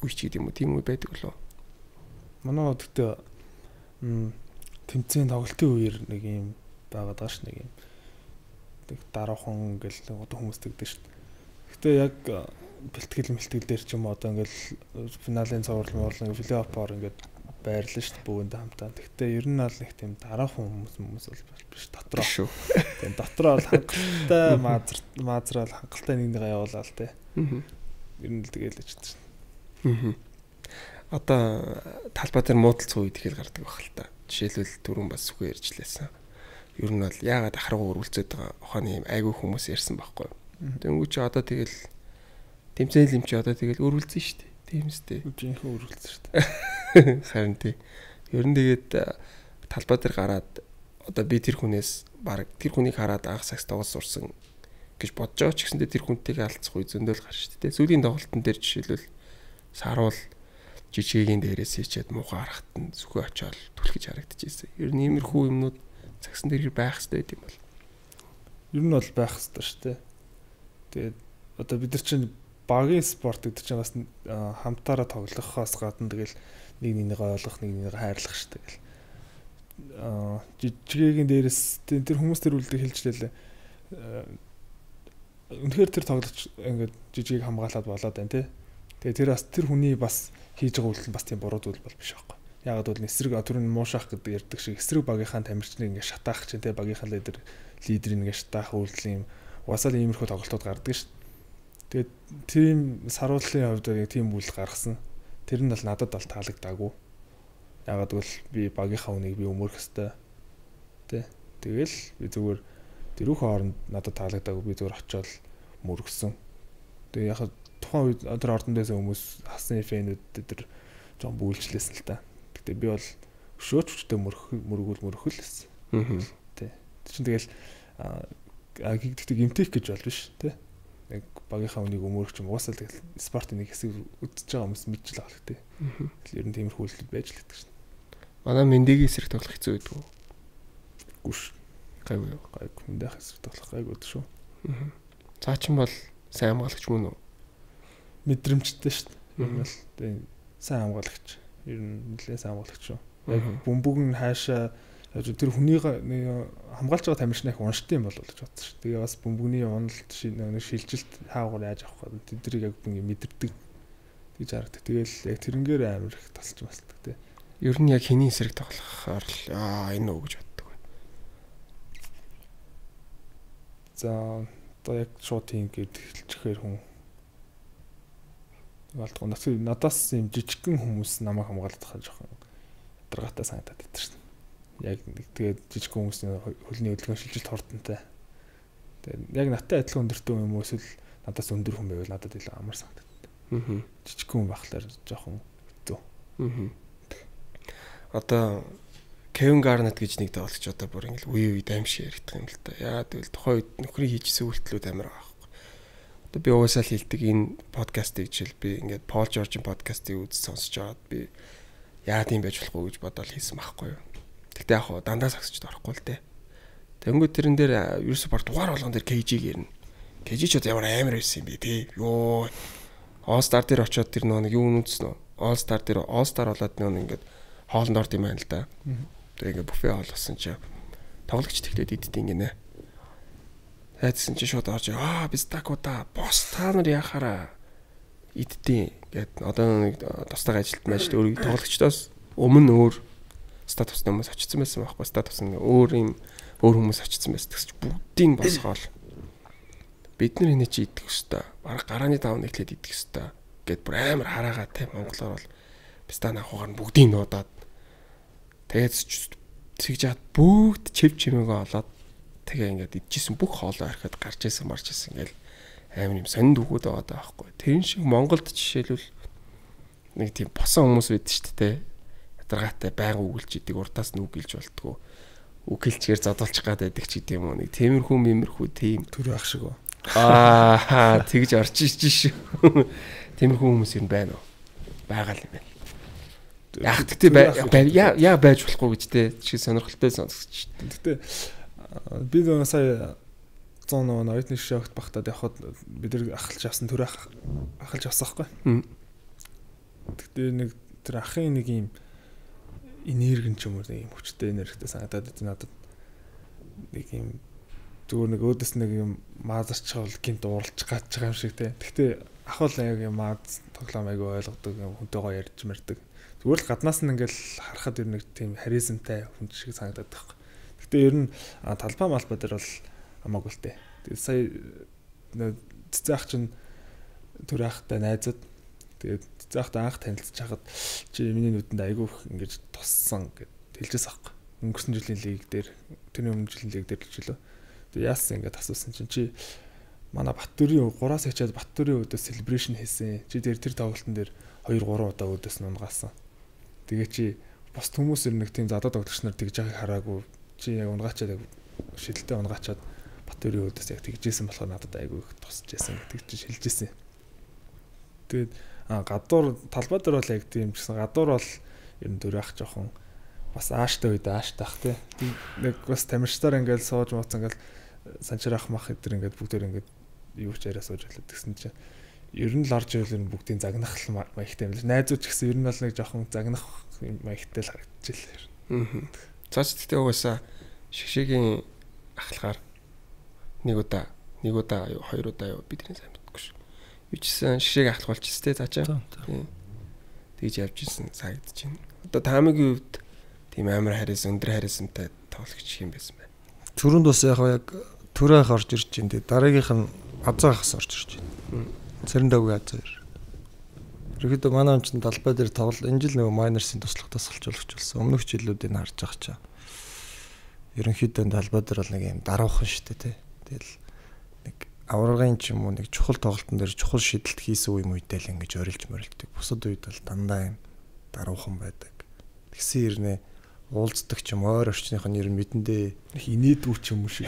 үе ч гэдэг юм уу? Тийм үе байдаг лөө. Манай одогтой тэмцээн тоглолтын үеэр нэг юм байгаад байгаа ш нэг юм. Тэг дараахан ингээл одоо хүмүүс тэгдэг ш. Гэтэ яг бэлтгэл дээр ч юм одоо ингээл финалийн цуврал филиппоор ингээд байрлаа шүү дээ бүгд хамтаа. Гэхдээ ер нь бол нэг тийм дараахан хүмүүс бол биш дотроо шүү. Тийм дотроо бол хангалттай маазраал хангалттай нэгнийгээ явуулаа л те. Ер нь л тэгээл л ч тийм. Одоо талбай дээр муудалцсан үед ихэл гардаг байх л та. Жишээлбэл түрүүн бас сүхэ ярьжлээсэн. Ер нь бол яагаад ахрагуу өрүүлцээд байгаа ухааны юм айгүй хүмүүс ярьсан байхгүй. Тэнгүү чи одоо тэгэл тэмцээл юм чи одоо тэгэл өрүүлцэн шүү дээ. Тийм үстэй. Үжинхээ өрүүлцэн шүү дээ. Харин тий. Ер нь тэгээд талбай дээр гараад одоо би тэр хүнээс баг тэр хүнийг хараад анх сакс тоглож сурсан гэж бодож байгаа ч гэсэндээ тэр хүнтэйг алдцах үе зөндөл гарч шүү дээ. Сүүлийн тоглолтын дээр жишээлбэл саруул жижигийн дээрээс хийчээд муухай харахад нь зүхөө очиод түлхэж харагдчихсэн. Ер нь иймэрхүү юмнууд цагсан дээр байх хэрэгтэй юм бол. Ер нь бол байх хэрэгтэй шүү дээ. Тэгээд одоо бид нар чинь багийн спорт гэдэг чинь бас хамтаараа тоглохоос гадна тэгэл нэг ойлгох, нэг хайрлах шүү дээ. Жижигийн дээрээс тэр хүмүүс тэр үлдээ хэлжлээ. Үнэхээр тэр тоглож ингээд жижигийг хамгаалаад болоод байна тий. Тэгээ тэр бас тэр хүний бас хийж байгаа үйлдэл бас тийм буруу зүйл бол биш байхгүй. Ягаад гэвэл эсрэг түрүүн муушаах гэдэг ярьдаг шиг эсрэг багийнхаа тамирчныг ингээд шатаах чинь тий багийнхаа лидерийг ингээд шатаах үйлдэл юм угаасаа иймэрхүү тоглолтууд гардаг шүү. Тэгээд тийм сарууллын хувьд яг тийм үйл гаргасан. Тэр нь бол надад бол таалагдаагүй. Ягаад гэвэл би багийнхаа үнийг би өмөрөх хэвээр тий. Тэгэл би зүгээр тэрүүхэн хооронд надад таалагдаагүй би зүгээр очиод мөргсөн. Тэгээ яг тухайн үед тэр ордон дээрээс хүмүүс хасны фэнүүд тэр жоон бүгэлжлээсэн л та. Гэтэ би бол өшөөчтэй мөргөл лсэн. Тий. Чинь тэгэл гэхдээ гимтэх гэж бол биш тий. Яг багийнхаа үнийг өмөрөх юм уусаал тэгэл спортын нэг хэсэг үдчихэж байгаа хүмүүс мэдчихэл байгаа л тий. Тэгэл ер нь тиймэрхүү үйлдэл байж л гэдэг шин. Манай мэндигийн эсрэг тоглох хэцүү байдаг уу? Гүш. Гайгүй мэндийн эсрэг тоглох гайгүй шүү. Цаа чин бол сайн хамгаалагч мөн үү? Мэдрэмжтэй шүү дээ. Энэ бол тий сайн хамгаалагч. Ер нь нэлээд сайн хамгаалагч шүү. Яг бөмбөг нь хаашаа тэр хүнийг хамгаалж байгаа тамирчны их уншдаг юм бол гэж бодсон шүү. Тэгээ бас бөмбөгний уналт шилжилт хаагуур яаж авах вэ? Тэднийг яг бүгд мэдэрдэг гэж харагдаг. Тэгэл яг тэрнгээр амар их тасч басдаг тий. Ер нь яг хэний эсрэг тоглохоор л энэ үү гэж боддог байна. За одоо яг шууд тийм гээд хэлчихээр хүн болдгоо надаас юм жижигхэн хүмүүс намайг хамгаалдаг хаа жоохон даргатай санагдаад байдаг шүү. Яг тэгээд жижиг хүмүүсийн хөлний хөдөлгөөн шилжилт хордонтой. Тэгээд яг надтай адилхан өндөртэй юм уу эсвэл надаас өндөр хүн байвал надад илүү амар санагдав. Жижиг хүн байхлаар жоохон хэцүү. Одоо Кевин Гарнет гэж нэг тоглогч одоо бүр ингээл үе даймшиг яригдах юм л та. Яагаад гэвэл тухайн үед нөхрийн хийжсэн үйлдэлүүд амар байгаа байхгүй. Одоо би угаасаа л хэлдэг энэ подкастыг жишээл би ингээд Пол Жоржийн подкастыг сонсож аваад би яа тийм байж болохгүй гэж бодоод хийсэн байхгүй юу. Тэгтээ яг дандаа сагсчд орохгүй л дээ. Тэнгүүд тэрэн дээр ерөөсө бар дугаар болгон дээр KG-г ярина. KG ч ямар амар байсан юм бэ тий. Йоо. All Star дээр очиод тэр нэг юу нүцсэн нөө. All Star дээр All Star болоод нэг ингээд хоолнд орд юм байна л да. Тэгээ ингээд буфе хоолсон чи тоглогч тэгтээд иддэг гинэ. Хайдсан чи шууд орж biz такота бос та нар яхаараа иддэг гэд одоо нэг тусдаг ажилт мажид өөр тоглогчдоос өмнө өөр статусны хүмүүс очсон байсан байхгүй. Статусны өөр хүмүүс очсон байсан. Тэгсч бүгдийг босгоол. Бид нар энэ чи идэх хөстэй. Бараг гарааны давн нэглээд идэх хөстэй. Гэт бүр амар хараагаа те монголоор бол пистан ахугаар нь бүгдийг нуудаад тэгээд цэгжаад бүгд чив чимээгөө олоод тэгээ ингээд идчихсэн бүх хоолоо орхиод гарч исэн марч исэн ингээл амар юм сонинд өгөөд байгаа байхгүй. Тэрэн шиг Монголд жишээлбэл нэг тийм босон хүмүүс байд шүү дээ. Ядаргаатай байнга үгэлж идэг урдаас нь үгэлж болтгоо. Үгэлчгээр задуулчих гад байдаг ч гэдэм юм уу. Нэг темирхүү мэмэрхүү тийм төр ах шиг уу. Тэгж орж иж шүү. Темирхүү хүмүүс юм байна уу? Байгаа л юм байна. Яг тэгтээ яа байж болохгүй гэж те чи сонирхолтой сонсогч. Тэгтээ би нэг сая 100 оюутны шогт багтаад явхад бид нар ахалж авсан төр ахалж авсан байхгүй. Тэгтээ нэг тэр ахын нэг юм энерги ч юм уу нэг юм хүчтэй энергитэй санагдаад надад нэг юм зүгээр нэг өөдөөс нэг юм маазарчвал гинт ууралж гаж байгаа юм шиг те. Тэгтээ ах бол яг юм мааз тоглоом айгу ойлгодог хүнтэйгоо ярьж мэрдэг. Зүгээр л гаднаас нь ингээл харахад ер нэг тийм харизмтай хүн шиг санагдаад байхгүй. Гэтэ ер нь талбай малбай дээр бол хамаагүй л те. Тэгээд сая цэцэн ах чинь төр ахтай найзад тэгээд цэцэн ахтай анх танилцж хахад чи миний нүдэнд айгүй их ингэж туссан гэд хэлжээс аахгүй. Өнгөрсөн жилийн лиг дээр тэрний өмнө жилийн лиг дээр л жилөө. Тэгээд яасан ингэж асуусан чинь чи манай Баттөрийн 3-аас хичээд Баттөрийн өдөөс celebration хийсэн. Чи тэр тоглолтын дээр 2-3 удаа өдөөс нь унгаасан. Тэгээ чи бос хүмүүс ер нь нэг тийм задаа тоглогч нар тэгж байгааг хараагүй. Чи яг унгаачаад шидэлтэй унгаачаад Батөрийн өөдөөс яг тэгжсэн болохоор надад айгүй их тусч байсан гэдэг чинь хэлжсэн. Тэгээд гадуур талбай дээр бол яг тийм гэсэн гадуур бол ер нь дөрөөх жоохон бас ааштай үед ааштай тий. Нэг бас тамирчдаар ингээл сууж мууцсан ингээл санчраах мах эдэр ингээд бүгдээр ингээд юу ч яриа сууж байлаа гэсэн чинь ер нь л орж ивэл бүгдийн загнах маягтай юм л. Найзууд ч гэсэн ер нь бол нэг жоохон загнах маягтай л харагдчихлаа. Цааш тэгтээ угаасаа шигшээгийн ахлахаар нэг удаа хоёр удаа бидний сайн мэдгүй шүү. Юу ч гэсэн шигшээг ахлах болчихсон те цаачаа. Тэгж явж исэн санагдаж байна. Одоо таамагийн үед тийм амар хариас өндөр хариасантай тоглогч юм байсан байна. Түрүүнд бас яг төрөөх орж ирж байна те. Дараагийнх нь азаагаас орж ирж байна. Цэрэндаггүй азаар. Ерөөдөө манай хүн чинь талбай дээр тоглол энэ жил нөгөө майнерсын туслахтаас олж болсон. Өмнөх жилүүдийг харж байгаа чаа. Ерөнхийдөө талбай дээр бол нэг юм даруухан штэ те. Тэгэл нэг аваргын ч юм уу нэг чухал тоглолтын дээр чухал шийдэлт хийсэн үе мүйтэй л ингэж орилж морилдог. Бусад үед бол дандаа юм даруухан байдаг. Тэгсэн ирнэ уулздаг ч юм ойр орчных нь ер нь мэдэндээ инээдүү ч юм уу шиг.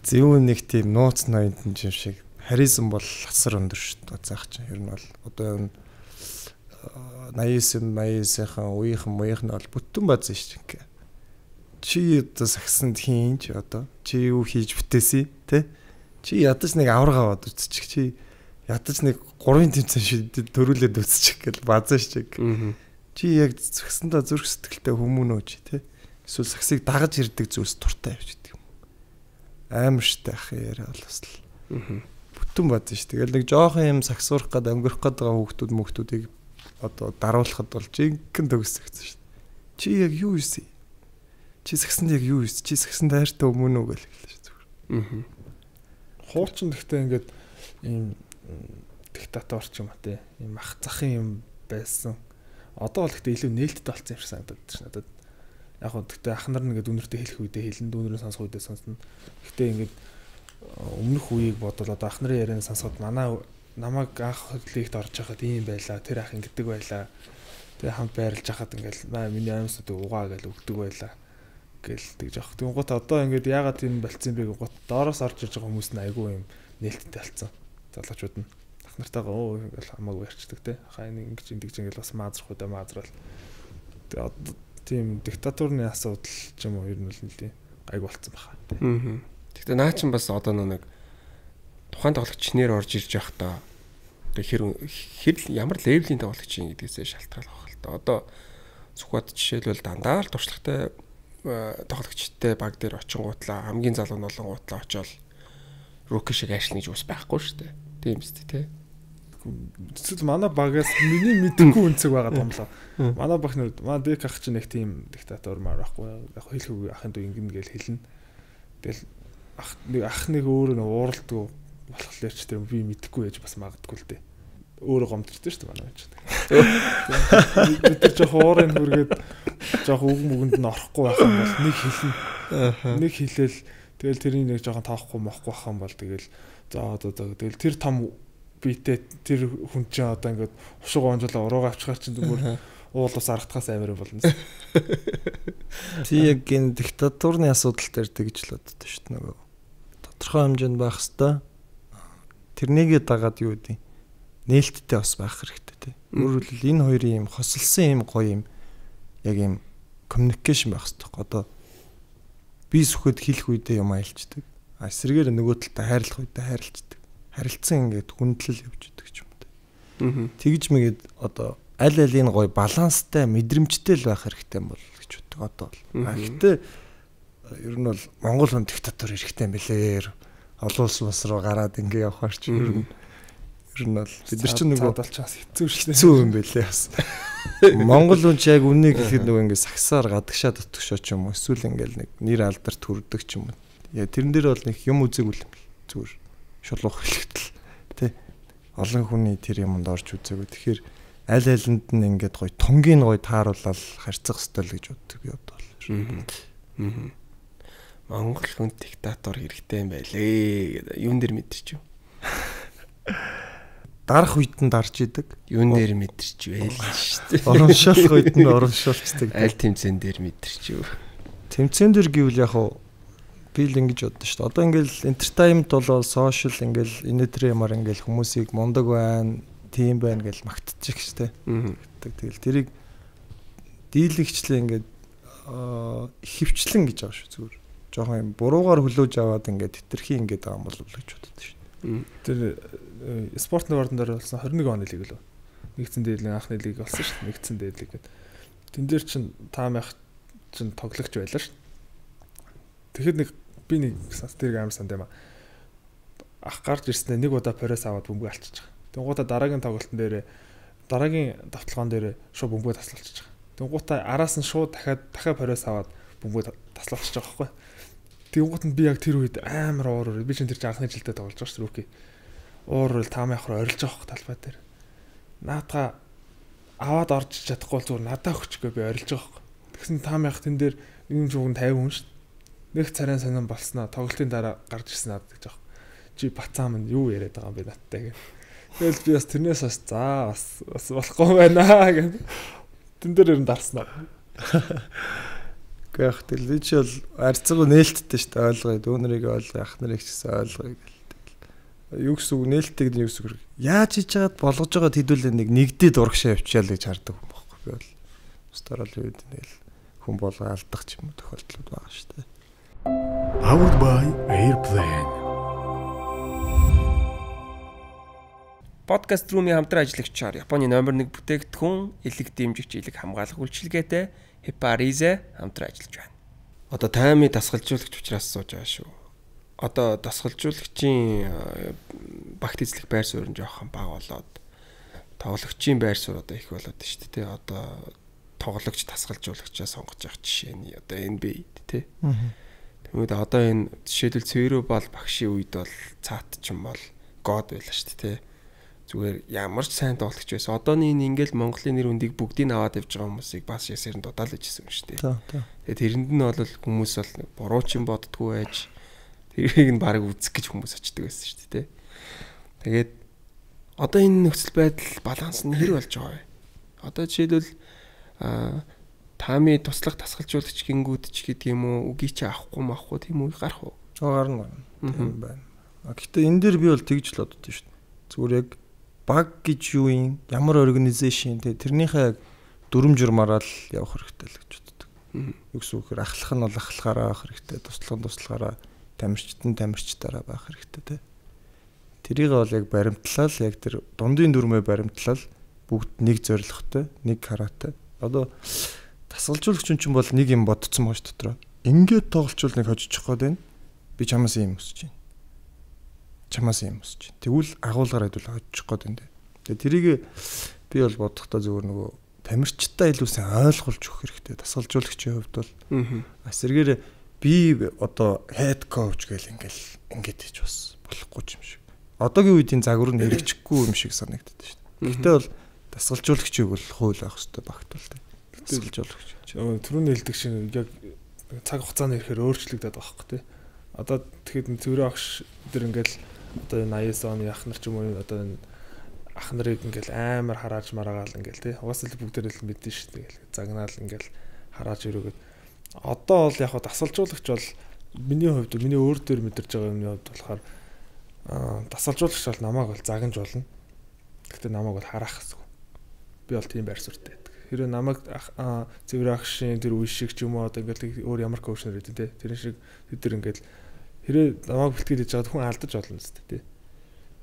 Зөвүүн нэг тийм нууц ноёнтон юм шиг харизм бол хасар өндөр шүү дээ заах чинь. Ер нь бол одоо 89-ийн үеийнхэн бол бүтэн бааз шүү дээ. Чи одоо сагсанд хийнч одоо чи юу хийж бүтээсэй те? Чи ядаж нэг аварга аваад үтчих. Чи ядаж нэг 3 тэмцээн шидэд төрүүлээд үтчих гэл баазаа шиг. Чи яг сагсандаа зүрх сэтгэлтэй хүмүүнөө чи те? Эсвэл сагсыг дагаж ирдэг зүйлс туртай явж идэг юм. Амар штэ ах яриа бол бас л. Бүтэн баазаа шүү. Тэгэл нэг жоохон юм сагсуурах гээд өнгөрөх гээд байгаа хүүхдүүдийг одоо даруулахад бол жинхэнэ төгсөгсөн шүү. Чи яг юу ийсэн? Чи сагсанд яг юу ийсэн? Чи сагсанд хайртай өмнө үү гэж хэллээ шүү зүгээр. Хуучин гэхдээ ингээд ийм диктатор ч юм уу те. Ийм ах захын юм байсан. Одоо бол гэхдээ илүү нээлттэй болсон юм шиг санагдаад байна надад. Яг хөө гэхдээ ах нар нэгэд үнэртэй хэлэх үедээ хэлэн дүүнэрээ сонсох үедээ сонсно. Гэхдээ ингээд өмнөх үеийг бодвол одоо ах нарын ярианы сонсоход намайг анх хөдлөлт орж байхад ийм байлаа. Тэр ах ингэдэг байлаа. Тэгээ хамт байрлаж хахад ингээл миний амьсууд угаа гэж өгдөг байлаа. Гэл тэгж авах. Тэнгуут одоо ингээд яагаад тийм болцсон бэ гот доороос орж иж байгаа хүмүүс нь айгүй юм нээлттэй болсон. Залуучууд нь ах нартайгаа ингээл хамаагүй ярьцдаг те. Хаа ингэж ингээл бас маазрах удаа маазрал. Тэгээ одоо тийм диктатурны асуудал ч юм уу ер нь л нэлээ айгүй болцсон баха. Гэхдээ наа чин бас одоо нэг тухайн тоглогч нэр орж ирж явахдаа хэр ямар левелийн тоглогч юм гэдгээсээ шалтгаалах байх л та. Одоо Сүхбат жишээлбэл дандаа л туршлагатай тоглогчтой баг дээр очингуутлаа хамгийн залуу нь олонгуутлаа очиод руки шиг ажил гэж ус байхгүй шүү дээ. Тийм үстэй тий. Эсвэл манай багаас миний мэдхгүй үнцэг байгаа юм лаа. Манай баг нар манай дэк ах чинь нэг тийм диктатор маар байхгүй. Яг хэлэхгүй ахын дүү ингэн гэж хэлнэ. Тэгэл ах нэг өөрөө нь ууралдгүй болохоор ч тэр би мэдхгүй байж бас магадгүй л дээ. Өөрөө гомдчихсон шүү дээ манай ч. Тэр жоох уурын хүргээд жоох үг мүгэнд нь орохгүй байх юм бол нэг хэлнэ. Нэг хэлээл тэгэл тэрийг нэг жоохон тоохгүй мохгүй байх юм бол тэгэл за одоо тэгэл тэр том биетээ тэр хүн чинь одоо ингээд хушиг онжолоо уруугаа авчихар чинь зүгээр уул ус аргатахаас амар болно. Тий яг энэ диктатурны асуудал дээр тэгж л боддог шүү дээ нөгөө. Тодорхой хэмжээнд байх хэвээр тэрнийгээ дагаад юу гэдэг нээлттэй бас байх хэрэгтэй тий. Өөрөөр хэлбэл энэ хоёрын юм хосолсон юм гоё юм яг юм коммуникейшн байх хэрэгтэй. Одоо би сүхэд хэлэх үедээ юм айлчдаг. А эсрэгээр нөгөө талтай хайрлах үедээ хайрлцдаг. Харилцан ингээд хүндлэл явж идэг ч юм уу. Тэгж мэгээд одоо аль алийг гоё баланстай мэдрэмжтэй л байх хэрэгтэй юм бол гэж боддог одоо бол. Гэхдээ ер нь бол Монгол хүн диктатор хэрэгтэй юм билээ. Олон улс бас руу гараад ингээ явахаар чи ер нь бол бид нар ч нөгөө бодолчоос хэцүү шүү дээ. Хэцүү юм билээ бас. Монгол хүн ч яг үннийг гэхэд нөгөө ингээ сагсаар гадагшаа дотгошоо ч юм уу эсвэл ингээл нэг нэр алдар төрдөг ч юм уу. Яа тэрэн дээр бол нэг юм үзээгүй юм бэл. Зүгээр шулуух хэлэхтэл тий. Олон хүний тэр юмд орж үзээгүй. Тэгэхээр аль алинд нь ингээд гоё тунгийн гоё тааруулаад харьцах ёстой л гэж боддог би одоо бол. Монгол хүн диктатор хэрэгтэй юм байлээ гэдэг юун дээр мэдэрч юу? Дарах үед нь дарж идэг. Юун дээр мэдэрч вэ л шүү дээ. Ороншуулах үед нь ороншуулцдаг. Аль тэмцээн дээр мэдэрч юу? Тэмцээн дээр гэвэл яг Би л ингэж боддоо шүү дээ. Одоо ингээл entertainment болоо social ингээл инээдрэмар ингээл хүмүүсийг мундаг байна, тийм байна гэж магтчих штэ. Тэгэл тэрийг дийлэгчлээ ингээд хөвчлэн гэж байгаа шүү зүгээр. Жохон юм буруугаар хөлөөж аваад ингээд тэтэрхий ингээд байгаа юм бол гэж боддоо шүү. Тэр спортын ордон дээр болсон 21 оны лиг лөө. Нэгдсэн дээдлийн анхны лиг болсон шүү. Нэгдсэн дээдлиг гэдэг. Тэн дээр чин таамайх чин тоглогч байлаа шүү. Тэгэхэд би нэг тэрийг амар санд юм аа. Ах гарч ирснээр нэг удаа пресс аваад бөмбөг алчиж байгаа. Тэнгуудаа дараагийн тоглолтын дээр дараагийн давталгаан дээр шууд бөмбөг таслуулчих. Тэнгуудаа араас нь шууд дахиад пресс аваад бөмбөг таслуулчих байгаа байхгүй. Тэнгууд нь би яг тэр үед амар уур би чинь тэр чинь анхны жилдээ тоглож байгаа шүү рүүки. Уур таамайх руу орилж байгаа хөх талбай дээр. Наатаа аваад орж чадахгүй бол зүгээр надаа өгчгөө би орилж байгаа хөх. Тэгсэн таамайх тэн дээр нэг жууган 50 хүн шүү. Нэг царайн сонирн болсноо тоглолтын дараа гарч ирсэн надад гэж байгаа. Чи бацаа минь юу яриад байгаа юм бэ надтай гэх. Тэгэл би бас тэрнээс бас за бас болохгүй байна гэх. Тэн дээр ер нь дарснаа. Гэхдээ яг тэл чи бол арцгаа нээлттэй шүү дээ ойлгоё. Дүүнэрийг ойлгоё, ах нарыг ч гэсэн ойлгоё гэл. Юу гэсэн үг нээлттэй гэдэг нь юу гэсэн үг. Яаж хийж чагаад болгож байгаа хэдүүлээ нэгдээд урагшаа явчихаал гэж хардаг юм байхгүй би бол. Устарал үед нэг хүн болго алдах ч юм уу тохиолдлууд байгаа шүү дээ. Powered by Airplane. Podcast Room-ийн хамтран ажиллагчаар Японы номер 1 бүтээгдэхүүн элэг дэмжигч элэг хамгаалах үйлчилгээтэй Heparize хамтран ажиллаж байна. Одоо таймыг дасгалжуулагч учраас сууж байгаа шүү. Одоо дасгалжуулагчийн багт эзлэх байр суурь нь жоохон бага болоод тоглогчийн байр суурь одоо их болоод байна шүү дээ. Одоо тоглогч дасгалжуулагчаа сонгож явах жишээ нь одоо NBA тий. Тэгмээд одоо энэ жишээлбэл Цэвэрүү бол багшийн үед бол цаат ч юм бол год байлаа шүү дээ тий. Зүгээр ямар ч сайн тоглогч байсан. Одооний энэ ингээл Монголын нэр үндийг бүгдийг аваад явж байгаа хүмүүсийг бас ясэрэн дудаал ижсэн юм шүү дээ. Тэгээд тэрэнд нь бол хүмүүс бол буруу ч юм боддггүй байж тэрийг нь баг үзэх гэж хүмүүс очдөг байсан шүү дээ. Тэгээд одоо энэ нөхцөл байдал баланс нь хэр болж байгаа вэ? Одоо жишээлбэл таами туслах тасгалжуулагч гингүүд ч гэдэг юм уу үгүй чи авахгүй тийм үү гарах уу? Гарна. Тийм байна. Гэхдээ энэ дээр би бол тэгж л боддоо шүү дээ. Зүгээр яг баг гэж юу юм? Ямар организашн тэрнийхээ дүрм журмаараа л явах хэрэгтэй л гэж боддог. Юу гэсэн үг хэр ахлах нь бол ахлахаараа авах хэрэгтэй. Туслагаараа тамирчдаараа байх хэрэгтэй те. Тэрийг бол яг баримтлал яг тэр дундын дүрмээ баримтлал бүгд нэг зорилготой, нэг каратай. Одоо тасгалжуулагч чинь бол нэг юм бодцсон байгаа ш дотроо. Ингээд тоглолчвол нэг хожиж гээд байна. Би чамаас юм өсөж байна. Тэгвэл агуулгаар хэдүүл хожиж гээд байна. Тэгээ тэрийг би бол бодохдоо зөвөр нөгөө тамирчтай илүү сайн ойлгуулж өгөх хэрэгтэй. Тасгалжуулагчийн хувьд бол эсэргээр би одоо head coach гэл ингээд хийж бас болохгүй юм шиг. Одоогийн үеийн загвар нь хэрэгжихгүй юм шиг санагддаг шүү дээ. Гэхдээ бол тасгалжуулагчийг бол хууль авах хэрэгтэй багтвал дээ. Тасгалжуулагч. Түрүүний хэлдэг шиг яг цаг хугацааны ихээр өөрчлөгдөд байгаа байхгүй тий. Одоо тэгэхэд Цэврүү агш дээр ингээл одоо энэ 80-с оны ах нар ч юм уу одоо энэ ах нарыг ингээл амар харааж мараагаал ингээл тий. Угаасаа л бүгдээр л мэдэн шүү дээ. Загнаал ингээл харааж өрөөгд одоо бол яг дасгалжуулагч бол миний хувьд миний өөр дээр мэдэрч байгаа юмны хувьд болохоор дасгалжуулагч бол намайг бол загнаж болно. Гэхдээ намайг бол хараах гэсэн. Би бол тийм байр суурьтай байдаг. Хэрэв намайг Цэвэр агшийн тэр үе шиг ч юм уу одоо ингээл өөр ямар коучнер гэдэг тий. Тэр шиг тэд ингээл хэрэв намайг бэлтгэж хийж байгаа хүн алдаж болно зү тий.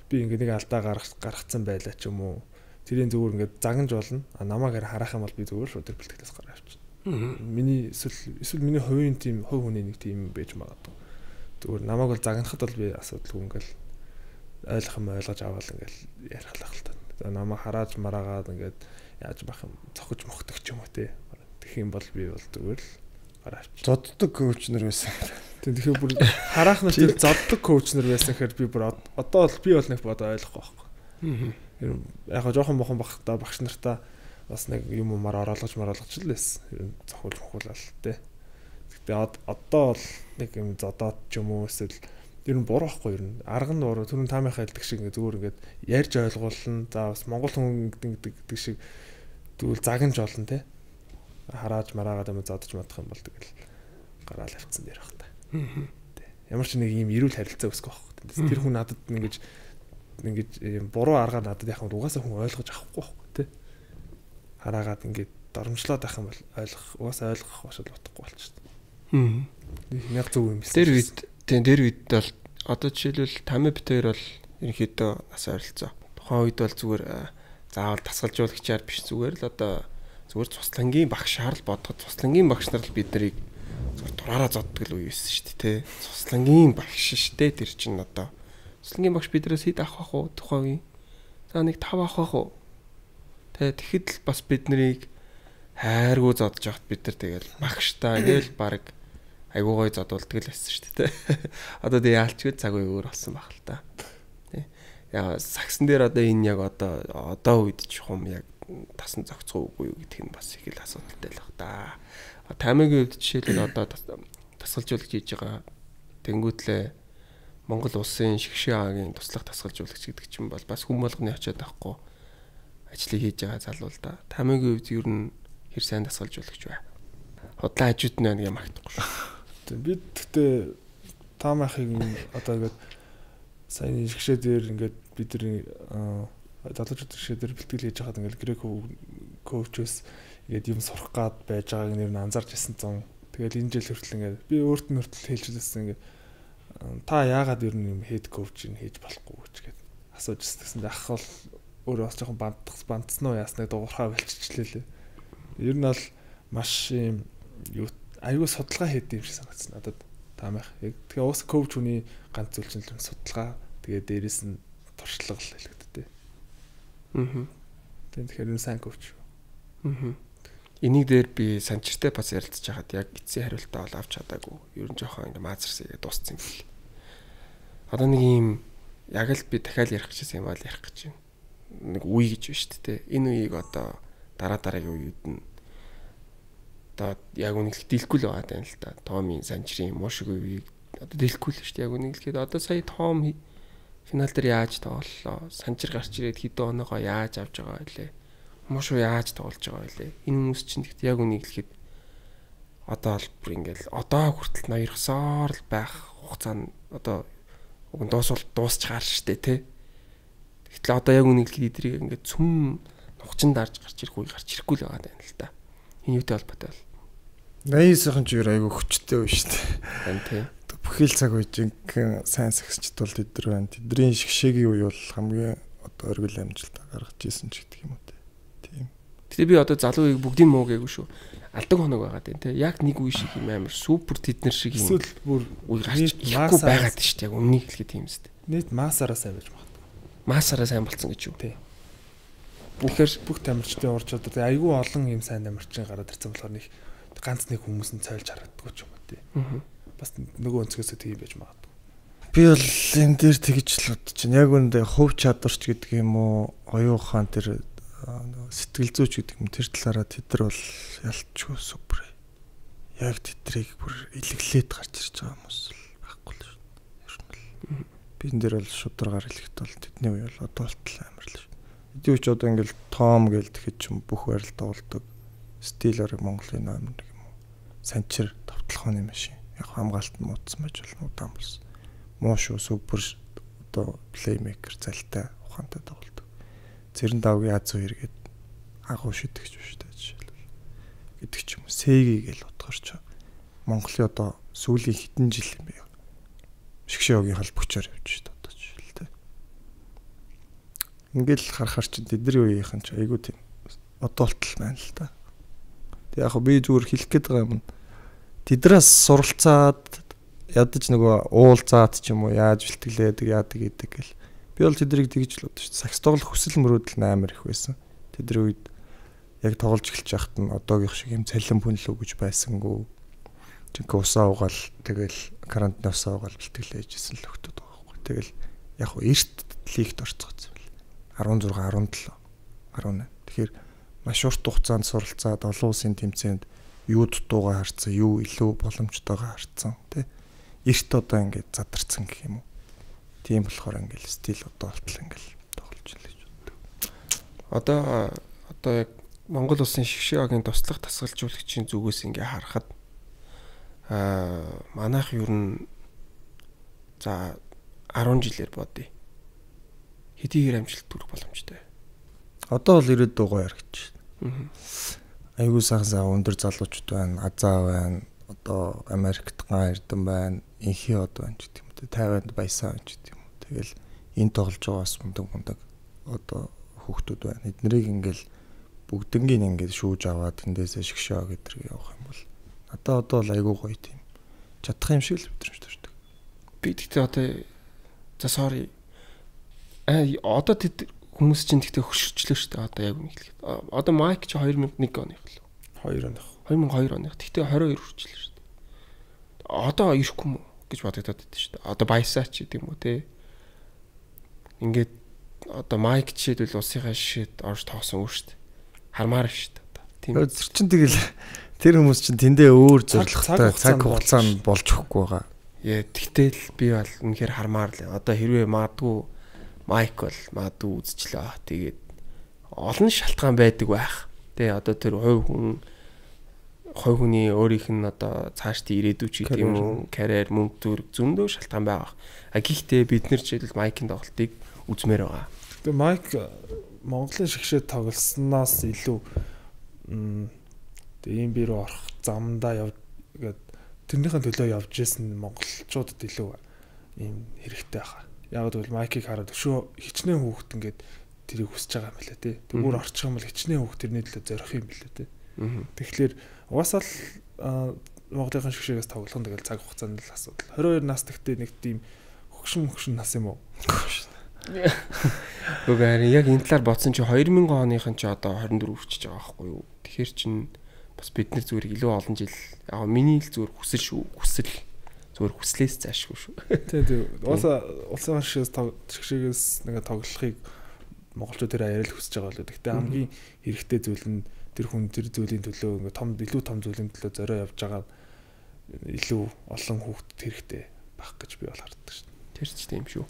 Би ингээд нэг алдаа гаргацсан байлаа ч юм уу. Тэрийн зүгээр ингээд загнаж болно. Намайг хараах юм бол би зүгээр шууд тэр бэлтгэлээс гараа авчихна. Миний эсвэл миний хувийн тим хувь хүний нэг тим байж магадгүй. Зүгээр намайг бол загнахад бол би асуудалгүй ингээл ойлгох юм ойлгож аваад ингээл ярих л та. Намайг харааж мараагаад ингээд яаж бах юм цохиж мохдог ч юм уу тий. Тэгэх юм бол би бол зүгээр л гараа авчих. Зоддог коучнер байсан. Тэгэхээр бүр хараах нь тэр зоддог коучнер байсан гэхээр би бүр одоо бол би бол нэг бодоо ойлгохгүй байхгүй. Яг жоохон мохон бахта багш нартаа бас нэг юм умаар оруулж л байсан. Зохиулал тий. Гэтэ одоо бол нэг юм зодоод ч юм уу эсвэл ер нь буруу байхгүй ер нь арга нь буруу түрүүн таамайхаа хэлдэг шиг ингээд зүгээр ингээд ярьж ойлгуулна. За бас монгол хүн гэдэг шиг тэгвэл загнаж олно тий. Харааж мараагаад юм зодож мадах юм бол тэгэл гараал авцсан дээр баг та. Тий. ямар ч нэг ийм эрүүл харилцаа үүсгэх байхгүй. Тэр хүн надад ингэж буруу аргаар надад яхаа угаасаа хүн ойлгож авахгүй байхгүй тий. Хараагаад ингэж доромжлоод байх юм бол угаасаа ойлгох бошол утгагүй болчихсон. Яг зөв юм байна. Тэр үед бол одоо жишээлбэл Тами битээр бол ерөнхийдөө нас ойролцоо. Тухайн үед бол зүгээр заавал тасгалжуулагчаар биш зүгээр л одоо зүгээр цуслангийн багшаар л бодоход цуслангийн багш нар л бид нарыг зүгээр дураараа зоддог л үе байсан шүү дээ тий. Цуслангийн багш шүү дээ тэр чинь одоо цуслангийн багш биднээс хэд авах вэ тухайн үе. За нэг 5 авах уу. Тэгэхэд л бас бид нарыг хайргуу зодж явахт бид нар тэгэл багштаа гээл баг айгуу гой зодуулдаг л байсан шүү дээ. Одоо тэг яалчгүй цаг үе өөр болсон баг л та. Яа сагсан дээр одоо энэ яг одоо үед ч юм яг тасан зохицоогүй юу гэдг нь бас их л асуудалтай л баг та. Тамигийн үед жишээлбэл одоо тасгалжуулагч хийж байгаа тэнгүүтлээ Монгол улсын шигшээ аагийн туслах тасгалжуулагч гэдэг чинь бол бас хүн болгоны очиад авахгүй ажлыг хийж байгаа залуу л да. Тамигийн үед ер нь хэр сайн тасгалжуулагч бай. Худлаа хажууд нь нэг юм магтахгүй шүү. Бид гэхдээ Том ахыг одоо ингээд сайн шигшээ дээр ингээд бидний залуучууд шигшээ дээр бэлтгэл хийж хахад ингээд грек коучос ингээд юм сурах гад байж байгааг нэр нь анзаарч ирсэн зам. Тэгэл энэ жил хүртэл ингээд би өөрт нь хүртэл хэлж байсан ингээд та яагаад ер нь юм хэд коучинг хийж болохгүй гэж гээд асууж ирсэн. Ах бол өөрөө бас жоохон бандсан уу яасныг дуурхаа болчихлээ. Ер нь бол маш юм юу аюу судалгаа хийдэг юм шиг санагдсан надад. Таамах. Тэгээ уус коуч хүний ганц зүйл чинь л судалгаа. Тэгээ дээрэс нь туршлага л хэлэгддэг. Тэгэхээр энэ сайн коуч. Энийг дээр би санчиртай бас ярилцж хахад яг эцсийн хариултаа бол авч чадаагүй. Ер нь жоохон ингэ маазарсаа дууссан юм бэл. Одоо нэг юм яг л би дахиад ярих гэжсэн юм аа л ярих гэж байна. Нэг үе гэж байна шүү дээ. Энэ үеийг одоо дараагийн үеуд нь одоо яг үнэхээр дийлэхгүй л байгаа юм л та. Томын санчрын муушиг үеийг одоо дийлэхгүй л шүү дээ. Яг үнэхээр одоо сая Том финал дээр яаж тоглолоо? Санчир гарч ирээд хэдэн оноогоо яаж авч байгаа вэ? Муушуу яаж тоглож байгаа вэ? Энэ хүмүүс чинь гэхдээ яг үнэхээр одоо л бүр ингээл одоо хүртэл ноёрхсоор л байх хугацаанд одоо уг нь дуусч гаар штэ тий. Тэгтэл одоо яг үнэхээр эдрийг ингээд цүм нухчин дарж гарч ирэх үе гарч ирэхгүй л байгаа юм л та. Энэ юутай холбоотой бол 80-ийн чигээр айгүй хүчтэй үе шүү дээ. байна тий. Бүхэл цаг үе жинхэнэ сайн сагсчд бол тэдэр байна. Тэдний шгшээгийн үе бол хамгийн одоо оргил амжилт гаргаж ийсэн ч гэдэг юм уу тийм. Тэгээ би одоо залуу үеийг бүгдийг муу гээгүй шүү. Алдаг хоног байгаа тийм тий. Яг нэг үе шиг юм амар супер тэднэр шиг юм. Эсвэл бүр үе гарч ирэхгүй байгаад шүү дээ. Яг үннийг хэлэхэд тийм үстэй. Нийт масаараа сайн байж магадгүй. Масаараа сайн болцсон гэж юу? Тий. Бүх тамирчдын ур чадвар айгүй олон юм сайн тамирчин гараад ирсэн болохоор нэг ганц нэг хүмүүс нь цойлж харагддаг ч юм уу тий. Бас нөгөө өнцгөөсөө тийм байж магадгүй. Би бол энэ дээр тэгж л бодож байна. Яг үүндээ хувь чадварч гэдэг юм уу, оюун ухаан тэр сэтгэл зүйч гэдэг юм тэр талаараа тэд нар бол ялчгүй супер. Яг тэдрийг бүр илэглээд гарч ирж байгаа хүмүүс л байхгүй л шүү. Ер нь л би энэ дээр бол шударгаар хэлэхэд бол тэдний үе бол одоо болтол амар л шүү. Эдийн үуч одоо ингээл Том гээл тэгэхэд ч бүх байрал тоглодог. Стилэр Монголын номер нэг юм уу. Санчир товтлохооны машин. Яг хамгаалт нь муудсан байж болно удаан болсон. Муу шүү супер одоо плеймейкер залтай ухаантай тоглодог. Цэрэн давгийн Аз хоёргээд агуу шидэгч биш та жишээлбэл. Гэдэг ч юм уу. Сэги гээл утгаарч Монголын одоо сүүлийн хэдэн жил юм бэ? Шгшөөгийн холбогчоор явж шүү дээ одоо жишээлбэл. Ингээл харахаар чи тэдний үеийнхэн ч айгуу тийм одоолтол байна л та. Тэг яг би зүгээр хэлэх гээд байгаа юм. Тэдрээс суралцаад ядаж нөгөө уулзаад ч юм уу яаж бэлтгэлээдэг яадаг гэдэг гэл. Би бол тэдрийг тэгж л бодож шүү. Сакс тоглох хүсэл мөрөөдөл амар их байсан. Тэдний үед яг тоглож эхэлж байхад нь одоогийнх шиг юм цалин бүнлүү гэж байсангүй. Жинхэнэ усаа угаал тэгэл карантин усаа угаал бэлтгэлээжсэн л өгдөд байгаа байхгүй. Тэгэл яг эрт лигт орцгоцсон бэл. 16, 17, 18. Тэгэхээр маш урт хугацаанд суралцаад олон улсын тэмцээнд юу дутуугаа харцсан, юу илүү боломжтойгоо харцсан тий. Эрт одоо ингээд задарсан гэх юм уу. Тийм болохоор ингээд стил одоо болтол ингээд тоглож байна гэж боддог. Одоо яг Монгол улсын шгшөөгийн туслах тасгалжуулагчийн зүгээс ингээд харахад манайх ер нь За 10 жилээр бодъё. Хэдийгээр амжилт төрөх боломжтой. Одоо бол 90 дугаар яригч. Аа. Айгуу сайхан өндөр залуучууд байна, Азаа байна, одоо Америкт ган эрдэн байна, инхий од байна ч гэдэг юм. 50-нд баясаа байна ч гэдэг юм. Тэгэл энэ тоглож байгаа бас мундаг одоо хүүхдүүд байна. Эднэрийг ингээл бүгднгийн ингээд шүүж аваад тэндээсээ шгшөө гэдэрэг явах юм бол надаа одоо л айгуу гоё тийм чадах юм шиг л өдрөж төрдөг. Би тэгтээ одоо за sorry. Одоо тэд хүмүүс чинь тэгтээ хөшөрчлөө шүү дээ. Одоо яг үнийг хэлэхэд. Одоо майк чи 2001 оных л. 2 оных. 2002 оных. Тэгтээ 22 хүрчлээ шүү дээ. Одоо ирэхгүй мүү гэж бодогдоод байдсан шүү дээ. Одоо баясаа ч гэдэг юм уу те. Ингээд одоо майк чийдвэл усынхаа шишэд орж тоосон үү шүү дээ. Хармаар шүү дээ. Тийм. Тэр чин тэгэл тэр хүмүүс чин тэндээ өөр зорилготой цаг хугацаанд болж өгөхгүй байгаа. Яа, тэгтэл би бол үнэхээр хармаар л. Одоо хэрвээ магадгүй майк бол магадгүй үзчихлээ. Тэгээд олон шалтгаан байдаг байх. Тэ одоо тэр хувь хүний өөрийнх нь одоо цаашдын ирээдүйч гэдэг юм уу, карьер, мөнгө төрөг зөндөө шалтгаан байгаа. Гэхдээ бид нар жишээлбэл майкын тоглолтыг үзмээр байгаа. Тэгээ майк Монголын шгшээ тоглосноос илүү тэгээ ийм бий рүү орох замдаа явгээд тэрнийхэн төлөө явж исэн монголчуудад илүү ийм хэрэгтэй байхаа. Яг гэвэл майкийг хараад өшөө хичнээн хүүхэд ингээд тэрийг хүсэж байгаа юм лээ тий. Тэгвэр орчих юм бол хичнээн хүүхэд тэрний төлөө зорих юм лээ тий. Тэгэхээр угаасаа л Монголын шгшээс тоглох нь тэгэл цаг хугацаанд л асуудал. 22 настагтээ нэг тийм хөгшин нас юм уу? Үгүй яг энэ талаар бодсон чи 2000 оныхан чи одоо 24 хүрчихэж байгаа байхгүй юу? Тэгэхээр чин бас бид нар зүгээр илүү олон жил яг миний л зүгээр хүсэл зүгээр хүслээс заашгүй шүү. Тий. Улсын шгшээс нэг тоглохыг монголчууд тэр аяарал хүсэж байгаа л. Гэхдээ хамгийн хэрэгтэй зүйл нь тэр хүн тэр зүйлийн төлөө ингээ илүү том зүйлийн төлөө зорио явж байгаа илүү олон хүүхдэд хэрэгтэй байх гэж би бол харддаг шүү. Тэр ч тийм шүү.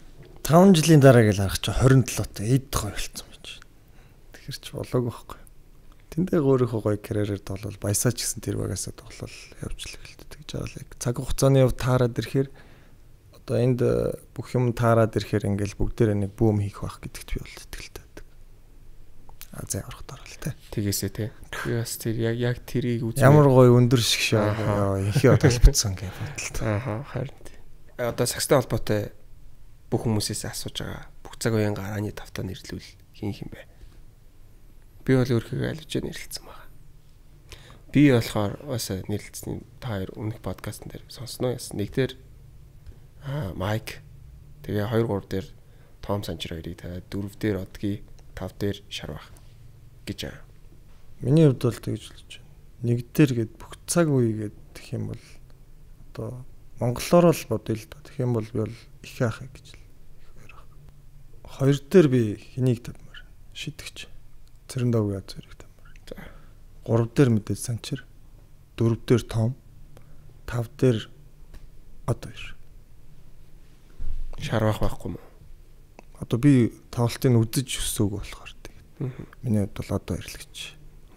5 жилийн дараа гэж харах чи 27-т эд гоё болсон байж. Тэгэхэр ч болоогүй байхгүй. Тэндээ өөрийнхөө гоё карьерээр тоглол баясаач гэсэн тэр багасаа тоглол явж л гэлтэй гэж байгаа л. Цаг хугацааны яв таарад ирэхээр одоо энд бүх юм таарад ирэхээр ингээл бүгдээрээ нэг бүүм хийх байх гэдэгт би бол итгэлтэй байдаг. За ороход орол тэ. Тэгээсээ тэ. Би бас тэр яг тэрийг үзээ. Ямар гоё өндөр шгшээ инхий толбцсон гэж бодлоо. Ааха харин. Одоо сакстай холбоотой бүх хүмүүсээс асууж байгаа. Бүх цаг үеийн гарааны тавтаа нэрлүүл хин юм бэ? Би бол өөрхийгөө альвж нэрлэлсэн байгаа. Би болохоор уусаа нэрлэлсэн та хоёр өмнөх подкастн дээр сонсноо яасан. Нэг дээр майк тэгээ 2 3 дээр том санчир хоёрыг тавиад 4 дээр одгийн 5 дээр шарвах гэж байгаа. Миний хувьд бол тэгж болж байна. Нэг дээр гээд бүх цаг үе гэх юм бол одоо монголоор л бодъё л доо. Тэгэх юм бол би бол их яах гэж л. 2 дээр би хэнийг тавьмаар шидэгч. Цэрэндав яа зэрэг тавьмаар. 3 дээр мэдээж санчир, 4 дээр том, 5 дээр одоо ир. Шарвах байхгүй мó. Одоо би тоглолтыг үзэж өсөөг болохоор тэгээд. Миний хувьд бол одоо ирлэгч.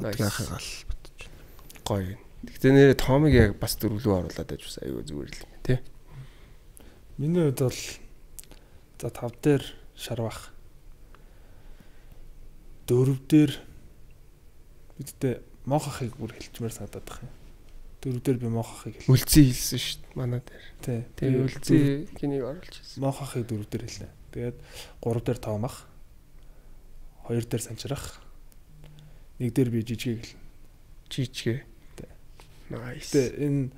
Яахыг л бодож байна. Гоё. Тэгтээ нэрээ томыг яг бас дөрвөлөө оруулаад байж бас аюу зүгээр л юм тий. Миний хувьд бол за 5 дээр шарвах. 4 дээр бидтэй мохохыг бүр хэлчмээр санагдаад байна. 4 дээр би мохохыг хэл. Үлцэн хэлсэн шүү дээ манай дээр. Тий. Тэгээ үлцэн хэнийг оруулж хэлсэн. Мохохыг 4 дээр хэлнэ. Тэгээд 3 дээр тоомах. 2 дээр санчрах. 1 дээр би жижиг хэлнэ. Жижигэ. Nice. Тэгээд энэ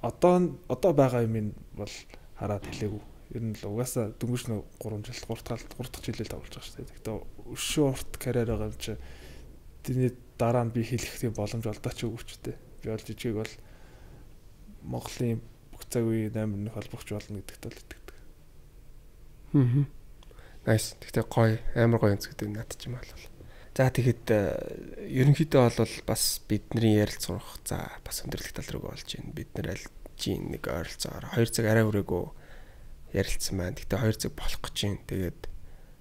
одоо байгаа юм бол хараад хэлээгүй. Ер нь л угаасаа дөнгөж нэг 3 жил 3 дахь жилээр тоглож байгаа шүү дээ. Тэгтээ өшөө урт карьер байгаа юм чи тэрний дараа нь би хэлэх тийм боломж олдооч өгөөчтэй. Би бол жижиг бол Монголын бүх цаг үеийн номерны холбогч болно гэдэгт бол итгэдэг. Nice. Тэгтээ гоё, амар гоё өнцгүүд над ч юм бол. За тэгэхэд ерөнхийдөө бол бас бидний ярилцах за бас өндөрлөх тал руу болж байна. Бид нар аль чинь нэг ойролцоогоор 2 цаг арай хүрээгүй ярилцсан байна. Гэтэ 2 цаг болох гэж байна. Тэгээд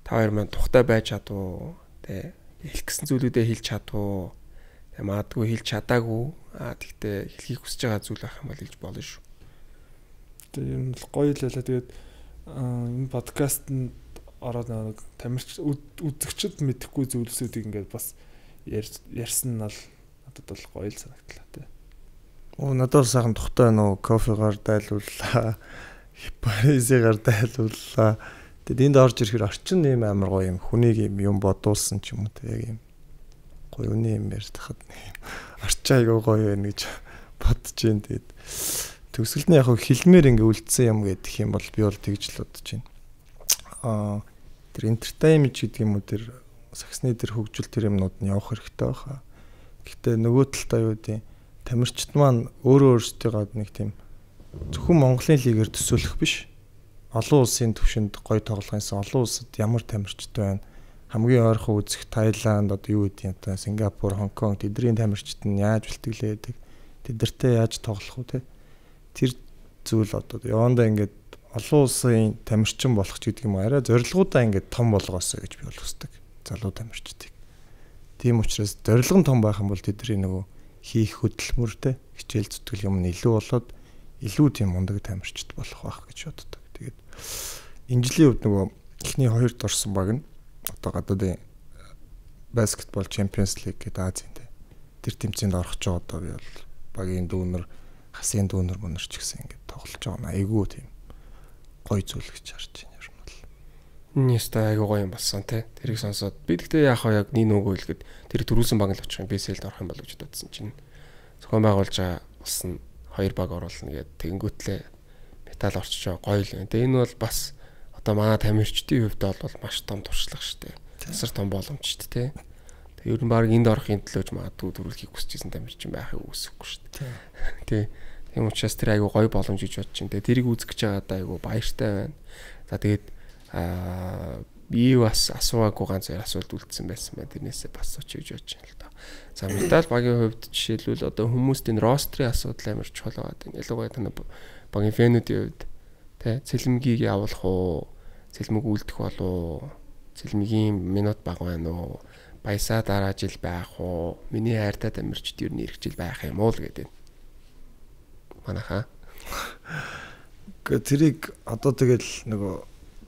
та хоёр маань тухтай байж чадуу. Тэ хэлэх гэсэн зүйлүүдээ хэлж чадуу. Тэ магадгүй хэлж чадаагүй. Тэгтээ хэлхийг хүсэж байгаа зүйл байх юм бол хэлж болно шүү. Тэгээ ер нь гоё л байлаа. Тэгээд энэ подкастт ороод нэг тамирч үзэгчд мэдэхгүй зүйлсүүдийг ингээд бас ярьсан нь бол надад бол гоё л санагдлаа тий. Надад сайхан тухтай нөө кофегаар дайлууллаа. Паризигаар дайлууллаа. Тэгэд энд орж ирэхээр орчин нэм амар гоё юм. Хүнийг юм бодуулсан ч юм уу тэг юм. Гоё үний юм ярьж тахад орчин айгаа гоё байна гэж бодож байна. Тэгэд төгсгөлд нь яг хилмээр ингээ үлдсэн юм гэдэг юм бол би бол тэгж л бодож байна. Тэр entertainment гэдэг юм уу тэр саксны тэр хөгжил тэр юмнууд нь явах хэрэгтэй байхаа. Гэхдээ нөгөө талдаа юу гэдэг тамирчид маань өөрөө өөрсдийгөө нэг тийм зөвхөн Монголын лигээр төсөөлөх биш. Олон улсын түвшинд гоё тоглохынсан олон улсад ямар тамирчид байна. Хамгийн ойрхон үзэх Таиланд одоо юу гэдэг юм та Сингапур, Хонконг тэдний тамирчид нь яаж бэлтгэлээдэг. Тэдэртэй яаж тоглох вэ те. Тэр зүйл одоо явандаа ингээд олон улсын тамирчин болох ч гэдэг юм арай зорилгоудаа ингээд том болгоосоо гэж би бол хүсдэг. Залуу тамирчдыг. Тийм учраас зорилго нь том байх юм бол тэдний нөгөө хийх хөдөлмөртэй хичээл зүтгэл юм нь илүү болоод илүү тийм мундаг тамирчид болох байх гэж боддог. Тэгээд энэ жилийн үед нөгөө эхний хоёрт орсон баг нь одоо гадаадын баскетбол Champions League гэдэг Азийн тэр тэмцээнд орох ч одоо би бол багийн дүүнер хасын дүүнер мөнөрч гэсэн ингээд тоглож байгаа. Айгуу тийм гоё зүйл гэж харж байна ер нь бол. Нэстэ айгуу гоё юм болсон тий. Тэрийг сонсоод би гэхдээ яах вэ яг нэг нөгөө хэлэхэд тэр төрүүлсэн баг л очих юм BSL-д орох юм болов гэж бодсон чинь зохион байгуулж байгаа болсон 2 баг оруулна гэдэг тэгэнгүүтлээ металл орчиж байгаа гоё л юм. Тэгээ энэ бол бас одоо манай тамирчдын хувьд бол маш том туршлага шүү дээ. Тасар том боломж шүү дээ тий. Тэгээ ер нь баг энд орохын төлөөж магадгүй төрүүлэхийг хүсэж исэн тамирчин байхыг үсэхгүй шүү дээ. Тий. Тийм учраас тэр айгу гоё боломж гэж бодож байна. Тэгээ тэрийг үзэх гэж байгаадаа айгу баяртай байна. За тэгээд би бас асуугаагүй ганц асуулт үлдсэн байсан байна. Тэрнээсээ бас очиж гэж бодож байна л да. За металл багийн хувьд жишээлбэл одоо хүмүүст энэ рострын асуудал амар чухал байгаа гэдэг. Ялангуяа таны багийн фэнүүдийн хувьд тий цэлмгийг явуулах уу, цэлмэг үлдэх болов, цэлмгийн минут бага байна уу, баясаа дараа жил байх уу, миний хайртай тамирчид ер нь ирэх жил байх юм уу л гэдэг. Манайхаа. Тэрийг одоо тэгэл нөгөө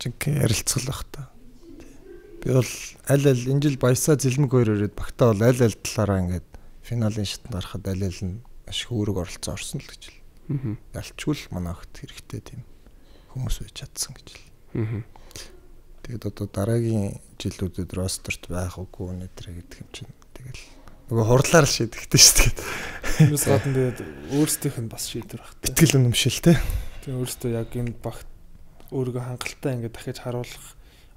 жинхэнэ ярилцгал баг та. Би бол аль энэ жил баясаа цэлмэг хоёр ирээд багтаа бол аль талаараа ингээд финалийн шатанд гарахад аль нь маш хөөрөг оролцоо орсон л гэж л. Ялчгүй л манайхд хэрэгтэй тийм хүмүүс байж чадсан гэж л. Тэгээд одоо дараагийн жилүүдэд ростерт байх үгүй нэтэр гэдэг юм чинь тэгэл нөгөө хурлаар л шийдэгдэн шүү дээ. Юус гадна тэгээд өөрсдийнх нь бас шийдвэр багтай. Итгэл үнэмшил те. Тэгээд өөрөөсөө яг энэ багт өөрийгөө хангалттай ингээд дахиж харуулах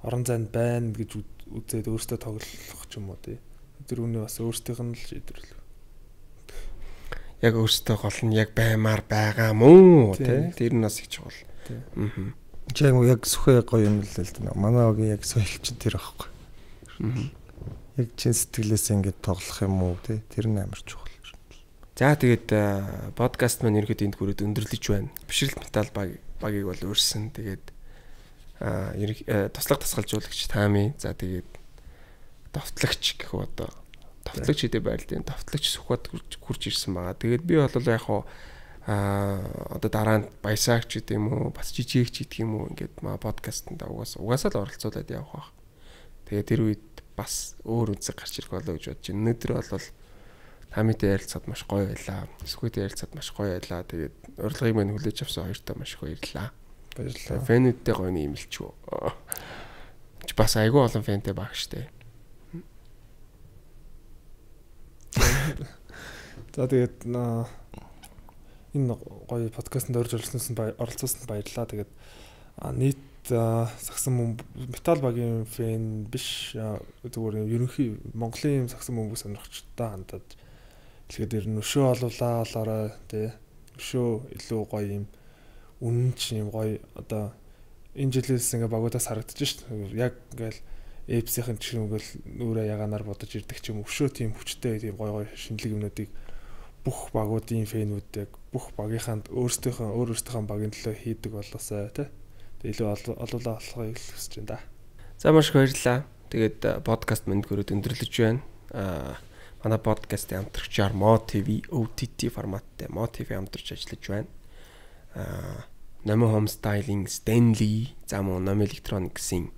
орон зайд байна гэж үзээд өөртөө тоглох ч юм уу тий. Тэр үнэ бас өөртөөх нь л шийдвэрлэв. Яг өөртөө гол нь яг баймаар байгаа мó тий. Тэр нь бас их чухал. Чи яг сүхэ гоё юм л л дээ. Манай огийн яг соёл чинь тэр аахгүй. Яг чин сэтгэлээс ингээд тоглох юм уу тий. Тэр нь амар чухал. За тэгээд подкаст маань ерөөд энд хүрээд өндөрлөж байна. Бишрэлт металл багийг бол өөрсөн. Тэгээд туслах тасгалжуулагч Тами. За тэгээд товтлогч гэх үү одоо товтлогч хэдэ байрлалын товтлогч Сүхбат хурж ирсэн байгаа. Тэгээд би бол яг одоо дараа нь баясаагч гэдэг юм уу, бас жижигч гэдэг юм уу ингээд маа подкастт угаасаа л оролцуулаад явах байх. Тэгээд тэр үед бас өөр үнцэг гарч ирэх болоо гэж бодож байна. Өнөөдөр бол Тамитай ярилцаад маш гоё байлаа. Сүхбатай ярилцаад маш гоё байлаа. Тэгээд урилгыг мань хүлээж авсан хоёртаа маш их баярлалаа. Баярлалаа. Фэнүүдтэй гоё нэмэлчгүй. Бас айгүй олон фэнтэй баг штэ. За тэгээд энэ гоё подкастт орж оролцуулсанд баярлалаа. Тэгээд нийт сагсан металл багийн фэн биш зүгээр ерөнхий Монголын сагсан бөмбөг сонирхчтой хандаад тэгэхээр нөшөө олоолаа тий нөшөө илүү гоё юм үнэнч юм гоё одоо энэ жилээс ингээ багуудаас харагдаж шít яг ингээл эпсийн ч юм ингээл нүрэ яганаар бодож ирдэг ч юм өвшөө тийм хүчтэй тийм гоё шинэлэг юмнуудыг бүх багуудын фэнүүд яг бүх багийнхаа өөрөөсийнхөө багийн төлөө хийдэг болоосаа тий илүү олоолаа болохыг хүсэж байна да. За маш их баярлалаа. Тэгээд подкаст мэнд göröd өндөрлөж байна. Манай подкастын хамтрагчаар Mo TV OTT форматтай Mo TV хамтарч ажиллаж байна. Nomo Home Styling, Stanley, за мөн Nomo Electronics-ийн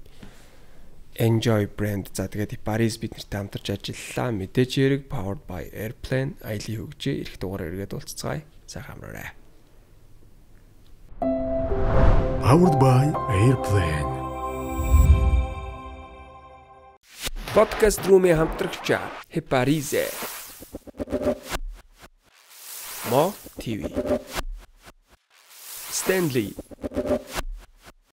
Enjoy brand. За тэгээд Paris бид нартай хамтарч ажиллалаа. Мэдээж хэрэг Powered by Airplane аялын хөгжөө ирэх дугаар эргээд уулзцгаая. Сайхан амраарай. Powered by Airplane. Podcast room-ийн хамтрагч Paris. Mo TV. Stanley.